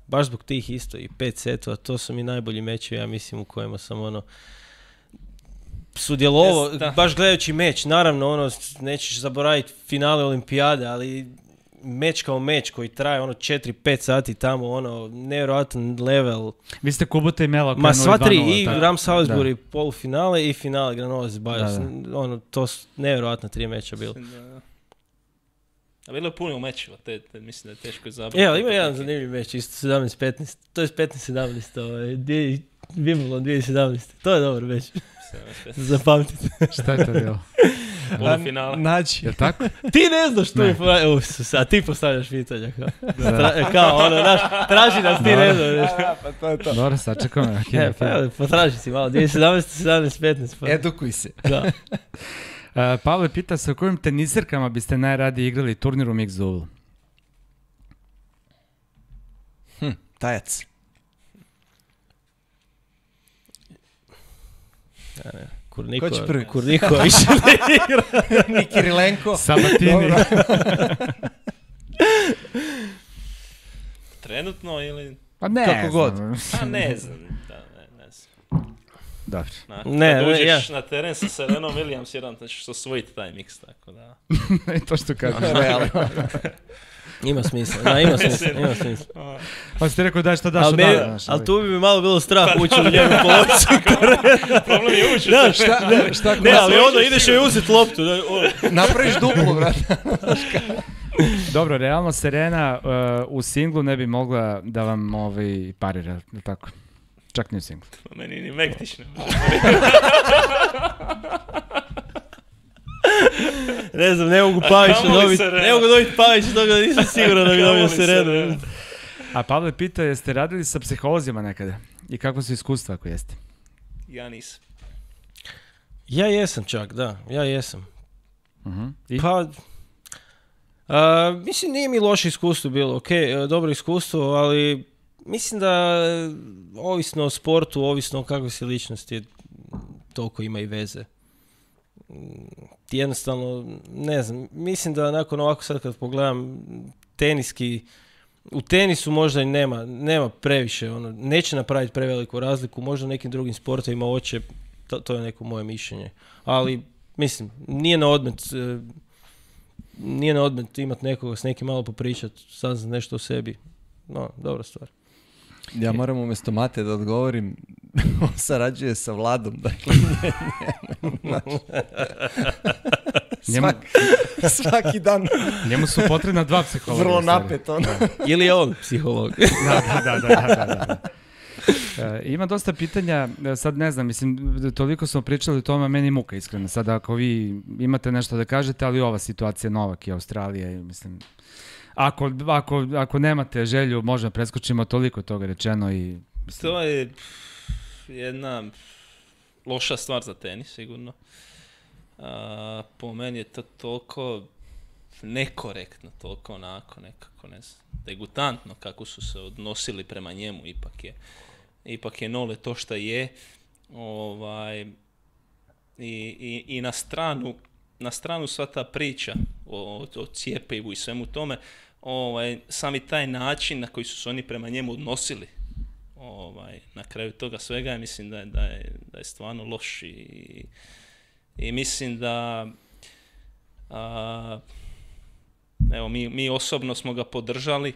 baš zbog tih isto, i 5 setova, to su mi najbolji mečevi, ja mislim, u kojima sam sudjelovao, baš gledajući meč, naravno, nećeš zaboraviti finale olimpijade, ali meč kao meč koji traje 4-5 sati tamo, nevjerojatan level. Vi ste Kubota i Mela. Ma sva 3, i Ram Salisbury polufinale i finale Granollers Bajas. To su nevjerojatna 3 meča bilo. A bilo je puno mečeva, mislim da je teško izabrati. Evo, ima jedan zanimljiv meč, isto 17-15, to je 15-17, Wimbledon 2017, to je dobar meč. Zapamtite. Šta je to bilo? Polufinale. Naći. Je tako? Ti ne znaš što je, a ti postavljaš pitanja kao traži nas, ti ne znaš. Pa to je to. Dobro, sačekam. Potraži si malo, 2017, 17-15. Edukuj se. Da. Pavle pita sa kojim teniserkama biste najradije igrali turnir u Mixed Doublu? Tajac. Ko će prvi? Kurniko više ne igra. Ni Kirilenko. Sabatini. Trenutno ili... Pa ne Kako god. A ne znam. Ne znam. Dobro. Kad uđeš na teren sa Serenom Williams, jedan ćeš osvojiti taj mix, tako da... I to što kažeš. Ima smisla, ima smisla. Pa ste rekao daj što daš od dana. Ali tu bi mi malo bilo strah ući u njegu polovicu. Problem je ući. Šta ne, ali ideš joj uzeti loptu. Napraviš duplu, brate. Dobro, realno Serena u singlu ne bi mogla da vam parira, tako? Čak ni u singlu. Meni ni Mektić ne Ne znam, ne mogu Pavića dobiti. Ne mogu dobiti Pavića, toga da nisam siguran da bi dobio Serenu. A Pavle pita, jeste radili sa psiholozima nekada? I kako su iskustva ako jeste? Ja nisam. Ja jesam čak, da. Ja jesam. I? Pa... mislim, nije mi loše iskustvo bilo. Ok, dobro iskustvo, ali mislim da ovisno o sportu, ovisno o kakvoj si ličnosti, toliko ima i veze. Jednostavno, ne znam, mislim da nakon ovako sad kad pogledam teniski, u tenisu možda i nema previše, neće napraviti preveliku razliku, možda u nekim drugim sportovima hoće, to je neko moje mišljenje. Ali, mislim, nije na odmet imati nekoga s nekim malo popričati, saznat nešto o sebi. No, dobra stvar. Ja moram umjesto Mate da odgovorim, on sarađuje sa Vladom, dakle svaki dan. Njemu su potrebna 2 psihologa. Vrlo napet, Ili je on psiholog? Da. Ima dosta pitanja, sad ne znam, mislim, toliko smo pričali o tome, meni muka iskreno. Sad ako vi imate nešto da kažete, ali ova situacija Novak i Australija, mislim... Ako nemate želju, možda preskočimo, toliko toga rečeno i... To je jedna loša stvar za tenis, sigurno. Po meni je to toliko nekorektno, toliko onako nekako, ne znam, degutantno kako su se odnosili prema njemu, ipak je Nole to što je. I na stranu sva ta priča o cijepivu i svemu tome, sami taj način na koji su se oni prema njemu odnosili na kraju toga svega, ja mislim da je stvarno loš i mislim da evo mi osobno smo ga podržali,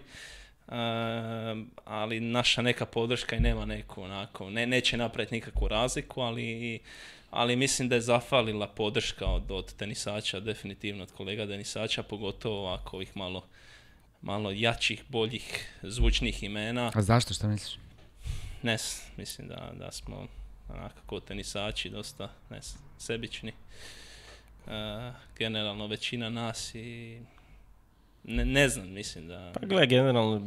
ali naša neka podrška i nema neku onako, neće napraviti nikakvu razliku, ali mislim da je zafalila podrška od tenisača, definitivno od kolega tenisača, pogotovo ovako ovih malo jačih, boljih, zvučnih imena. A zašto, šta misliš? Mislim da smo onako tenisači dosta sebični. Generalno većina nas i ne znam, mislim da... Pa gledaj, generalno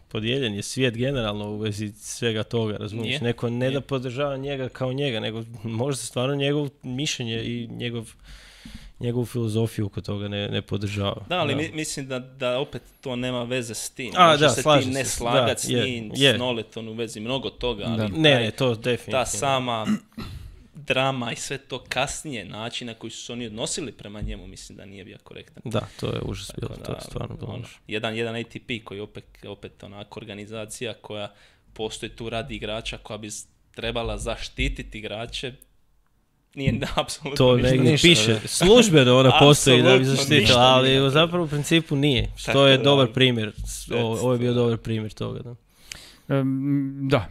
podijeljen je svijet generalno u vezi svega toga, razumiješ? Neko ne da podržava njega kao njega, nego možda stvarno njegov mišljenje i njegovu filozofiju oko toga ne podržava. Da, ali mislim da opet to nema veze s tim. Možeš se ti ne slagat s njim, s Noleton u vezi mnogo toga, ali ne, to definitivno. Ta sama drama i sve to kasnije, način na koji su se oni odnosili prema njemu, mislim da nije bio korektan. Da, to je užas bilo, to je stvarno bilo. Jedan ATP koji je opet onako organizacija koja postoji tu radi igrača, koja bi trebala zaštititi igrače, nije apsolutno to negdje piše, službeno ona postoji da bi zaštitila, ali zapravo u principu nije, što je dobar primjer, ovo je bio dobar primjer toga, da. Da,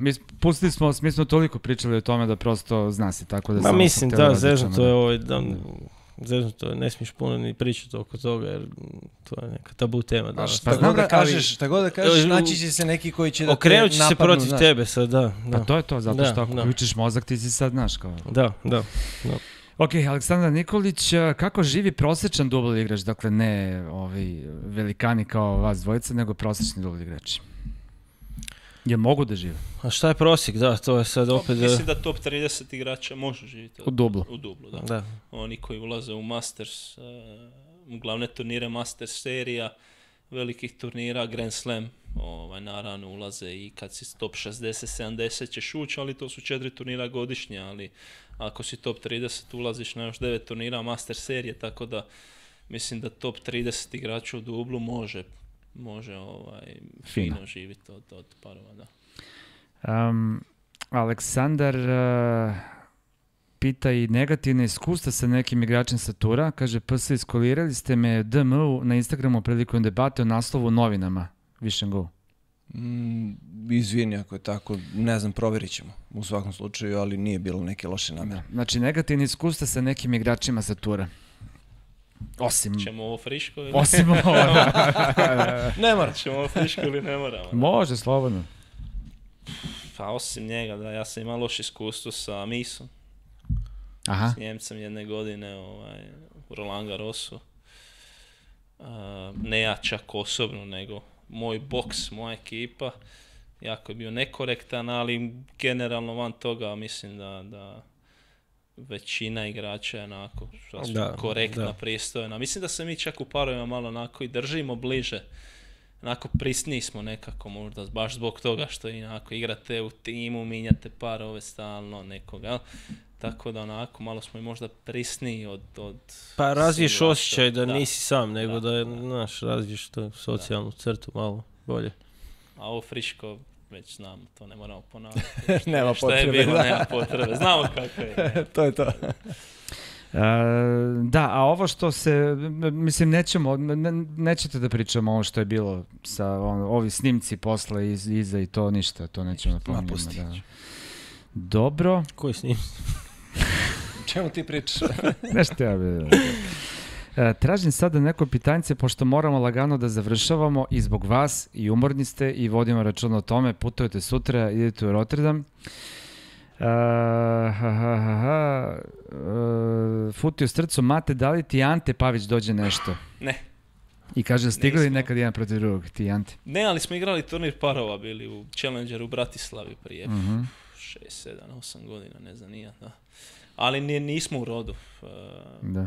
mi smo toliko pričali o tome da prosto zna se tako da... Ma mislim, da, zeznuto je zeznuto je, ne smiješ puno ni pričati oko toga, jer to je neka tabu tema. Da. Šta god da kažeš, naći će se neki koji će da te napadnu. Okrenut će se protiv tebe sad, da. Pa to je to, zato što ako uključiš mozak, ti si sad znaš kao... Da. Ok, Aleksandar Nikolić, kako živi prosječan dubl igrač, dakle ne velikani kao vas dvojica, nego prosječni dubl igrači? Je mogu da žive? A šta je prosjek, da, to je sad opet... Mislim da top 30 igrača može živjeti. U dublu, da. Oni koji ulaze u Masters, u glavne turnire Masters serija, velikih turnira, Grand Slam, naravno ulaze i kad si top 60-70 ćeš ući, ali to su 4 turnira godišnje, ali ako si top 30 ulaziš na još 9 turnira Masters serije, tako da mislim da top 30 igrača u dublu može fino živjeti od parova, da. Aleksandar pita i negativne iskustva sa nekim igračem sa tura. Kaže, PS iskolirali ste me DM-u na Instagramu prilikom debate o naslovu novinama. Wish and go. Izvini ako je tako, ne znam, provjerit ćemo u svakom slučaju, ali nije bilo neke loše namjere. Znači, negativne iskustva sa nekim igračima sa tura. Osim... Ćemo ovo friško ili... Osim ovo, ne mora. Ćemo ovo friško ili ne moramo? Može, slobodno. Pa osim njega, da, ja sam imao loše iskustvo sa Misom. Aha. S Njemcem jedne godine u Roland Garrosu. Ne ja čak osobno, nego moj boks, moja ekipa. Jako je bio nekorektan, ali generalno van toga mislim da većina igrača je onako korektna, pristojna. Mislim da se mi čak u parovima malo onako i držimo bliže. Onako prisniji smo nekako možda, baš zbog toga što onako igrate u timu, minjate parove stalno nekoga. Tako da onako malo smo i možda prisniji od pa razviješ osjećaj da nisi sam, nego da razviješ to socijalnu crtu malo bolje. A ovo friško već znamo, to ne moramo ponavljati. Nema potrebe. Nema potrebe, znamo kako je. To je to. Da, a ovo što se, mislim, nećete da pričamo ovo što je bilo sa ovi snimci posle iza i to ništa, to nećemo da pominjamo. Da. Dobro. Koji snimci? Čemu ti pričaš? Nešto ja bi... Tražim sada neko pitanje, pošto moramo lagano da završavamo i zbog vas, i umorni ste, i vodimo računa o tome, putujete sutra, idete u Rotterdam. Futio srcu, Mate, da li ti Ante Pavić dođe nešto? Ne. I kaže, stigli li nekad jedan protiv drugog, ti Ante? Ne, ali smo igrali turnir parova, bili u Challengeru u Bratislavi prije 6, 7, 8 godina, ne znam nija, da. Ali nismo u rodu.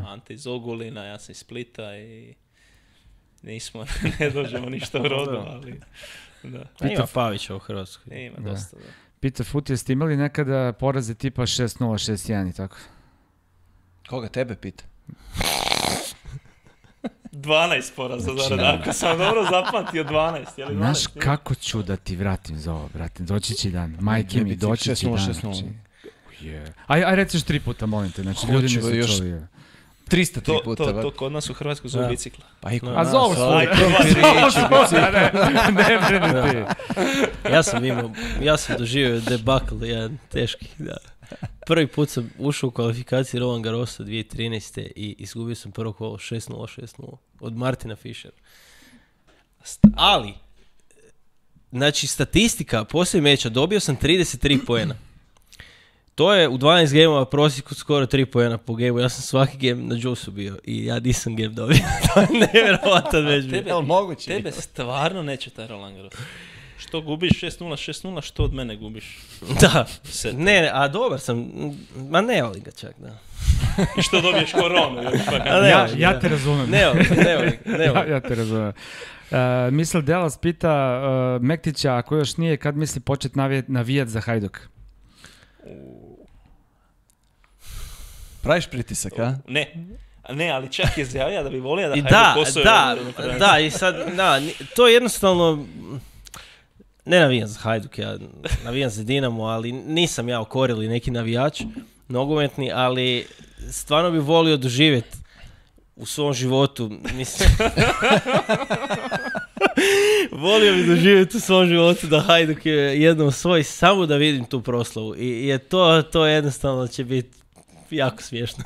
Ante iz Ogulina, ja sam iz Splita i nismo, ne dođemo ništa u rodu, ali... Da. Ima Pavića u Hrvatskoj. Ima dosta, da. Pita Futio, ste imali nekada poraze tipa 6-0, 6-1 i tako? Koga tebe pita? 12 poraza, ako sam dobro zapamtio 12, je li 12? Znaš kako ću da ti vratim za ovo, brate, doći će dan, majke mi, doći će dan. 6-0, 6-0. Aj reciš 3 puta, molim te, znači ljudi nisu čuli. 303 puta. To kod nas u Hrvatskoj zove bicikla. A zovu svoj. Ne brinu ti. Ja sam doživio debakl jedan teški, da. Prvi put sam ušao u kvalifikaciji Roland Garrosa 2013. i izgubio sam prvo kolo 6-0 od Martina Fischera. Ali, znači statistika poslije meča, dobio sam 33 poena. To je u 12 gemova prosjeku skoro 3 poena po gemu. Ja sam svaki gem na džusu bio i ja nisam gem dobio. To je nevjerovatan već bio. Tebe stvarno neće taj Roland Garros. Što gubiš 6-0, što od mene gubiš? Da, a dobar sam, ma ne volim ga čak, da. I što dobiješ koronu? Ja te razumem. Ne volim. Ja te razumem. Misl Delas pita Mektića, ako još nije, kad misli početi navijat za Hajduk? Praviš pritisak, a? Ne, ali čak je izjavio da bi volio da Hajduk osvoji. Da, i sad, to je jednostavno, ne navijam za Hajduk, ja navijam za Dinamo, ali nisam ja okorili neki navijač, nogometni, ali stvarno bi volio doživjeti u svom životu, mislim, volio bi doživjeti u svom životu da Hajduk je jednom osvoji, samo da vidim tu proslavu i to jednostavno će biti jako smiješno.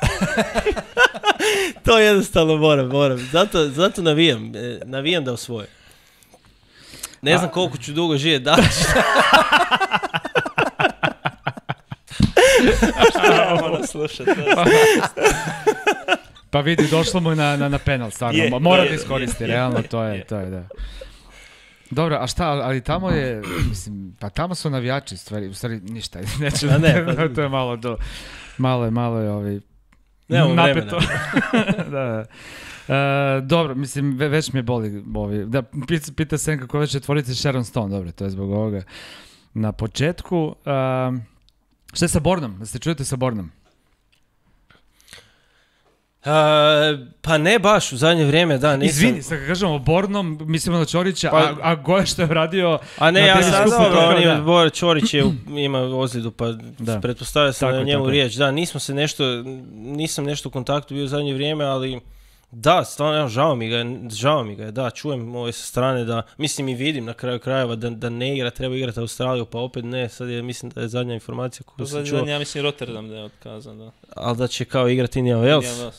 To jednostavno moram. Zato navijam da osvoje. Ne znam koliko ću dugo živjeti da. Pa vidi, došlo mu na penal, stvarno. Mora da iskoristi, realno, to je, da. Dobro, a šta, ali tamo je, mislim, pa tamo su navijači, u stvari ništa, neću, to je malo je napeto. Da. Dobro, mislim, već mi je boli da pita Senka kako već je tvorice Sharon Stone, dobro, to je zbog ovoga. Na početku, šta je sa Bornom? Da se čujete sa Bornom? Pa ne baš, u zadnje vrijeme, da, nisam... Izvini, sad kad kažemo Bornom, mislimo na Ćorića, a Goja što je radio... A ne, ja sam dobro, Ćorić ima ozljedu, pa pretpostavlja se na njemu riječ. Da, nisam nešto u kontaktu bio u zadnje vrijeme, ali da, stvarno, žao mi ga je, da, čujem ove sa strane da, mislim i vidim na kraju krajeva da ne igra, treba igrati Australiju, pa opet ne, sad mislim da je zadnja informacija koju sam čuo. Ja mislim Rotterdam da je otkazan, da. Ali da će kao igrati Indian Wells.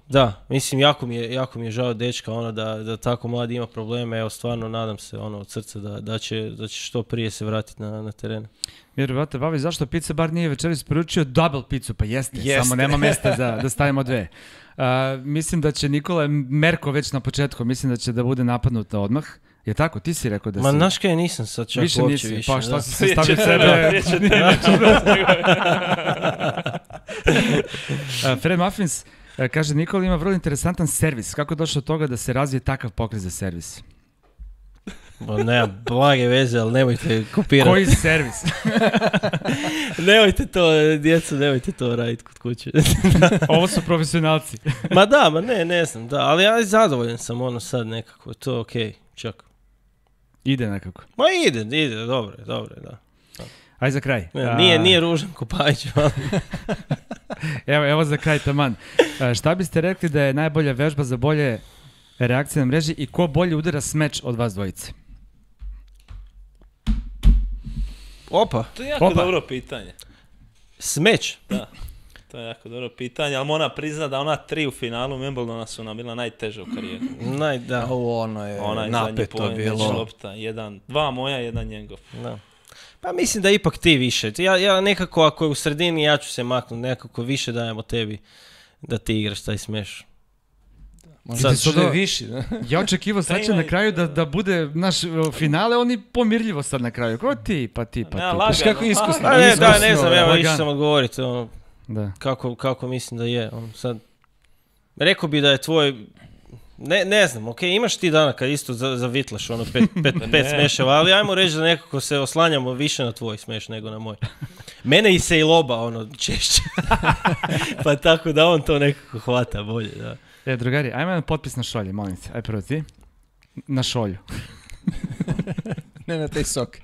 Da, mislim, jako mi je žao dečka, da tako mladi ima probleme, evo stvarno nadam se, od srca da će što prije se vratiti na teren. Vjerovate, Bavi, zašto Pizza Bar nije večeras poručio double pizzu? Pa jeste, samo nema mjesta da stavimo dve. Mislim da će Nikola Merko već na početku, mislim da će da bude napadnuta odmah. Je tako? Ti si rekao da si... Ma znaš kaj, nisam sad čak uopće više. Pa što si se stavio sebe? Fred Muffins kaže, Nikola ima vrlo interesantan servis. Kako je došlo od toga da se razvije takav pokret za servis? Nema blage veze, ali nemojte kopirati. Koji servis? Nemojte to, djeco, nemojte to raditi kod kuće. Ovo su profesionalci. Ne znam, da, ali ja zadovoljan sam sad nekako, to je okej, čak. Ide nekako. Ma ide, dobro, da. Aj za kraj. Nije ružan Kopajić. Evo za kraj, taman. Šta biste rekli da je najbolja vežba za bolje reakcije na mreži i ko bolje udara smeč od vas dvojice? Opa. To je jako dobro pitanje. Smeč? Da, to je jako dobro pitanje, ali moram priznat da ona 3 u finalu Wimbledona su nam bila najteža u karijeri. Da. Ono je napeto bilo. 2 moja, 1 njegov. Da. Pa mislim da ipak ti više. Ja nekako, ako je u sredini, ja ću se maknuti, nekako više dajemo tebi da ti igraš taj smeš. Možda što je viši, da? Ja očekivao sad će na kraju da bude naš finale, oni pomirljivo sad na kraju. Ko ti, pa ti. Viš kako je iskusno. Ne znam, evo išao sam odgovoriti kako mislim da je. Sad, rekao bi da je tvoj, ne znam, okej, imaš ti dana kad isto zavitlaš pet smeševa, ali ajmo reći da nekako se oslanjamo više na tvoj smeš nego na moj. Mene i se i loba češće. Pa tako da on to nekako hvata bolje, da. Drugari, ajmo jedan potpis na šolje, molim se. Aj prvo ti. Na šolju. Ne na taj sok.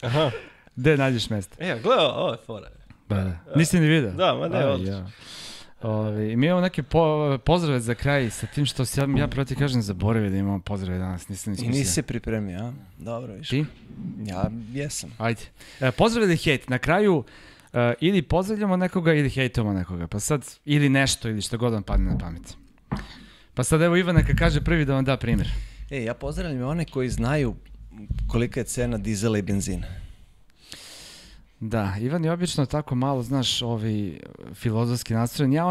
Aha. Gde nađeš mjesto? Gledaj, ovo je fora. Nisi ni vidio? Da, ma ne, odlično. Mi imamo neke pozdrave za kraj sa tim što ja prvo ti kažem zaboravio da imamo pozdrave danas, nisam iskusio. I nisi se pripremio, a? Dobro, viš. Ti? Ja jesam. Ajde. Pozdrave da hejt. Na kraju ili pozdravljamo nekoga ili hejtamo nekoga, pa sad, ili nešto, ili što god vam padne na pamet. Pa sad evo Ivan neka kaže prvi da vam da primjer. Ja pozdravljam one koji znaju kolika je cena dizela i benzina. Da, Ivan je obično tako malo, znaš, filozofski nastrojen. Ja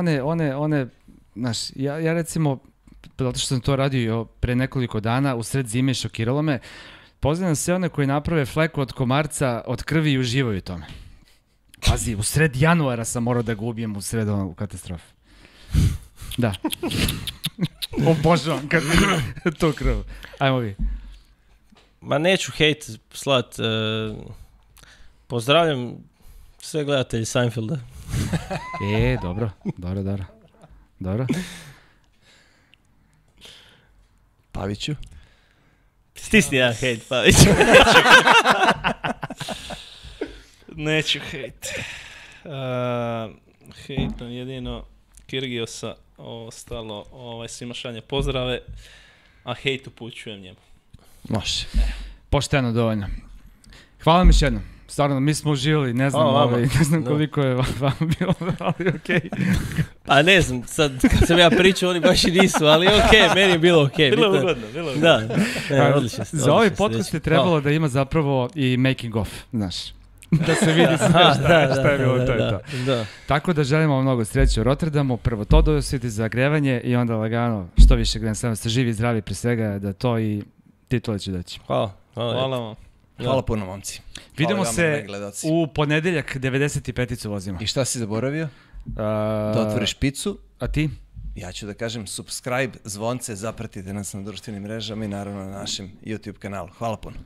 znaš, ja recimo, zato što sam to radio pre nekoliko dana, u sred zime šokiralo me, pozdravljam sve one koji naprave fleku od komarca, od krvi i uživaju u tome. Pazi, u sred januara sam morao da ga ubijem u sred u katastrofe. Da. Obožavam kad vidim to krv. Ajmo vi. Ma neću hejt slat. Pozdravljam sve gledatelji Seinfelda. Dobro. Paviću? Stisni jedan hejt, Paviću. Neću hejt. Hejtom jedino Kirgiosa, ostalo svima šalje pozdrave, a hejt upućujem njemu. Može. Pošteno, dovoljno. Hvala mi još jednom. Stvarno, mi smo uživali, ne znam koliko je vam bilo, ali okej. Pa ne znam, sad kad sam ja pričao, oni baš i nisu, ali okej, meni je bilo okej. Bilo ugodno. Da, odlično. Za ovaj podcast je trebalo da ima zapravo i making of, znaš. Da se vidi sve šta je bilo, to je to. Tako da želimo vam mnogo sreće u Rotterdamu, prvo to dosviti za grevanje i onda lagano, što više Grand Slam, ste živi i zdravi pre svega, da to i titule će doći. Hvala vam. Hvala puno, momci. Vidimo se u ponedeljak, 95-icu vozimo. I šta si zaboravio? Da otvoriš picu. A ti? Ja ću da kažem subscribe, zvonce, zapratite nas na društvenim mrežama i naravno na našem YouTube kanalu. Hvala puno.